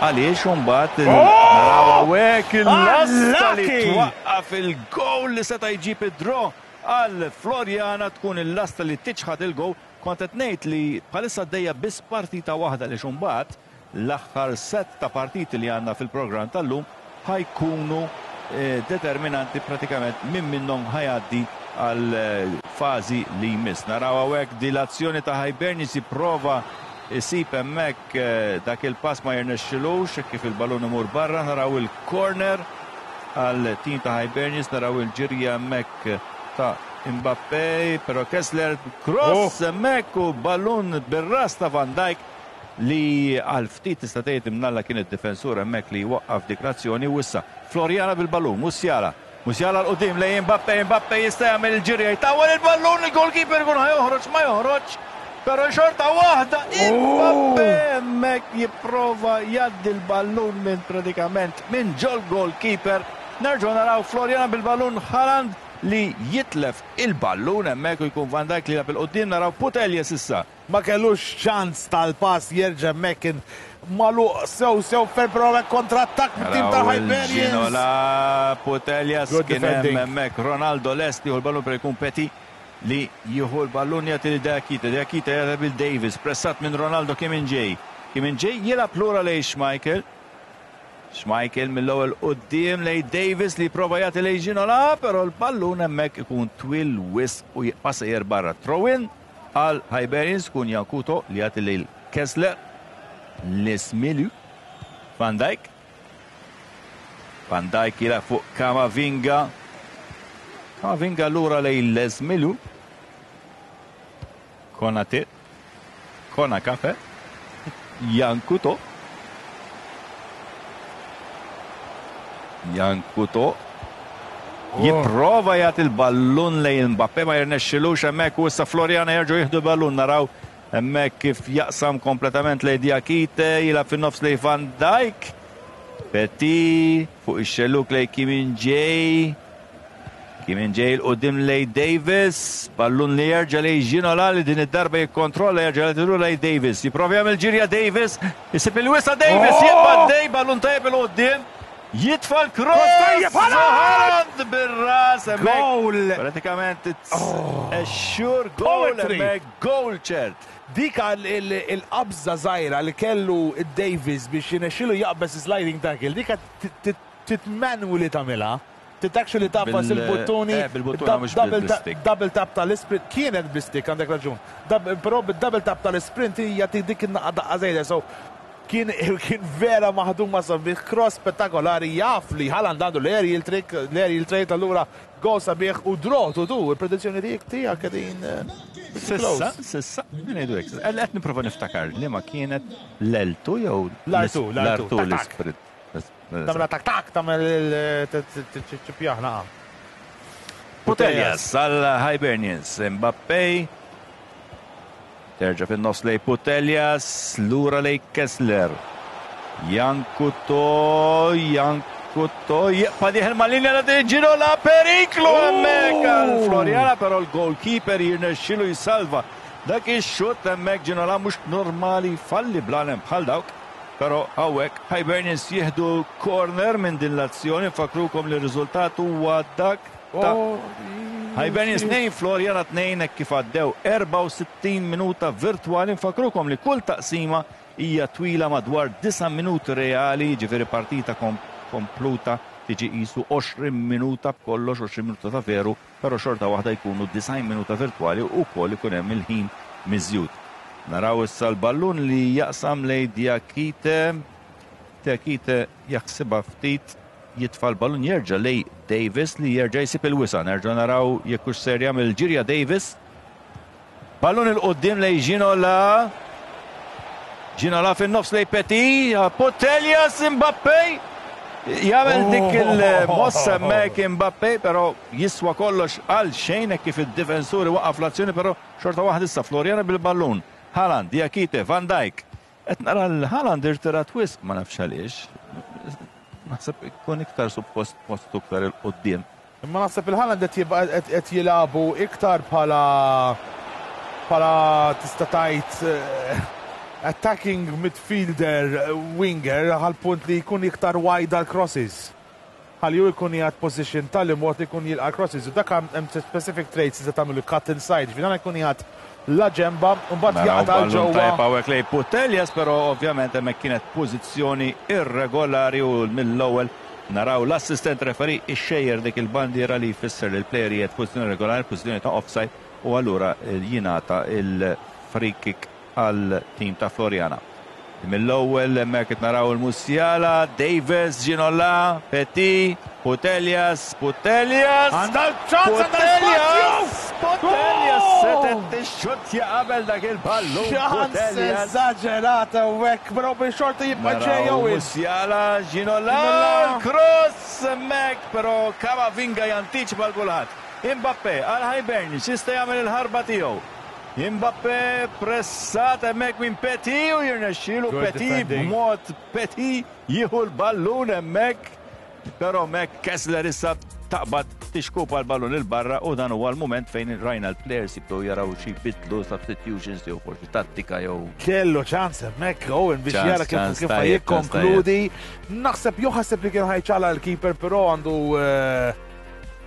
għaliex imbagħad naraw hawnhekk il-lasta li twaqqaf il-goal li seta' jġib id-draw għal Floriana, tkun il-lasta li tiċħad il-goal. Kont qed ngħid li bħalissa għaddejja biss partita waħda li imbagħad l-aħħar set ta' partiti li għandna fil-programm tal-lum ħa jkunu eh, determinanti pratikament min minnhom ħa jgħaddi għal eh, fażi li jmiss. Naraw hawnhekk dilazzjoni ta' Hibernians, jipprova Isib hemmhekk dak il-pass ma jirnexxilux kif il-ballun imur barra, naraw il-corner għal tim ta' Hibernians, naraw il-ġirja hemmhekk ta' Mbappe, però Kessler cross hemmhekk u ballun bir-ras ta' Van Dijk li għal ftit tista' tgħid imnalla kien id-difensur hemmhekk li waqqaf dik l-azzjoni. U issa Floriana bil-ballun, Musiala. Musiala l-qudiem lejn Mbappe, Mbappe jista' jagħmel il-ġirja, jtawwal il-ballun, il-goalkeeper ikun ħa joħroġ, ma joħroġ, però xorta waħda Mbappe hemmhekk jipprova jgħaddi l-ballun minn pratikament minn ġol goalkeeper. Nerġgħu naraw Floriana bil-ballun, Haaland li jitlef il-ballun hemmhekk u jkun Van Dijk li jilgħab il-qudiem. Naraw Puteljes issa. Ma kellux ċans tal-pass jerġa' hemmhekk, kien magħluq sew sew fer, però hekk kontrattakk mit-tim ta' Hibernians. Ginola, Puteljas kien hemm hemmhekk, Ronaldo lest jieħu l-ballun, per jkun Petit li jieħu l-ballun, jagħti lil Diakite, Diakite jagħti lil Davis, pressat minn Ronaldo. Kim Min-jae. Kim Min-jae jilgħab lura lejn Schmeichel. Schmeichel mill-ewwel quddiem lejn Davis li prova jagħti lejn Ginola, però l-ballun hemmhekk ikun twil wisq u jibqa' sejjer barra. Throw-in għal Hibernians, kun Jankuto li jagħti lejn Kessler, Lees-Melou, Van Dijk. Van Dijk jilgħab fuq Camavinga. Camavinga lura lejn Lees-Melou. Konate. Kona Kafe. Jankuto. Jankuto. Jipprova jagħti l-ballun lejn Mbappe, ma jirnexxilux hemmhekk u issa Floriana jerġgħu jieħdu l-ballun. Naraw hemmhekk kif jaqsam kompletament lejn Diakite, jilgħab fin-nofs lejn Van Dijk. Petit fuq ix-xelluk lejn Kim Min-jae. Kim Min-jae 'l quddiem lejn Davis, ballun li jerġa' lejn Ginola li din id-darba jikkontrolla, jerġa' lejn lejn Davis. Jipprova jagħmel ġirja Davis, isib il-wisa Davis, jibqa' dej, ballun tajjeb 'il quddiem. Jitfa' l-cross! Haaland bir-ras hemmhekk. Goal! Pratikament it's a sure goal hemmhekk, goal ċert. Dik il-qabża żgħira li kellu Davis biex jinexxilu jaqbeż sliding tackle, dik titmanu li tagħmilha. Titactually tafas il-buttuni, double tap tal-sprint, kienet bl-stick, għandek raġun. Però bid-double tap tal-sprint hija dik in-naqqa daqqa żejda, so kien vera maħdum ma' sabiħ, cross spettakolari, jaf li Haaland għandu l-aerial trick, l-aerial trade, allura goal sabiħ u draw to two, il-predizzjoni tiegħek tiegħek qegħdin Sissa, sissa, ngħidu hekk. Qed nipprova niftakar li ma kienet l-L two jew l-R two, l-R two l-sprint. Tagħmel tak tak, tagħmel il-ċipjaħna. Puteljas għal Hibernians, Mbappe. Terġa' fin-nofs lejn Puteljas, lura lejn Kessler. Jankuto, Jankuto, jibqa' dieħel mal-linja ta' Ginola, periklu hemmhekk għal Floriana, però l-goalkeeper jirnexxilu jsalva. Dak ix-xutt hemmhekk Ginola mhux normali falli blanem bħal dawk. Però hawnhekk Hibernians jieħdu corner minn din l-azzjoni, nfakrukom li r-riżultat huwa dak ta' Hibernians tnejn, Floriana tnejn, hekk kif għaddew erbgħa u sittin minuta virtwali. Nfakrukom li kull taqsima hija twila madwar disa' minuti reali, jiġifieri partita kompluta tiġi qisu għoxrin minuta b'kollox, għoxrin minuta ta' veru, però xorta waħda jkunu disgħin minuta virtwali u wkoll ikun hemm il-ħin miżjud. Naraw issa l-ballun li jaqsam lejn Diakite. Diakite jaħsibha ftit, jitfa' l-ballun, jerġa' lejn Davis li jerġa' jsib il-wisa. Nerġa' naraw jekk hux ser jagħmel ġirja Davis. Ballun il-qudiem lejn Ginola. Ginola fin-nofs lejn Petit, Puteljas, Mbappe. Jagħmel dik il-mossa hemmhekk Mbappe, però jiswa kollox għal xejn hekk kif id-difensuri waqaf l-azzjoni, però xorta waħda issa Floriana bil-ballun. Haaland, Diakite, Van Dijk. Qed nara l-Haaland irtirat wisq, ma nafx għaliex. Naħseb ikun iktar suppost postu iktar il-qudiem. Imma naħseb il-Haaland qed jibqa' qed jilagħbu iktar bħala bħala tista' tgħid attacking midfielder winger għal punt li jkun iktar wide għal crosses. Ħalli hu jkun jgħad position tal mod li jkun jilqa' crosses. U dak hemm specific traits li tagħmlu cut inside. Ġifieri dan jkun jgħad la ġemba, u mbagħad Naraw jaqta' ballun ġewwa. tajjeb hawnhekk lejn Puteljas, però ovvjament hemmhekk kienet pożizzjoni irregolari u mill-ewwel naraw l-assistent referee ixxejjer dik il-bandiera li jfisser li l-player qiegħed pożizzjoni regolari, pożizzjoni ta' offside, u allura jingħata il-free kick għal tim ta' Floriana. Mill-ewwel hemmhekk qed naraw il-Musiala, Davis, Ginola, Petit, Putellas, Putellas. Għandha ċans, għandha Putellas! Putellas Goal! setet tixxuttja qabel dak il-ballun. Ċans Putellas. eżaġerata u hekk, però bil-xorti jibqa' ġej Naraw Owen. Musiala, Ginola, Ginola. cross hemmhekk, però Camavinga jantiċipa l kulħadd. Mbappé għal Hibernians jista' jagħmel il-ħarba tiegħu. Mbappé pressat hemmhekk minn Petit u jirnexxielu Good Petit defending. b'mod Petit jieħu l-ballun hemmhekk. Però hemmhekk Kessler issa taqbad tixkupa l-ballun il-barra u dan huwa l-mument fejn rajna l-players jibdew jaraw xi bidlu substitutions jew forsi tattika jew Kellu ċans hemmhekk Owen biex Ċans, jara kif ċans kif tajjeb, jikkonkludi. Naħseb jew ħaseb li kien ħajċala l-keeper, però għandu eh,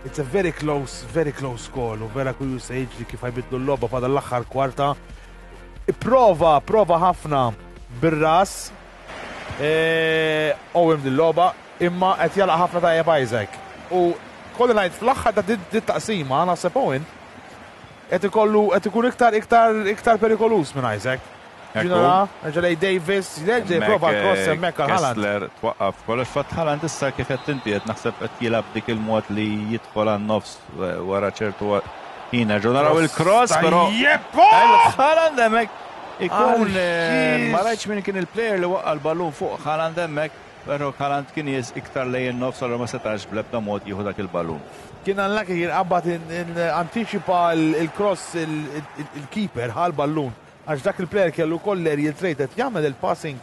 it's a very close, very close call u vera kurju se jiġri kif ħajbidlu l-logħba fada l-aħħar kwarta. Prova, prova ħafna bir-ras eh, Owen dil-logħba imma qed jalaq ħafna tajjeb Isaac. U kolli ngħid fl-aħħar ta' dit dit taqsima naħseb Owen qed ikollu qed ikun iktar iktar iktar perikoluż minn Isaac. Ekku. Ginola, ġelej Davis, jerġa' jipprova l-cross hemmhekk għal Haaland. Kessler twaqqaf kollox fatt Haaland issa kif qed inti qed naħseb qed jilgħab dik il-mod li jidħol għan-nofs eh, wara ċertu ħin. Nerġgħu naraw il-cross però Tajjeb! Haaland hemmhekk ikun Għal eh, ma xiex! rajtx min kien il-player li waqqa l-ballun fuq Haaland hemmhekk, però Haaland kien jes iktar lejn in-nofs allura ma setax bl-ebda mod jieħu dak il-ballun. Kien unlucky kien qabad anticipa il-cross il-keeper ħal ballun. Għax dak il-player kellu koll aerial trait qed jagħmel il-passing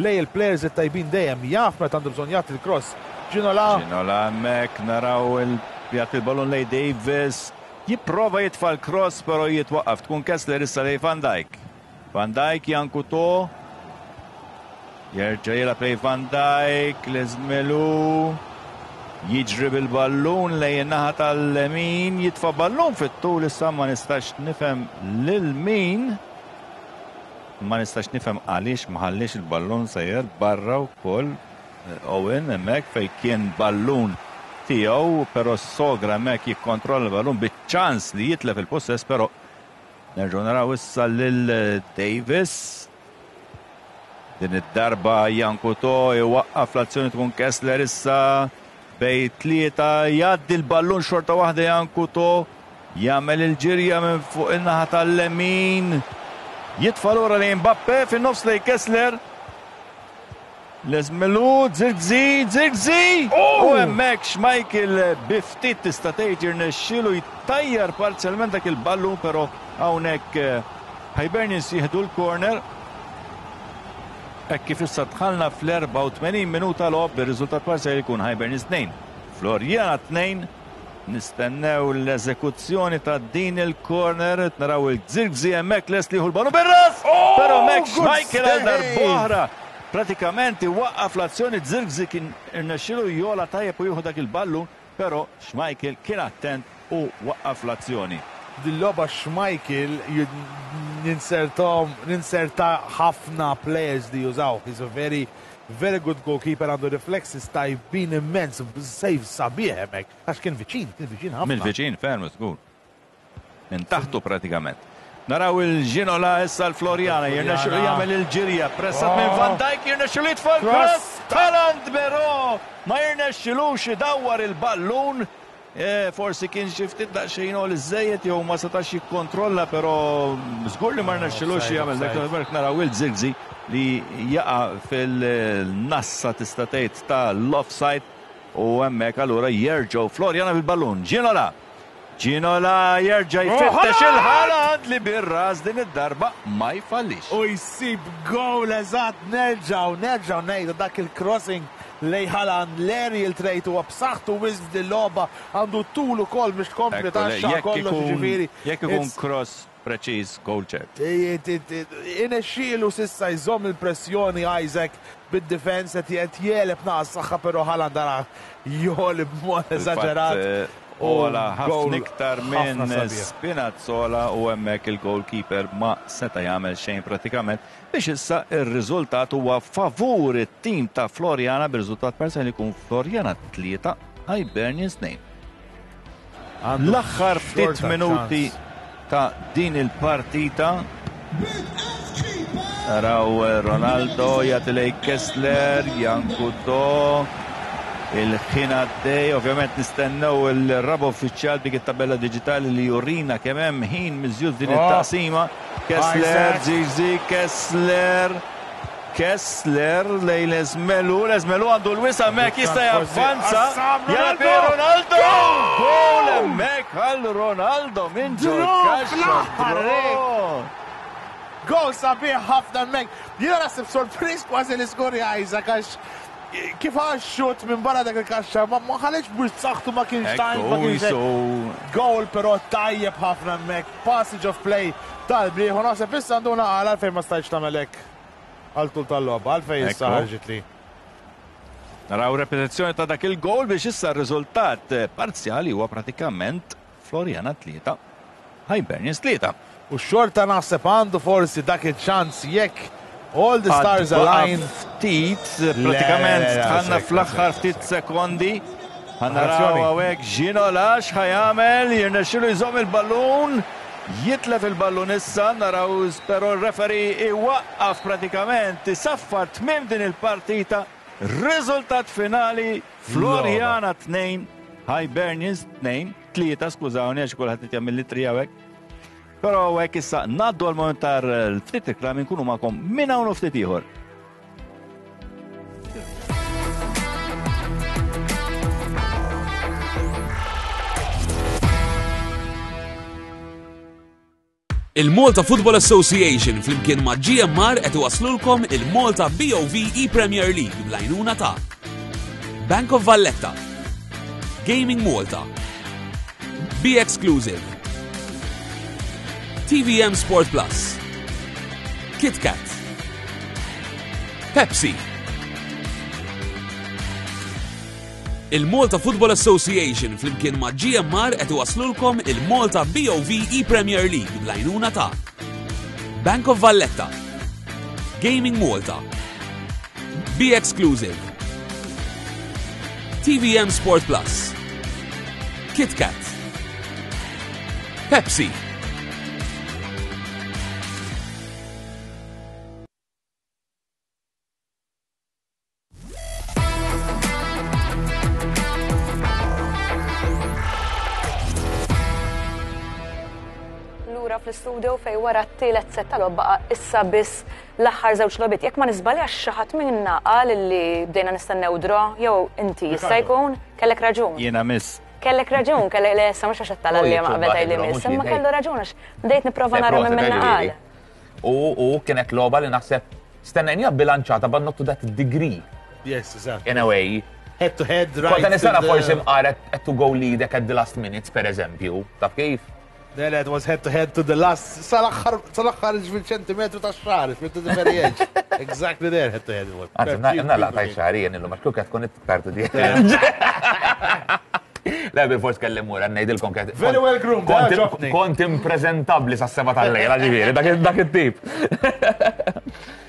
lej il-players it-tajbin dejjem jaf meta għandu bżonn jagħti il-cross. Ginola Ginola hemmhekk naraw il jagħti il-ballun lej Davis. Jipprova jitfa' l-cross però jitwaqqaf. Tkun Kessler issa lej Van Dijk. Van Dijk Jankuto. Jerġa' jilgħab lej Van Dijk, Leżmelu. Jiġri bil-ballun lejn in-naħa tal-lemin, jitfa' ballun fit-tul issa ma nistax nifhem lil min. Ma nistax nifhem għaliex ma ħalliex il-ballun sejjer barra wkoll Owen hemmhekk fejn kien ballun tiegħu, però sogra hemmhekk jikkontrolla l-ballun biċ-ċans li jitlef il-possess, però nerġgħu naraw issa lil Davis. Din id-darba Jankuto iwaqqaf l-azzjoni tkun Kessler issa bej tlieta jgħaddi l-ballun xorta waħda Jankuto jagħmel il-ġirja minn fuq in-naħa tal-lemin. Jitfa' lura lejn Mbappe fin-nofs lejn Kessler. Leżmelu, Zirkzee, Zirkzee! U hemmhekk Schmeichel bi ftit tista' tgħid jirnexxielu jtajjar parzjalment dak il-ballun, però hawnhekk eh, Hibernians jieħdu l-corner. Hekk kif issa dħalna fl-erbgħa u tmenin minuta logħob bir-riżultat parzjali jkun Hibernians tnejn, Floriana tnejn. Nistennew l-eżekuzzjoni ta' din il-corner, naraw il-Zirkzee hemmhekk lest li jieħu l-ballun bir-ras! Però hemmhekk good Schmeichel għal save! darb'oħra pratikament iwaqqaf l-azzjoni. Zirkzee kien irnexxielu jola tajjeb u jieħu dak il-ballun, però Schmeichel kien attent u waqqaf l-azzjoni. Dil-logħba Schmeichel ninsertom, ninserta ħafna players li jużaw. He's a very, very good goalkeeper, għandu reflexes tajbin immens, save sabiħ hemmhekk. Għax kien viċin, kien viċin ħafna. Mill-viċin, ferm, żgur. Minn taħtu pratikament. Naraw il-Ginola issa l-Floriana, jirnexxielu jagħmel il-ġirja, pressat minn Van Dijk, jirnexxielu jitfa' l-cross, Haaland però ma jirnexxilux idawwar il-ballun. Eh, forsi kien xi ftit daqsxejn li żejjed jew ma setax jikkontrolla, però żgur li ma rnexxilux jagħmel dak il naraw il-Zirkzee li jaqa' fil-nassa tista' tgħid tal-offside u hemmhekk allura jerġgħu Floriana bil-ballun. Ginola. Ginola jerġa' jfittex il-Haaland li bir-ras din id-darba ma jfallix. U jsib goal eżatt, nerġgħu, nerġgħu ngħidu dak il-crossing lej Haaland, l-aerial trait huwa b'saħħtu wisq f'dil-logħba, għandu tul ukoll biex tkompli taxxa Jekk kollox ikun- ġifieri. Jekk ikun It's- cross preċiż, goal ċert. Inexxielu sissa jżomm il-pressjoni Isaac bid-defense qed qed jeleb naqas saħħa però Haaland dara joli b'mod eżaġerat. Ola ħafna goal iktar ħafna minn sabiħ. Spinazzola u hemmhekk il-goalkeeper ma seta' jagħmel xejn pratikament biex issa ir-riżultat huwa favur it-tim ta' Floriana bir-riżultat parzjali jkun Floriana tlieta Hibernians tnejn. Għandu L-aħħar ftit xorta minuti ċans. ta' din il-partita Naraw Ronaldo jagħti lejn Kessler, Jankuto, il-ħin għaddej, ovvjament nistennew il-raba' uffiċjal dik it-tabella diġitali li jurina kemm hemm ħin miżjud din Oh. it-taqsima. Kessler, Isaac. Zizi, Kessler, Kessler lejn Leżmelu, Leżmelu għandu l-wisa hemmhekk jista' javvanza. Assam, Jagħti Ronaldo! Ronaldo! Gol hemmhekk għal Ronaldo minn ġol Draw kaxxa. fl-aħħar, Draw! Gol sabiħ ħafna hemmhekk. Jiena naħseb sorpriż kważi li skorja Isaac għax kif għax xut minn barra dak il-kaxxa ma ma ħallex biex saħħtu ma kienx tajn, ma Ekku, kienx hekk. so Goal però tajjeb ħafna hemmhekk. Passage of play tal-brieħ u naħseb issa għanduna għal għalfejn ma stajtx tagħmel hekk għal tul tal-logħba, għalfejn issa Ekku. ħarġit li. Naraw repetizzjoni ta' dak il-gol biex issa r-riżultat parzjali huwa pratikament Floriana tlieta, Hibernians tlieta. U xorta naħseb għandu forsi dak il-ċans jekk all the stars Għad baqa' align. Ftit, pratikament le, le, tħanna sekk, fl-aħħar sekk, ftit sekondi. Ħanaraw Azzjoni. hawnhekk Gino Lax ħajamel, jirnexxilu jżomm il-ballun, jitlef il-ballun issa, naraw però r-referee iwaqqaf pratikament, isaffar tmiem din il-partita. Riżultat finali Floriana tnejn, Hibernians tnejn, tlieta skużawni għax kulħadd qed jagħmel li tri hawnhekk. Però hawnhekk issa ngħaddu għal moment tar ftit reklami nkunu magħkom minn hawn u ftit ieħor. Il-Malta Football Association flimkien ma' G M R qed iwaslulkom il-Malta B O V E-Premier League bl-għajnuna ta' Bank of Valletta, Gaming Malta, Be Exclusive, T V M Sport Plus, KitKat, Pepsi. Il-Malta Football Association flimkien ma' G M R qed iwaslulkom il-Malta B O V E-Premier League bl-għajnuna ta' Bank of Valletta, Gaming Malta, Be Exclusive, T V M Sport Plus, KitKat, Pepsi. Lura fl-istudio fej wara t-tielet set tal baqa issa biss l-aħħar żewġ logħbiet. Jekk ma niżbaljax xi ħadd minna qal li bdejna nistennew draw jew inti jista' jkun kellek raġun. Jiena miss. Kellek raġun, kellek le issa mhux għax tala li ma qabel tgħidli Mhux miss, imma jien, kellu raġun għax bdejt nipprova nara minn minna qal. U u kienet logħba li naħseb stennejnija bilanċata, but not to that degree Yes, exactly. in a way. Head to head, right. Kont nistenna to the- forsi mqaret at to go lead at the last minutes, per eżempju. Taf kif? Le, le, it was head to head to the last. Sal-aħħar, sal-aħħar fil-ċentimetru ta' xar, to the very edge. Exactly there, head to head. it was. Anzi, na laqtaj xari jen illum, għax kuk tkun iktar di. Le, bil-fors kellim mura, ngħidilkom ket. Very well groomed, Kont- eh, ġobni. Kont imprezentabli sa' seba tal-lejla, ġifieri, dak il- dak it-tip.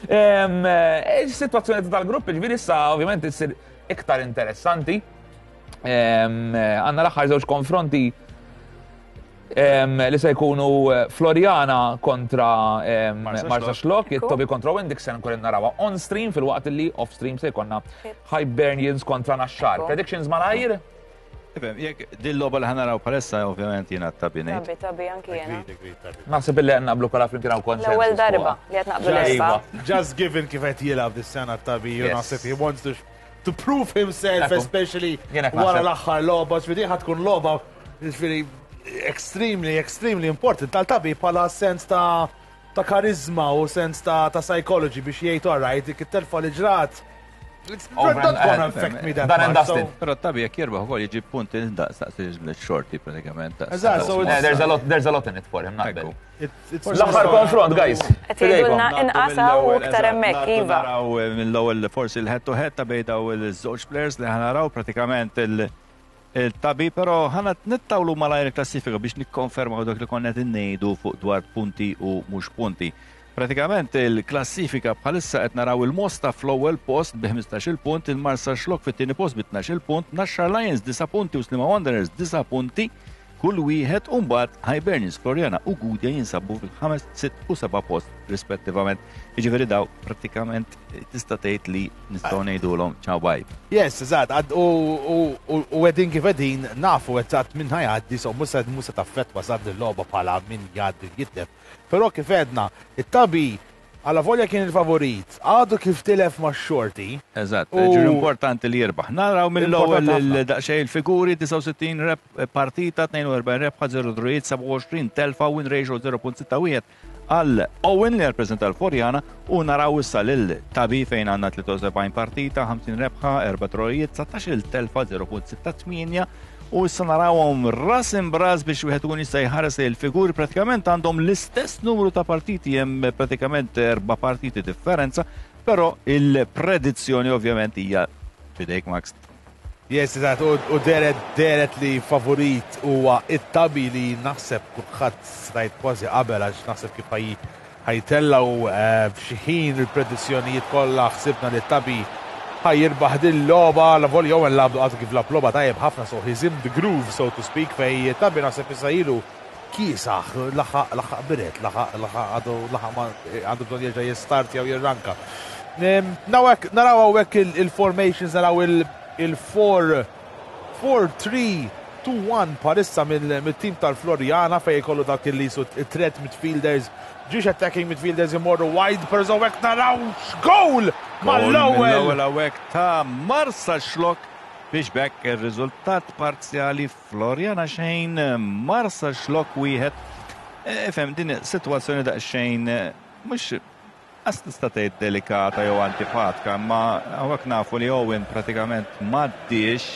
Em, eh, Situazzjoni tal-grupp, ġifieri issa, ovvjament, issir iktar interessanti. Em, eh, Għandna l-aħħar żewġ konfronti em, li se jkunu eh, Floriana kontra em, Marsa Marsa Xlokk. Xlokk, it-Tobi kontra Wendix se nkun narawha on stream fil-waqt li off stream se jkollna Hibernians kontra Naxxar. Ekku. Predictions malajr? Ifhem, jekk din logħba li ħanaraw palessa ovvjament jiena t-Tabi ngħid. Tabi, tabi, anki jiena. Agreed, agreed, tabi. Naħseb illi naqblu kollha flimkien hawn konsensus. L-ewwel darba fuqha. li qed naqblu l-erba. Iva. Just given kif qed jilgħab dis-sena tabi, you Yes. naħseb he wants to to prove himself, Ekku. especially Jien hekk wara naħseb. l-aħħar logħba, ġifieri ħa tkun logħba ġifieri extremely, extremely important tal-tabi bħala sens ta' ta' karizma u sens ta' ta' psychology biex jgħid all right, dik it-telfa li ġrat. It's Over not and- gonna affect me that Done and much. dusted. So, Però t-Tabi jekk jirbaħ ukoll jiġi punti daqs daqs il-xorti pratikament. daqs- Eżatt, so daqs- it's- Eh, There's a lot, there's a lot in it for him, naqbel. Ekku. it's, it's L-aħħar konfront, guys. Qed jgħidulna Ngħaddu inqasaw u mill-ewwel, iktar eżatt, hemmhekk, ngħaddu iva. Naraw eh, mill-ewwel forsi il-head to head ta' bejn daw il-żewġ players li ħanaraw pratikament il- il-tabi, però ħana nittawlu malajr il-klassifika biex nikkonfermaw dak li konna qed ngħidu fuq dwar punti u mhux punti. Pratikament il-klassifika bħalissa qed naraw il-Mosta fl-ewwel post bi ħmistax-il punt, il-Marsa Xlok fit-tieni post bi tnax-il punt, Naxxar Lions disa' punti u Sliema Wanderers disa' punti. kull wieħed, u mbagħad Hibernians, Floriana u Gudja jinsabu fil-ħames, sitt u seba' post rispettivament. Jiġifieri daw prattikament tista' tgħid li nistgħu ngħidulhom ciao bye. Yes, eżatt, u u qegħdin kif qegħdin nafu eżatt min ħa jgħaddi, so mhux mhux se taffettwa sad il-logħba bħala min jgħaddi jitlef. Però kif għedna, it-Tabi għala volja kien il-favorit, għadu kif tilef ma' Xorti. Eżatt, ġur importanti li jirbaħ. Naraw mill-ewwel daqsxejn il-figuri: disgħa u sittin rep partita, tnejn u erbgħin rebħa, żero drawijiet, sebgħa u għoxrin telfa, win ratio żero punt sitta wieħed għal Owen li rappresenta l-Floriana, u naraw issa lil Tabi fejn għandna tlieta u sebgħin partita, ħamsin rebħa, erba' drawijiet, dsatax telfa, żero punt sitta tmienja, u issa narawhom ras imb'ras biex wieħed ikun jista' jħares il-figuri. Pratikament għandhom l-istess numru ta' partiti, hemm pratikament erba' partiti differenza, però il-predizzjoni ovvjament hija fidejk, Max. Yes, eżatt, u dehret dehret li favorit huwa it-Tabi, li naħseb kulħadd stajt kważi qabel, għax naħseb kif ħa jtellgħu f'xi ħin il-predizzjonijiet kollha ħsibna li t-Tabi ħa jirbaħ din logħba, la volja Owen lagħab għadu kif lagħab logħba tajjeb ħafna, so he's in the groove, so to speak, fej Tabi naħseb issa ilu kiesaħ, laħaq laħaq biret, laħaq laħaq għadu laħaq għandu bżonn jerġa' jistartja u jirranka. Nawek, naraw hawnhekk il-formations, naraw il-four four three two one parissa mill-team tal-Floriana, fej kollu dak li jisu threat midfielders, ġiex attacking midfielders imorru wide, per hawnhekk naraw goal mal-ewwel. L-ewwel hawnhekk ta' Marsaxlokk, biex b'hekk ir-riżultat parzjali Floriana xejn, Marsaxlokk wieħed. Ifhem, din sitwazzjoni daqsxejn mhux għas tista' tgħid delikata jew antipatika, ma hawnhekk nafu li Owen pratikament m'għaddiex,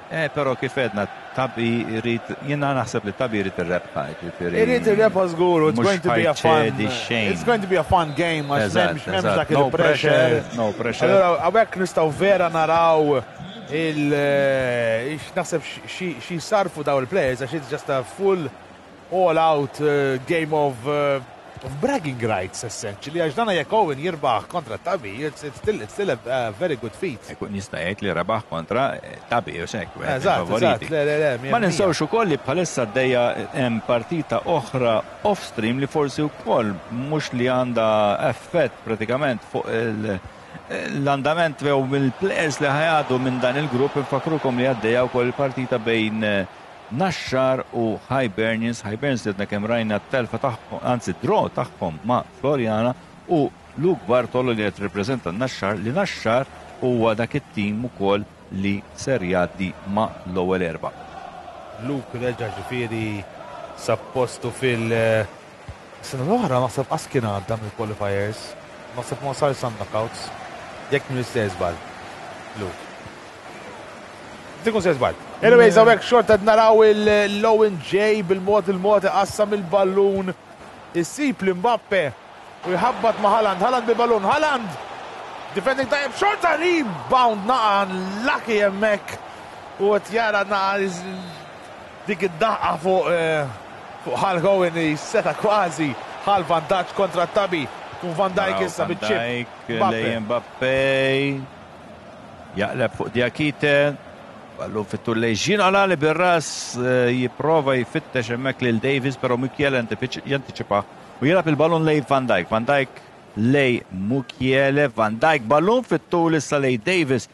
eh, però kif għedna, Tabi jrid, jiena naħseb li Tabi jrid ir-rebħa, ġifieri. Irid ir-rebħa żgur, it's going to be a fun. It's going to be a fun game għax m'hemmx m'hemmx dak il-pressure. No pressure. Allora hawnhekk nistgħu vera naraw il naħseb xi sarfu daw il-players, għax it's just a full all out uh, game of uh, of bragging rights, essentially, għax dana jekk Owen jirbaħ kontra Tabi, it's, it's still, it's still a, a very good feat. Ikun jista' jgħid li rebaħ kontra Tabi u hekk. Eżatt, eżatt, le, le, le. Ma ninsewx ukoll li bħalissa għaddejja hemm partita oħra off-stream li forsi wkoll mhux li għandha effett pratikament fuq il- l-andament jew mill-players li ħa jgħaddu minn dan il-grupp. Infakrukom li għaddejja wkoll partita bejn Naxxar u Hibernians. Hibernians li għadna kemm rajna t-telfa tagħhom, anzi draw tagħhom ma' Floriana, u Luke Bartolo li qed reprezenta Naxxar, li Naxxar huwa dak it-tim ukoll li ser jgħaddi ma' l-ewwel erba'. Luke reġa' ġifieri sappostu fil- sena l-oħra naħseb qas kien għadda mill-qualifiers. Naħseb ma sar sa knockouts. Jekk minn istess żball. Luke. Tikun se żball. Anyways, hawnhekk xorta naraw il-Owen J bil-mod il-mod qassam il-ballun. Issib l-Mbappe u jħabbat ma' Haaland. Haaland bil-ballun. Haaland! Defending tajjeb, xorta rebound naqa lucky hemmhekk. U qed jara naqa dik id-daqqa fuq fuq Hulk Owen li seta kważi ħa l-vantaġġ kontra Tabi. Kun Van Dijk issa biċ-chip. Lej Mbappe. Jaqleb fuq Diakite. Ballun fit-tul lej Ginola li bir-ras jipprova jfittex hemmhekk lil Davis, però Mukiele jantiċipa u jilgħab il-ballun lej Van Dijk. Van Dijk lej Mukiele, Van Dijk ballun fit-tul issa lej Davis.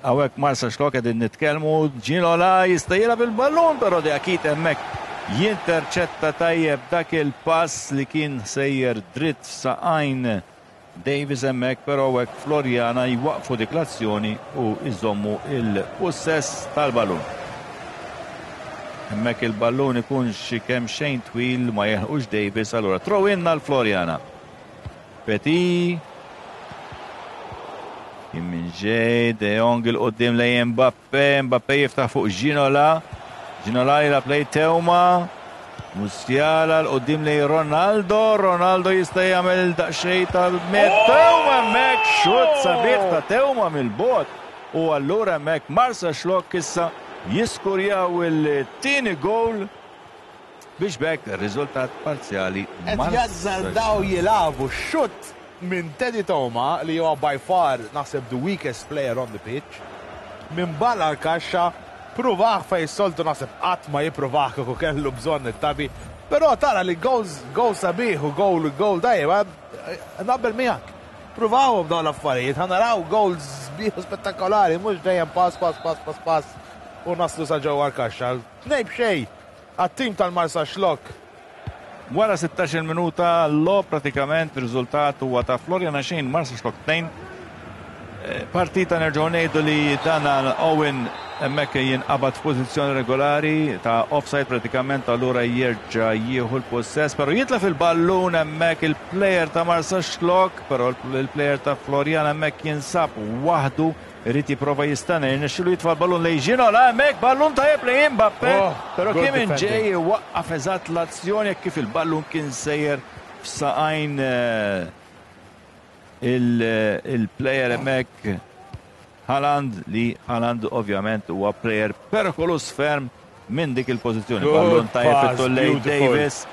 Hawnhekk Marsaxlokk qegħdin nitkellmu, Ginola jista' jilgħab il-ballun, però Diakite hemmhekk jinterċetta tajjeb dak il-pass li kien sejjer dritt saqajn Davis hemmhekk, però hekk Floriana jwaqfu dik l-azzjoni u jżommu il-possess tal-ballun. Hemmhekk il-ballun ikun xi kemm xejn twil, ma jeħux Davis, allura throw in għal Floriana. Petit kien minn ġej, De Jong 'il quddiem lej Mbappe, Mbappe jiftaħ fuq Ginola, Ginola jilgħab lej Teuma, Musiala 'l quddiem lej Ronaldo, Ronaldo jista' jagħmel daqsxejn tal-met. Teuma hemmhekk, xutt sabiħ ta' Teuma mill-bogħod. U allura hemmhekk Marsaxlokk issa jiskurjaw il-tieni goal biex b'hekk riżultat parzjali. Qed jazzardaw jilagħbu xutt minn Teddy Teuma, li huwa by far naħseb the weakest player on the pitch. Minn barra l-kaxxa. Provah fej soltu naħseb qatt ma jiprovah kieku kellu bżonn it-Tabi. Però tara li goals goal sabiħ u goal goal tajjeb, naqbel miegħek. Provawhom dawn l-affarijiet, ħa naraw goals sbieħ u spettakolari, mhux dejjem pass, pass, pass, pass, pass u naslu sa ġewwa l-kaxxa. Tnejn b'xejn għat-tim tal-Marsaxlokk. Wara sittax-il minuta logħob pratikament, riżultat huwa ta' Floriana xejn, Marsaxlokk tnejn. Eh, Partita nerġgħu ngħidu li dan Owen hemmhekk jinqabad f'pożizzjoni regolari ta' offside pratikament, allura jerġa' jieħu l-possess, però jitlef il-ballun hemmhekk il-player ta' Marsaxlokk, però il-player ta' Floriana hemmhekk jinsab waħdu, irid jipprova jistenna, jirnexxilu jitfa' l-ballun lejn Ginola hemmhekk, ballun tajjeb lejn Mbappe, Oh, però good kien defending. ġej waqqaf eżatt l-azzjoni kif il-ballun kien sejjer f'saqajn eh, il- il-player hemmhekk Haaland, li Haaland ovvjament huwa player perikolus ferm minn dik il-pożizzjoni. Good Ballun tajjeb pass, fit-tul lejn beautiful. Davis.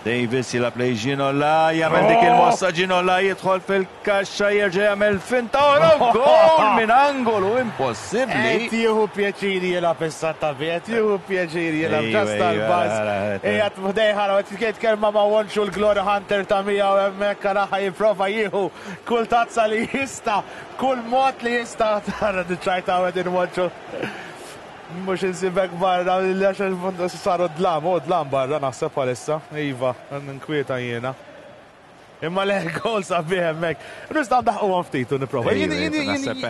Davis jilgħab lejn Ginola, jagħmel dik il-mossa Ginola, jidħol fil-kaxxa, jerġa' jagħmel finta u gol minn angolu impossibbli. Qed jieħu pjaċiri jilgħab issa Tabi, qed jieħu pjaċiri jilgħab Ejwa, ġast ejwa, tal-baż. ara, ara, Ejja ħdejħa, qed jitkellem ma' Wonxu l-Glory Hunter ta' miegħu hemmhekk araha jipprova jieħu kull tazza li jista', kull mod li jista'. Tara diċċajta qegħdin Wonxu. Mhux insibek barra, għax saru dlam, u dlam barra naħseb bħalissa. Iva, nkwieta jiena. Imma le gol sabiħ hemmhekk. Nistgħu ndaħqu għan ftit u nipprova. Jien jien jien jien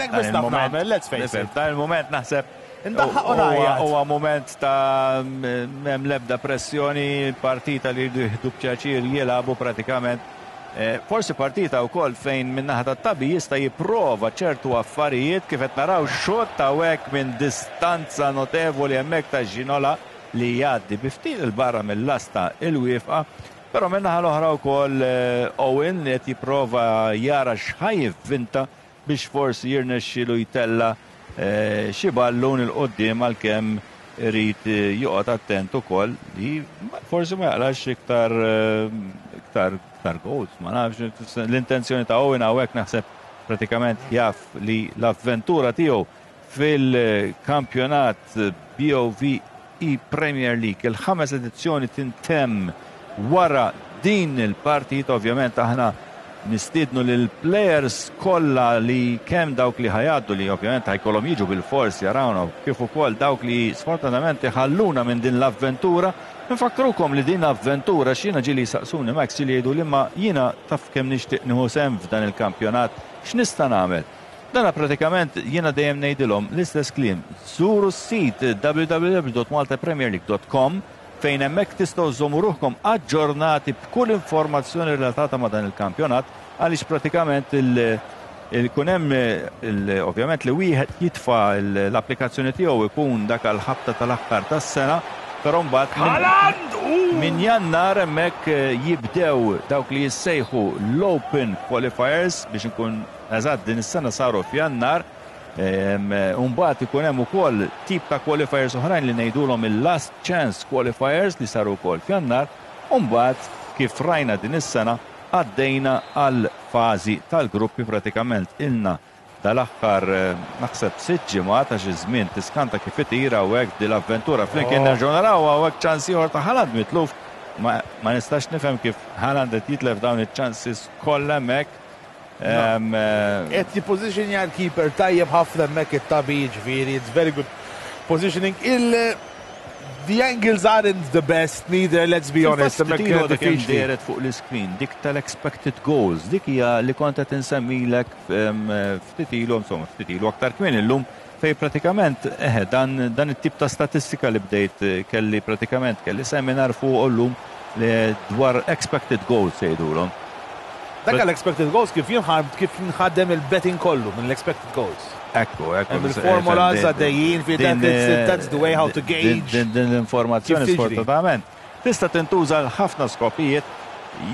hekk biss naf nagħmel, let's face it. Dan il-moment naħseb Indaħħaq u huwa- ngħajjat. Huwa moment ta' m'hemm l-ebda pressjoni, partita li jridu jieħdu b'pjaċir jilagħbu pratikament. Eh, Forsi partita wkoll fejn min-naħa tat-Tabi jista' jipprova ċertu affarijiet, kif qed naraw xot ta' hekk minn distanza notevoli hemmhekk ta' Ginola li jgħaddi bi ftit il-barra mill-lasta il-wieqfa. Però min-naħa l-oħra wkoll eh, Owen li qed jipprova jara x'ħa jivvinta biex forsi jirnexxilu jtella eh, xi ballun 'il quddiem, għalkemm irid eh, joqgħod attent ukoll li forsi ma jaqlax iktar eh, iktar iktar goals, ma nafx l-intenzjoni ta' Owen hawnhekk. Naħseb pratikament jaf li l-avventura tiegħu fil-kampjonat B O V E Premier League, il-ħames edizzjoni, tintemm wara din il-partit. Ovvjament aħna nistiednu lil players kollha, li kemm dawk li ħa jgħaddu, li ovvjament ħa jkollhom jiġu bil-fors jarawna, kif ukoll dawk li sfortunatament iħalluna minn din l-avventura. Nfakkrukom li din l-avventura, x'jiena ġieli saqsuni Max, li jgħidu li ma jiena taf kemm nixtieq nieħu sehem f'dan il-kampjonat, x'nista' nagħmel? Dana pratikament jiena dejjem ngħidilhom l-istess kliem. Żuru s-sit w w w punt maltapremierleague punt com fejn hemmhekk tistgħu żommu ruħkom aġġornati b'kull informazzjoni relatata ma' dan il-kampjonat, għaliex pratikament il- il-kun hemm il- ovvjament li wieħed jitfa' l-applikazzjoni tiegħu ikun dak għal ħabta tal-aħħar tas-sena, però mbagħad minn- minn Jannar hemmhekk eh, jibdew dawk li jissejħu l-Open Qualifiers. Biex nkun eżatt, din is-sena saru f'Jannar. Umbagħad ikun hemm ukoll tip ta' qualifiers oħrajn li ngħidulhom il-Last Chance Qualifiers li saru wkoll f'Jannar. Umbagħad, kif rajna din is-sena, għaddejna għal fażi tal-gruppi. Pratikament ilna dal-aħħar eh, naħseb sitt ġimgħat, għax iż-żmien tiskanta kif itira u hekk din l-avventura flimkien. Nerġgħu naraw hawnhekk ċans ieħor ta' Haaland mitluf. Ma, ma nistax nifhem kif Haaland qed jitlef dawn iċ-chances kollha hemmhekk. Em, eh, Qed jippożizzjonja l-keeper tajjeb ħafna hemmhekk it-Tabi, ġifieri, it's very good positioning. Il The angles aren't the best neither, let's be honest. Hemmhekk Fil-fatt dak diffiċli. dehret fuq l-screen, dik tal-expected goals, dik hija li kont qed insemmilek em, ftit ilu, insomma, ftit ilu aktar kmin illum, fej pratikament eh, dan, dan it-tip ta' statistika li bdejt eh, kelli pratikament kelli seminar fuq illum li dwar expected goals jgħidulhom. Dak għal-expected goals, kif jinħad kif jinħadem il-betting kollu minn l-expected goals. Ekku, ekku. Hemm il-formulas għaddejjin fi Din, that, that's the way how to din- gauge. Din din l-informazzjoni Kif tiġri. sfortunatament tista' tintuża għal ħafna skopijiet.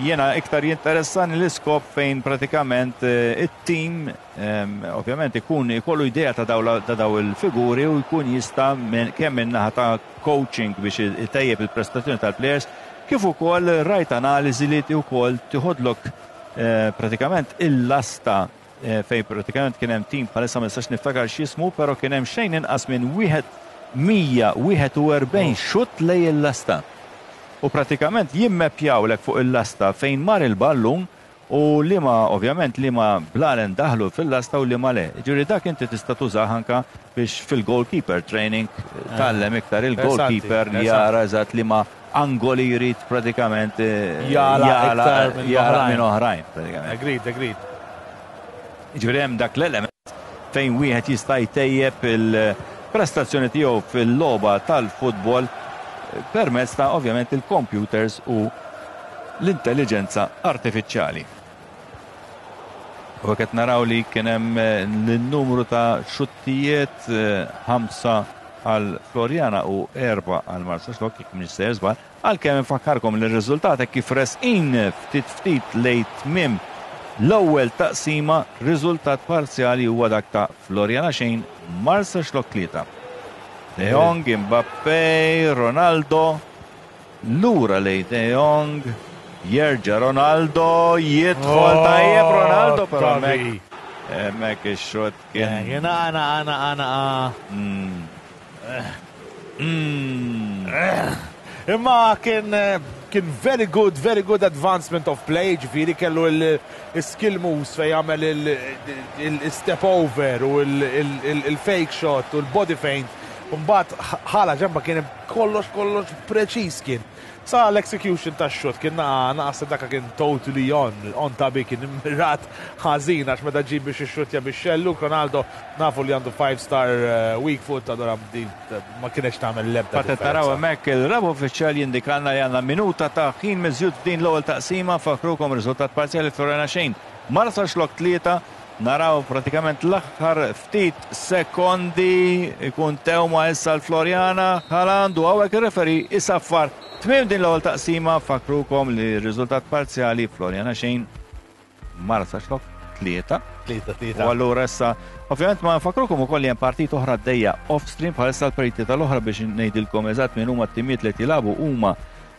Jiena iktar jinteressani l-iskop fejn pratikament eh, it-team em, ovvjament ikun ikollu idea ta' daw la- ta' daw il-figuri u jkun jista' minn- kemm minn naħa ta' coaching biex itejjeb il-prestazzjoni tal-players, kif ukoll rajt analiżi li wkoll tiħodlok eh, pratikament il-lasta eh, fejn pratikament kien hemm tim bħalissa ma nistax niftakar x'jismu, però kien hemm xejn inqas minn wieħed mija wieħed u erbgħin xutt lejn il-lasta. U pratikament jimmepjawlek fuq il-lasta fejn mar il-ballun u liema ovvjament liema blalen daħlu fil-lasta u liema le. Ġifieri dak inti tista' tużah anka biex fil-goalkeeper training tgħallem iktar il-goalkeeper Interessanti, jara eżatt liema angoli jrid pratikament eh, Jala iktar minn jala oħrajn. minn oħrajn pratikament. Agreed, agreed. Ġifieri hemm dak l-element fejn wieħed jista' jtejjeb il-prestazzjoni tiegħu fil-logħba tal-futbol eh, permezz ta' ovvjament il-computers u l-intelligenza artifiċjali. U qed naraw li kien hemm eh, l-numru ta' xuttijiet eh, ħamsa għal Floriana u erba għal Marsaxlokk, jekk m'iniex sejjer żball, għalkemm infakkarkom li r-riżultat hekk kif resqin ftit ftit lejn tmiem l-ewwel taqsima, riżultat parzjali huwa dak ta' Floriana xejn, Marsaxlokk tlieta. De Jong, Mbappé, Ronaldo, lura lejn De Jong, jerġa' Ronaldo, jidħol Oh, tajjeb Ronaldo, però Tabi. hemmhekk hemmhekk ix-xot kien. Jena għana għana għana. Mm. Mm. Imma kien eh, kien very good, very good advancement of play, ġifieri kellu il-skill moves fejn jagħmel il-step over u il-fake shot u l-body feint. Mbagħad ħala ġemba kien kollox kollox preċiż kien. Sa l-execution ta' shot kien naqa naqas daka kien totally on, on tabi kien immirat ħażin għax meta ġib biex ixxutja biex xellu, Ronaldo nafu li għandu five star eh, weak foot, allura din ma kienx tagħmel l-ebda. Fatt taraw differenza. hemmhekk il-raba' uffiċjali jindikalna li għandna minuta ta' ħin miżjud f'din l-ewwel taqsima. Fakrukom riżultat parzjali Floriana xejn, Marsaxlokk tlieta. Naraw pratikament l-aħħar ftit sekondi ikun tewma issa l-Floriana Haaland u hawnhekk ir-referee isaffar tmiem din l-ewwel taqsima. Fakrukom li r-riżultat parzjali Floriana xejn, Marsaxlokk tlieta. Tlieta, U tlieta. allura issa, ovvjament ma nfakrukom ukoll li hemm partit oħra għaddejja off-stream bħalissa. L-partiti tal-oħra biex ngħidilkom eżatt min huma t-timijiet li qed jilagħbu huma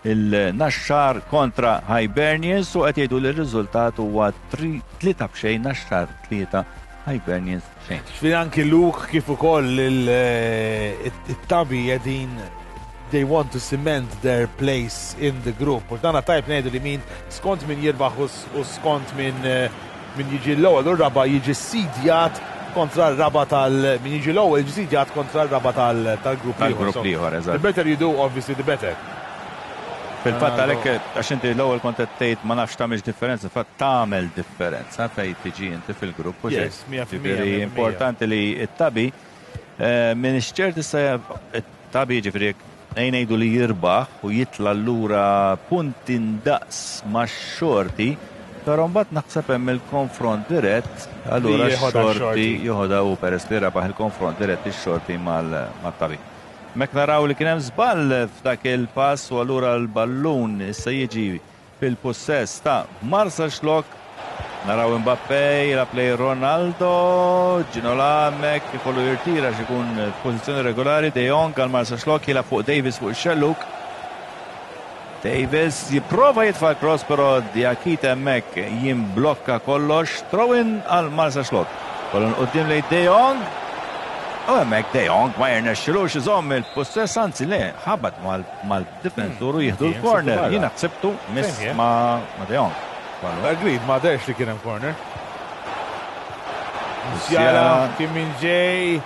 il-Naxxar kontra Hibernians u qed jgħidu li r-riżultat huwa tri- tlieta b'xejn, Naxxar tlieta, Hibernians xejn. Ġifieri anki Luke kif ukoll il-Tabi qegħdin they want to cement their place in the group. U dana tajb ngħidu li min skont min jirbaħ u s- u skont min eh, min jiġi l-ewwel u r-raba' jiġi sidjat kontra r-raba' tal min jiġi l-ewwel jiġi sidjat kontra r-raba' tal- tal-grupp Tal-grupp ieħor. So, ieħor, eżatt. the better you do, obviously, the better. Fil-fatt għalhekk għax inti l-ewwel kont qed tgħid ma nafx tagħmilx differenza, fatt tagħmel differenza fejn tiġi inti fil-grupp u Yes, xejn. mija fil-mija, Ġifieri mija fil-mija. importanti li t-Tabi eh, minn ċert issa it-Tabi ġifieri ejn ngħidu li jirbaħ u jitla lura punti ndaqs max-Xorti, però mbagħad naħseb hemm il-konfront dirett, allura Li jeħodha x-Xorti x-Xorti. joħodha u peress li rebaħ il-konfront dirett ix-Xorti mal-Tabi. Mek naraw li kien hemm żball f'dak il-pass u allura l-ballun issa jiġi fil-possess ta' Marsaxlokk. Naraw Mbappé jilgħab lejn Ronaldo, Ginola hemmhekk ikollu jirtira x'ikun f'pożizzjoni regolari. De Jong għal Marsaxlokk jilgħab fuq Davis fuq ix-xelluk. Davis jipprova jitfa' cross però Diakite hemmhekk jimblokka kollox. Throw-in għal Marsaxlokk. Ballun quddiem lejn De Jong. U hemmhekk De Jong ma jirnexxilux iżomm il-possess, anzi le, ħabat mal-difensur u jieħdu l-corner. Jiena ħsibtu miss Same here. ma' ma' De Jong. Ballun. Agreed, ma derx li kien hemm corner. Musiala. Musiala kien minn ġej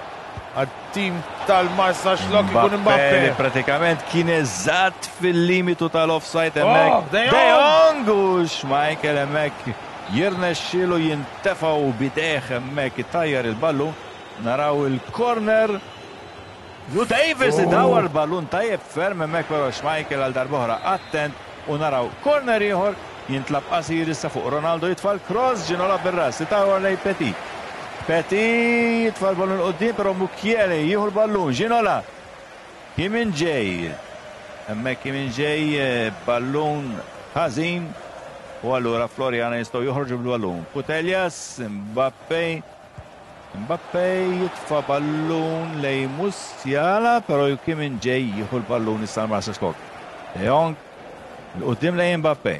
għat-tim tal-Marsaxlokk ikun Mbappé li Mbappé. pratikament kien eżatt fil-limitu tal-offside Oh, hemmhekk. De De Jong! Jong u Schmeichel hemmhekk jirnexxielu jintefgħu bidejh hemmhekk itajjar il-ballun. Naraw il-corner. Lu Davis Oh. idawar l-ballun tajjeb ferm hemmhekk però Schmeichel għal darb'oħra attent u naraw corner ieħor jintlab qasir issa fuq Ronaldo jitfa' l-cross, Ginola bir-ras itawar lejn Petit. Petit jitfa' l-ballun quddiem però Mukiele jieħu l-ballun. Ginola. Kim Min Jae. Hemmhekk Kim Min Jae eh, ballun ħażin u allura Floriana jistgħu joħorġu bil-ballun. Putellas, Mbappé. Mbappé jitfa' ballun lejn Musiala, però Kim Min Jae jieħu l-ballun issa l-Marsaxlokk. De Jong, 'l quddiem lejn Mbappé.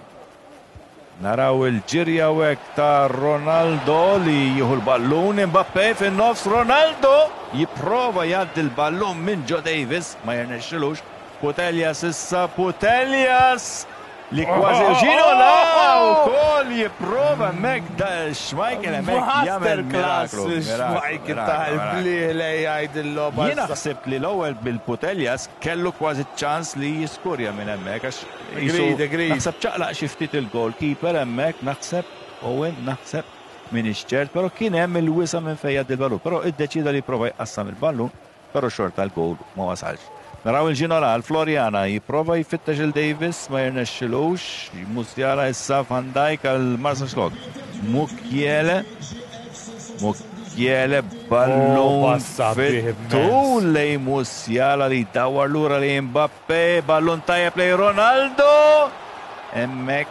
Naraw il-ġirja hekk ta' Ronaldo li jieħu l-ballun, Mbappe fin-nofs, Ronaldo jipprova jgħaddi l-ballun minn Joe Davis, ma jirnexxilux. Putellas issa, Putellas li kważi Ginola wkoll jipprova hemmhekk da Schmeichel hemmhekk jagħmel miraklu. Schmeichel ta' il-blieh jgħid il-logħba. Jiena ħsibt li l-ewwel bil-Putellas kellu kważi ċans li jiskurja minn hemmhekk għax Agreed, agreed. Naħseb ċaqlaq xi ftit il-goalkeeper hemmhekk, naħseb Owen, naħseb minn ċert, però kien hemm il-wisa minn fejn jgħaddi l-ballun, però iddeċida li jipprova jqassam il-ballun, però xorta l-goal ma wasalx. Naraw il-Ginola, Floriana jipprova jfittex il-Davis, ma jirnexxilux, Musiala issa Van Dijk għal Marsaxlokk. Mukiele, Mukiele ballun Oh, passa bih fit-tul lej Musiala li dawar lura li Mbappe, ballun tajjeb lej Ronaldo. Hemmhekk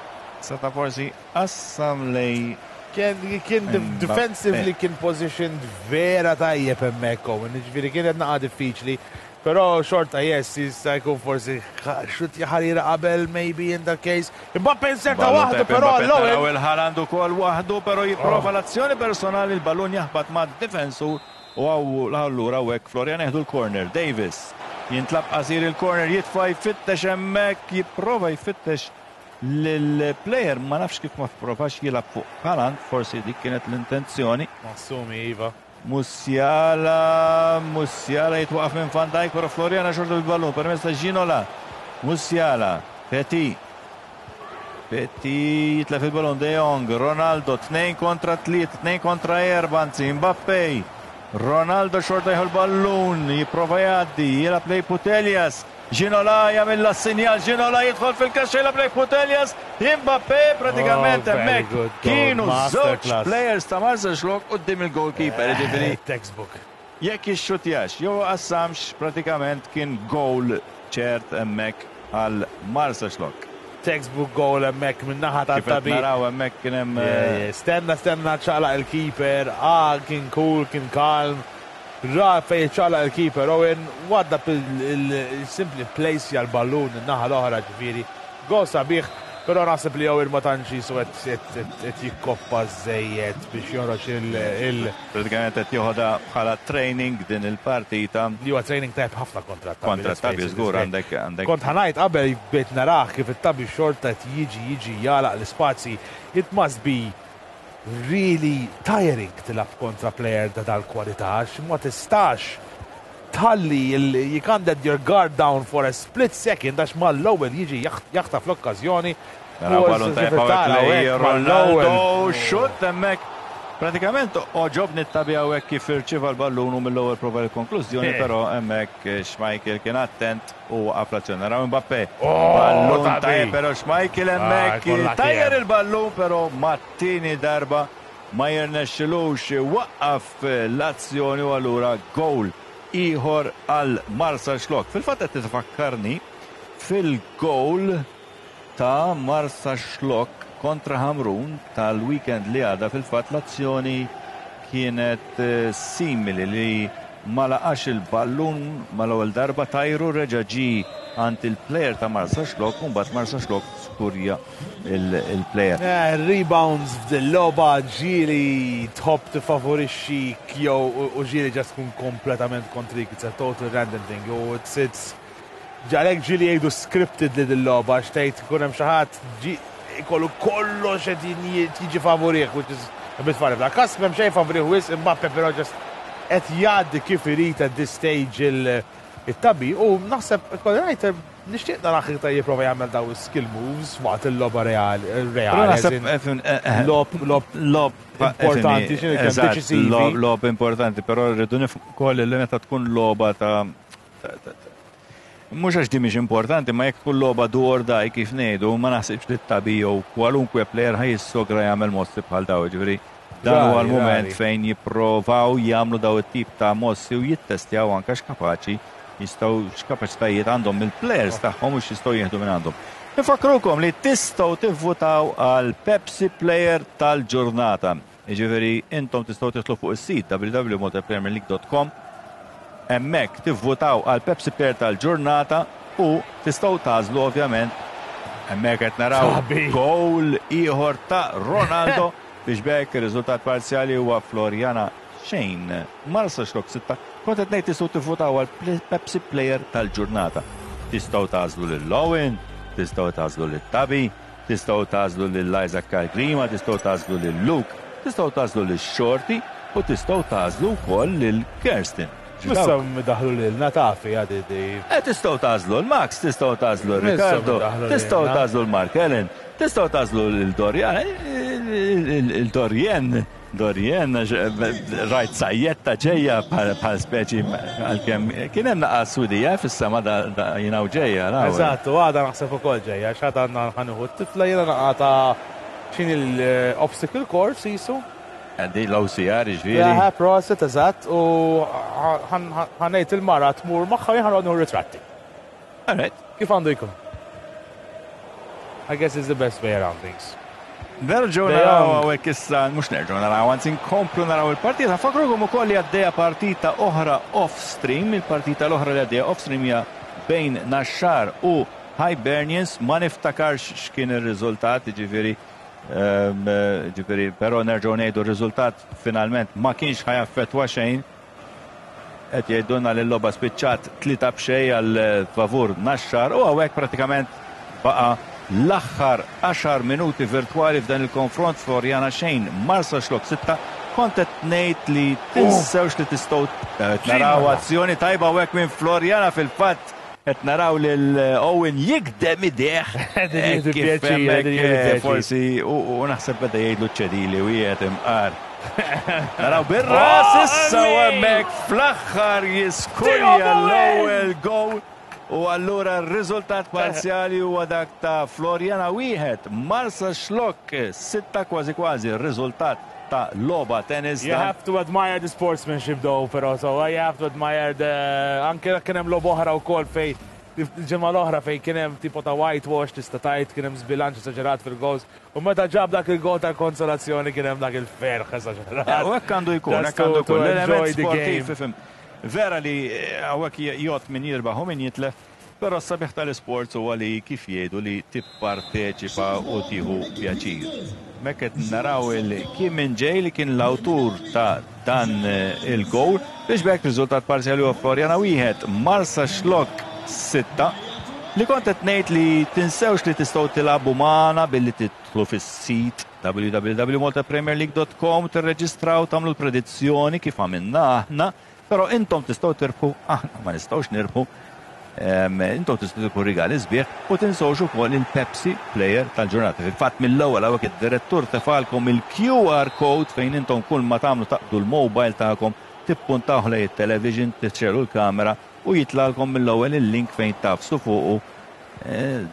seta' forsi qassam lej Kien kien Mbappe. defensively kien positioned vera tajjeb hemmhekk Owen, ġifieri kienet naqa diffiċli. Però xorta yes, jista' jkun forsi xut ħarira qabel maybe in that case. Mbappe inserta Ballun waħdu tajjeb però Mbappe, naraw l-ewwel. il-Haaland ukoll waħdu, però jipprova l-azzjoni personali, il-ballun jaħbat ma' difensur u għaw allura hekk Florian jieħdu l-corner. Davis jintlab qasir il-corner, jitfa' jfittex hemmhekk, jipprova jfittex lill-player, ma nafx kif ma provax jilgħab fuq Haaland, forsi dik kienet l-intenzjoni. Massumi, Iva. Musiala, Musiala jitwaqaf minn Van Dijk, però Floriana xorta bil-ballun, permezz ta' Ginola. Musiala, Petit. Petit jitlef il-ballun, De Jong, Ronaldo, tnejn kontra tliet, tnejn kontra erba, anzi, Mbappe. Ronaldo xorta jieħu l-ballun, jipprova jgħaddi, jilgħab lej Putellas. Ginola jagħmel sinjal, Ginola jidħol fil-kaxxa jilgħab lej Putellas. Mbappe pratikament Oh, very hemmhekk good goal. kienu żewġ Masterclass. players ta' Marsaxlokk quddiem il-goalkeeper, jiġifieri Eh, Textbook. jekk ixxutjax, jew qassamx pratikament kien goal ċert hemmhekk għal Marsaxlokk. Textbook goal hemmhekk minn naħa Kif qed tat-Tabi. naraw hemmhekk kien hemm Yeah, yeah. Stenna, stenna ċaqlaq il-keeper. Ah, kien cool, kien calm. Ra fej ċaqlaq il-keeper. Owen, wadda il-simply place l-ballun in-naħa l-oħra ġifieri. Goal sabiħ, però naħseb li Owen ma tantx jisu qed jikkoppa żejjed biex joħroġ il- pratikament qed joħodha bħala training din il-partita li huwa training tajb ħafna kontra t-Tabi. kontra let's Tabi face it, żgur it's għandek għandek Kont ħa ngħid qabel bejt narah kif it-Tabi xorta qed jiġi jiġi jalaq l-ispazji. It must be really tiring tilgħab kontra player ta' dal-kwalità għax ma tistax tħalli il- you can't let your guard down for a split second għax mal-ewwel jiġi jaħ- jaħtaf l-okkażjoni. Naraw U ballun tajjeb tara hawnhekk lej hekk mal-ewwel. Ronaldo, xutt hemmhekk. Pratikament għoġobni t-Tabi hawnhekk kif irċieva l-ballun u mill-ewwel prova l-konklużjoni, Eh. però hemmhekk Schmeichel kien attent u waqaf l-azzjoni. Naraw Mbappe. Oh, Ballun Tabi. tajjeb, però Schmeichel hemmhekk kollha tajjer kien. il-ballun, però mat-tieni darba ma jirnexxilux waqqaf l-azzjoni u allura goal ieħor għal Marsaxlokk. Fil-fatt qed tifakkarni fil-goal ta' Marsaxlokk kontra Hamrun tal-weekend li għadda. Fil-fatt l-azzjoni kienet eh, simili li ma laqax il-ballun mal-ewwel darba, tajru, reġa' ġi għand il-player ta' Marsaxlokk u mbagħad Marsaxlokk skurja il-player. Eh, Rebounds f'dil-logħba ġieli tħobb tifavorixxi jew u u ġieli ġas tkun kompletament kontrik, it's a total random thing. U it's it's ġalek ġieli jgħidu scripted li dil-logħba għax tgħid ikun hemm xi ħadd ġi ikollu kollox qed jiġi favorih, which is a bit funny. F'da kas m'hemm xejn favorih wisq Mbappe, però just qed jgħaddi kif irid at this stage il- it-Tabi u naħseb ikolli ngħid nixtieq narah iktar jipprova jagħmel daw skill moves waqt il-logħba reali Però reali. as naħseb in- eh, fin- eh, eh, Logħob logħob Logħob importanti, x'inhu kemm eżatt, deċisivi. logħob logħob importanti, però rridu nifhmu wkoll li meta tkun logħba ta' ta- ta- ta- mhux għax di mhix importanti, ma jekk tkun logħba do or die kif ngħidu, ma naħsibx li t-Tabi jew kwalunkwe player ħa jissogra jagħmel mossi bħal daw, ġifieri dan huwa Rari, l-mument rari. fejn jipprovaw jagħmlu daw it-tip ta' mossi u jittestjaw anke x'kapaċi jistgħu, x'kapaċitajiet għandhom il-players tagħhom u x'jistgħu jieħdu minn għandhom. Nifakrukom li tistgħu tivvutaw għal Pepsi Player tal-ġurnata. Jiġifieri intom tistgħu tidħlu fuq is-sit w w w punt maltapremierleague punt com, hemmhekk tivvutaw għal Pepsi Player tal-ġurnata u tistgħu tagħżlu ovvjament Hemmhekk qed naraw goal ieħor ta' Ronaldo biex b'hekk ir-riżultat parzjali huwa Floriana xejn, Marsaxlokk sitta. Kont qed ngħid tistgħu tivvutaw għal Pepsi Player tal-ġurnata. Tistgħu tagħżlu lil Owen, tistgħu tagħżlu lil Tabi, tistgħu tagħżlu lil Isaac Calgrima, tistgħu tagħżlu lil Luke, tistgħu tagħżlu lil Shorty u tistgħu tagħżlu wkoll lil Kerstin. Issa daħlu lilna tafi għadi di. Eh, tistgħu tagħżlu l-Max, tistgħu tagħżlu Ricardo, tistgħu tagħżlu l-Mark Ellen, tistgħu tagħżlu l-Dorian, il-Dorien, Dorien, rajt sajjetta ġejja bħal speċi għalkemm kien hemm naqas Swidija fis-sema jiena u ġejja. Eżatt, u għada naħseb ukoll ġejja, x'għada għandna ħanieħu t-tifla jiena naqata x'inhi l-obstacle course jisu. Għandi l-O C R ġifieri. Ja, prosit, eżatt, u ħa ngħid il-mara tmur magħha, jien ħa ritratti. Alright. Kif għandu jkun? I guess it's the best way around things. Nerġgħu naraw hawnhekk issa, mhux nerġgħu naraw, anzi nkomplu naraw il-partita. Nfakkrukom ukoll li għaddejja partita oħra off-stream, il-partita l-oħra li għaddejja off-stream hija bejn Naxxar u Hibernians, ma niftakarx x'kien ir-riżultat, ġifieri ġifieri, però nerġgħu ngħidu r-riżultat finalment ma kienx ħa jaffettwa xejn. Qed jgħidulna li l-logħba spiċċat tlieta b'xejn għal favur Naxxar u hawnhekk pratikament baqa' l-aħħar għaxar minuti virtwali f'dan il-konfront, Floriana xejn, Marsaxlokk sitta. Kont qed ngħid li tinsewx li tistgħu naraw azzjoni tajba hawnhekk minn Floriana, fil-fatt qed naraw lil Owen jikdem idejh. Kif hemmhekk forsi u naħseb beda jgħidlu ċedili u jgħid imqar. Naraw bir-ras issa u hemmhekk fl-aħħar jiskurja l-ewwel goal. U allura r-riżultat parzjali huwa dak ta' Floriana wieħed, Marsaxlokk sitta, kważi kważi r-riżultat ta' logħba tennis. You have to admire the sportsmanship though, però so you have to admire the anke kien hemm logħba oħra wkoll fej il-ġimgħa l-oħra fej kien hemm tipo ta' whitewash, tista' tgħid kien hemm żbilanċ esaġerat fil-goals u meta ġab dak il-gol tal-konsolazzjoni kien hemm dak il-ferħ esaġerat. U hekk għandu jkun, hekk għandu jkun. L-element sportiv, ifhem. Vera li hawnhekk jgħod min jirbaħ u min jitlef, però s-sabiħ tal-isports huwa li kif jgħidu li tipparteċipa u tieħu pjaċir. Hemmhekk qed naraw il-Kim Min Jae li kien l-awtur ta' dan il-goal biex b'hekk riżultat parzjali huwa Floriana wieħed, Marsaxlokk sitta. Li kont qed ngħid li tinsewx li tistgħu tilagħbu magħna billi tidħlu fis-sit w w w punt maltapremierleague punt com, tirreġistraw, tagħmlu l-predizzjoni kif għamilna aħna, però intom tistgħu tirbħu, aħna ma nistgħux nirbħu. Intom tistgħu tirbħu rigali sbieħ u tinsewx ukoll il-Pepsi Player tal-ġurnata. Fil-fatt mill-ewwel hawnhekk id-direttur tefagħlkom il-Q R code fejn intom kull ma tagħmlu taqbdu l-mobile tagħkom, tippuntaw lejn it-television, tixegħlu l-kamera u jitlagħlkom mill-ewwel il-link fejn tagħfsu fuqu.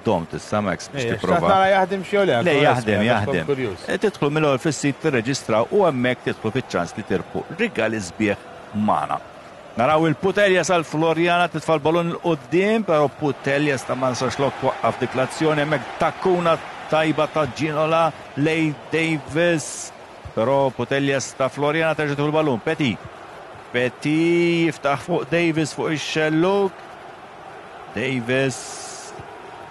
Dom tista' Max biex tipprova. Nara jaħdem xi le. Le, jaħdem, jaħdem. Tidħlu mill-ewwel fis-sit, tirreġistraw u hemmhekk tidħlu fiċ-ċans li tirbħu rigali sbieħ magħna. Naraw il-Putelja sal-Floriana titfa' l-ballon 'il quddiem, però Putelja ta' Marsaxlokk twaqqaf dik l-azzjoni. Hemmhekk takkuna tajba ta' Ginola lej Davis, però Putelja ta' Floriana terġa' l-ballon. Petit. Petit jiftaħ fuq Davis fuq ix-xelluk. Davis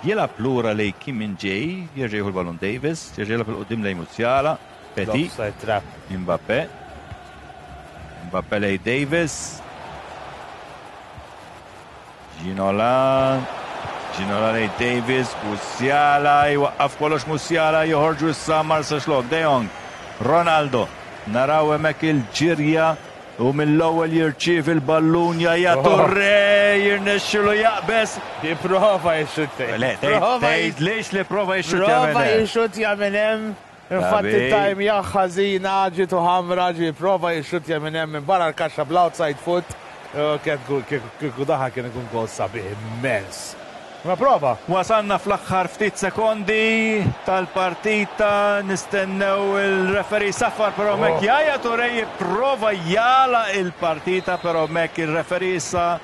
jilgħab lura lej Kim Min Jae, jerġa' jieħu l-ballon Davis, jerġa' jilgħab 'il quddiem lej Musiala. Petit. Offside trap. Mbappe. Mbappe lej Davis. Ginola. Ginola lej Davis. Musiala jwaqqaf kollox Musiala, joħorġu issa Marsaxlokk. De Jong. Ronaldo. Naraw hemmhekk il-ġirja u mill-ewwel jirċievi l-ballun Yaya Touré, jirnexxilu jaqbeż. Jipprova jixxuttja. Le, tgħid lix li prova jixxuttja Prova minn hemm. jixxuttja minn hemm. Infatti Tabi. time ħażina, ġitu ħamra, ġi prova jixxuttja minn hemm minn barra l-kaxxa bl-outside foot. Kieku daħal kien ikun gol sabiħ immens. Ma prova. Wasalna fl-aħħar ftit sekondi tal-partita, nistennew il-referee saffar, però Oh. hemmhekk Yaya Touré jipprova jagħlaq il-partita, però hemmhekk il-referee issa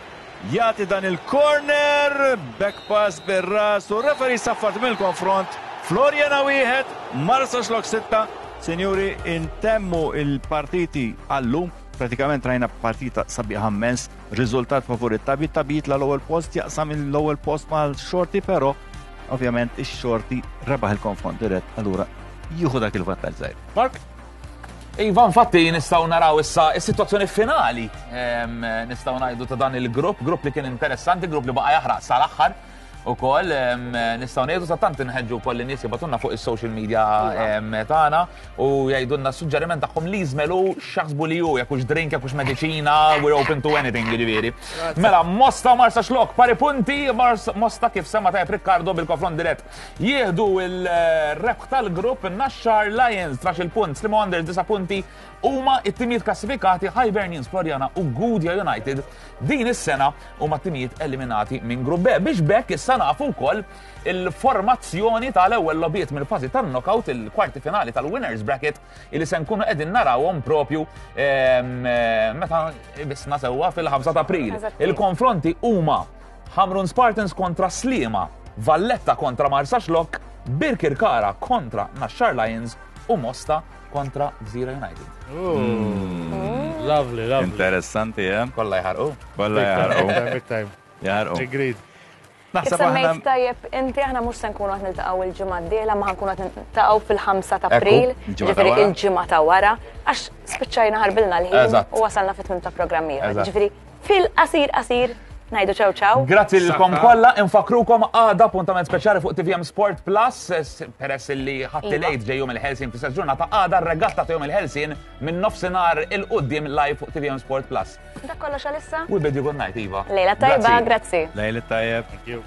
jagħti dan il-corner, back pass bir-ras u referee saffar mill-konfront. Floriana wieħed, Marsaxlokk sitta. Sinjuri, intemmu il-partiti għallum. Pratikament rajna partita sabiħa immens, riżultat favur it-Tabi, Tabi jitla l-ewwel post, jaqsam l-ewwel post mal-Xorti, però Ovvjament ix-Xorti rebaħ il-konfront dirett, allura jieħu dak il-vantaġġ żgħir. Mark? Iva, infatti nistgħu naraw issa is-sitwazzjoni finali, em, nistgħu ngħidu, ta' dan il-grupp, grupp li kien interessanti, grupp li baqa' jaħraq sal-aħħar ukoll, em, nistgħu ngħidu sa tant inħeġġu wkoll in-nies jibagħtulna fuq is-social media em, tagħna u jgħidulna suġġeriment tagħhom li jiżmelu x'jaħsbu li hu, jekk hux drink, jekk hux mediċina, we're open to anything, jiġifieri. Mela, Mosta u Marsaxlokk, pari punti, Mars- Mosta kif semma tajjeb Riccardo bil-konfront dirett. Jieħdu il-rebħ tal-grupp. Naxxar Lions, tnax-il punt, Sliema Wanderers disa' punti, huma it-timijiet klassifikati. Hibernians, Floriana u Gudja United din is-sena huma timijiet eliminati minn grupp B. Biex bekk issa nafu wkoll il-formazzjoni tal-ewwel logħbiet mill-fażi tan-knockout, il-kwarti finali tal-winners bracket, illi se nkunu qegħdin narawhom propju em, eh, meta bisna sewwa fil-ħamsa ta' April. Eżatt. Il-konfronti huma Hamrun Spartans kontra Sliema, Valletta kontra Marsaxlokk, Birkirkara kontra Naxxar Lions u Mosta kontra Gżira United. Lovely, lovely. Interessanti, eh? Kollha jħarqu. Kollha jaħarqu. Big time, big time. Jaħarqu. Agreed. Kif Naħseb aħna semmejt tajjeb inti, aħna mhux se nkunu qed niltaqgħu il-ġimgħa d-dieħla, ma ħa nkunu qed niltaqgħu fil-ħamsa ta' Ekku, April, il-ġimgħa ta' ġifieri wara. il-ġimgħa ta' wara, għax spiċċajna ħarbilna l-ħin Eżatt. u wasalna fit-tmiem ta' programm ieħor. Eżatt. Ġifieri fil-qasir qasir ngħidu ċew ċaw. Grazzi lilkom Saħħa. kollha, infakkrukom għada appuntament speċjali fuq T V M Sport Plus, s- peress li Ħadd Iva. il-Għid ġej Jum il-Ħelsien fl-istess ġurnata, għada r-regatta ta' Jum il-Ħelsien minn nofsinhar 'il quddiem live fuq T V M Sport Plus. Dak kollox għalissa? We bid you good night, Iva. Lejla tajba, grazzi. Lejla tajjeb. Thank you.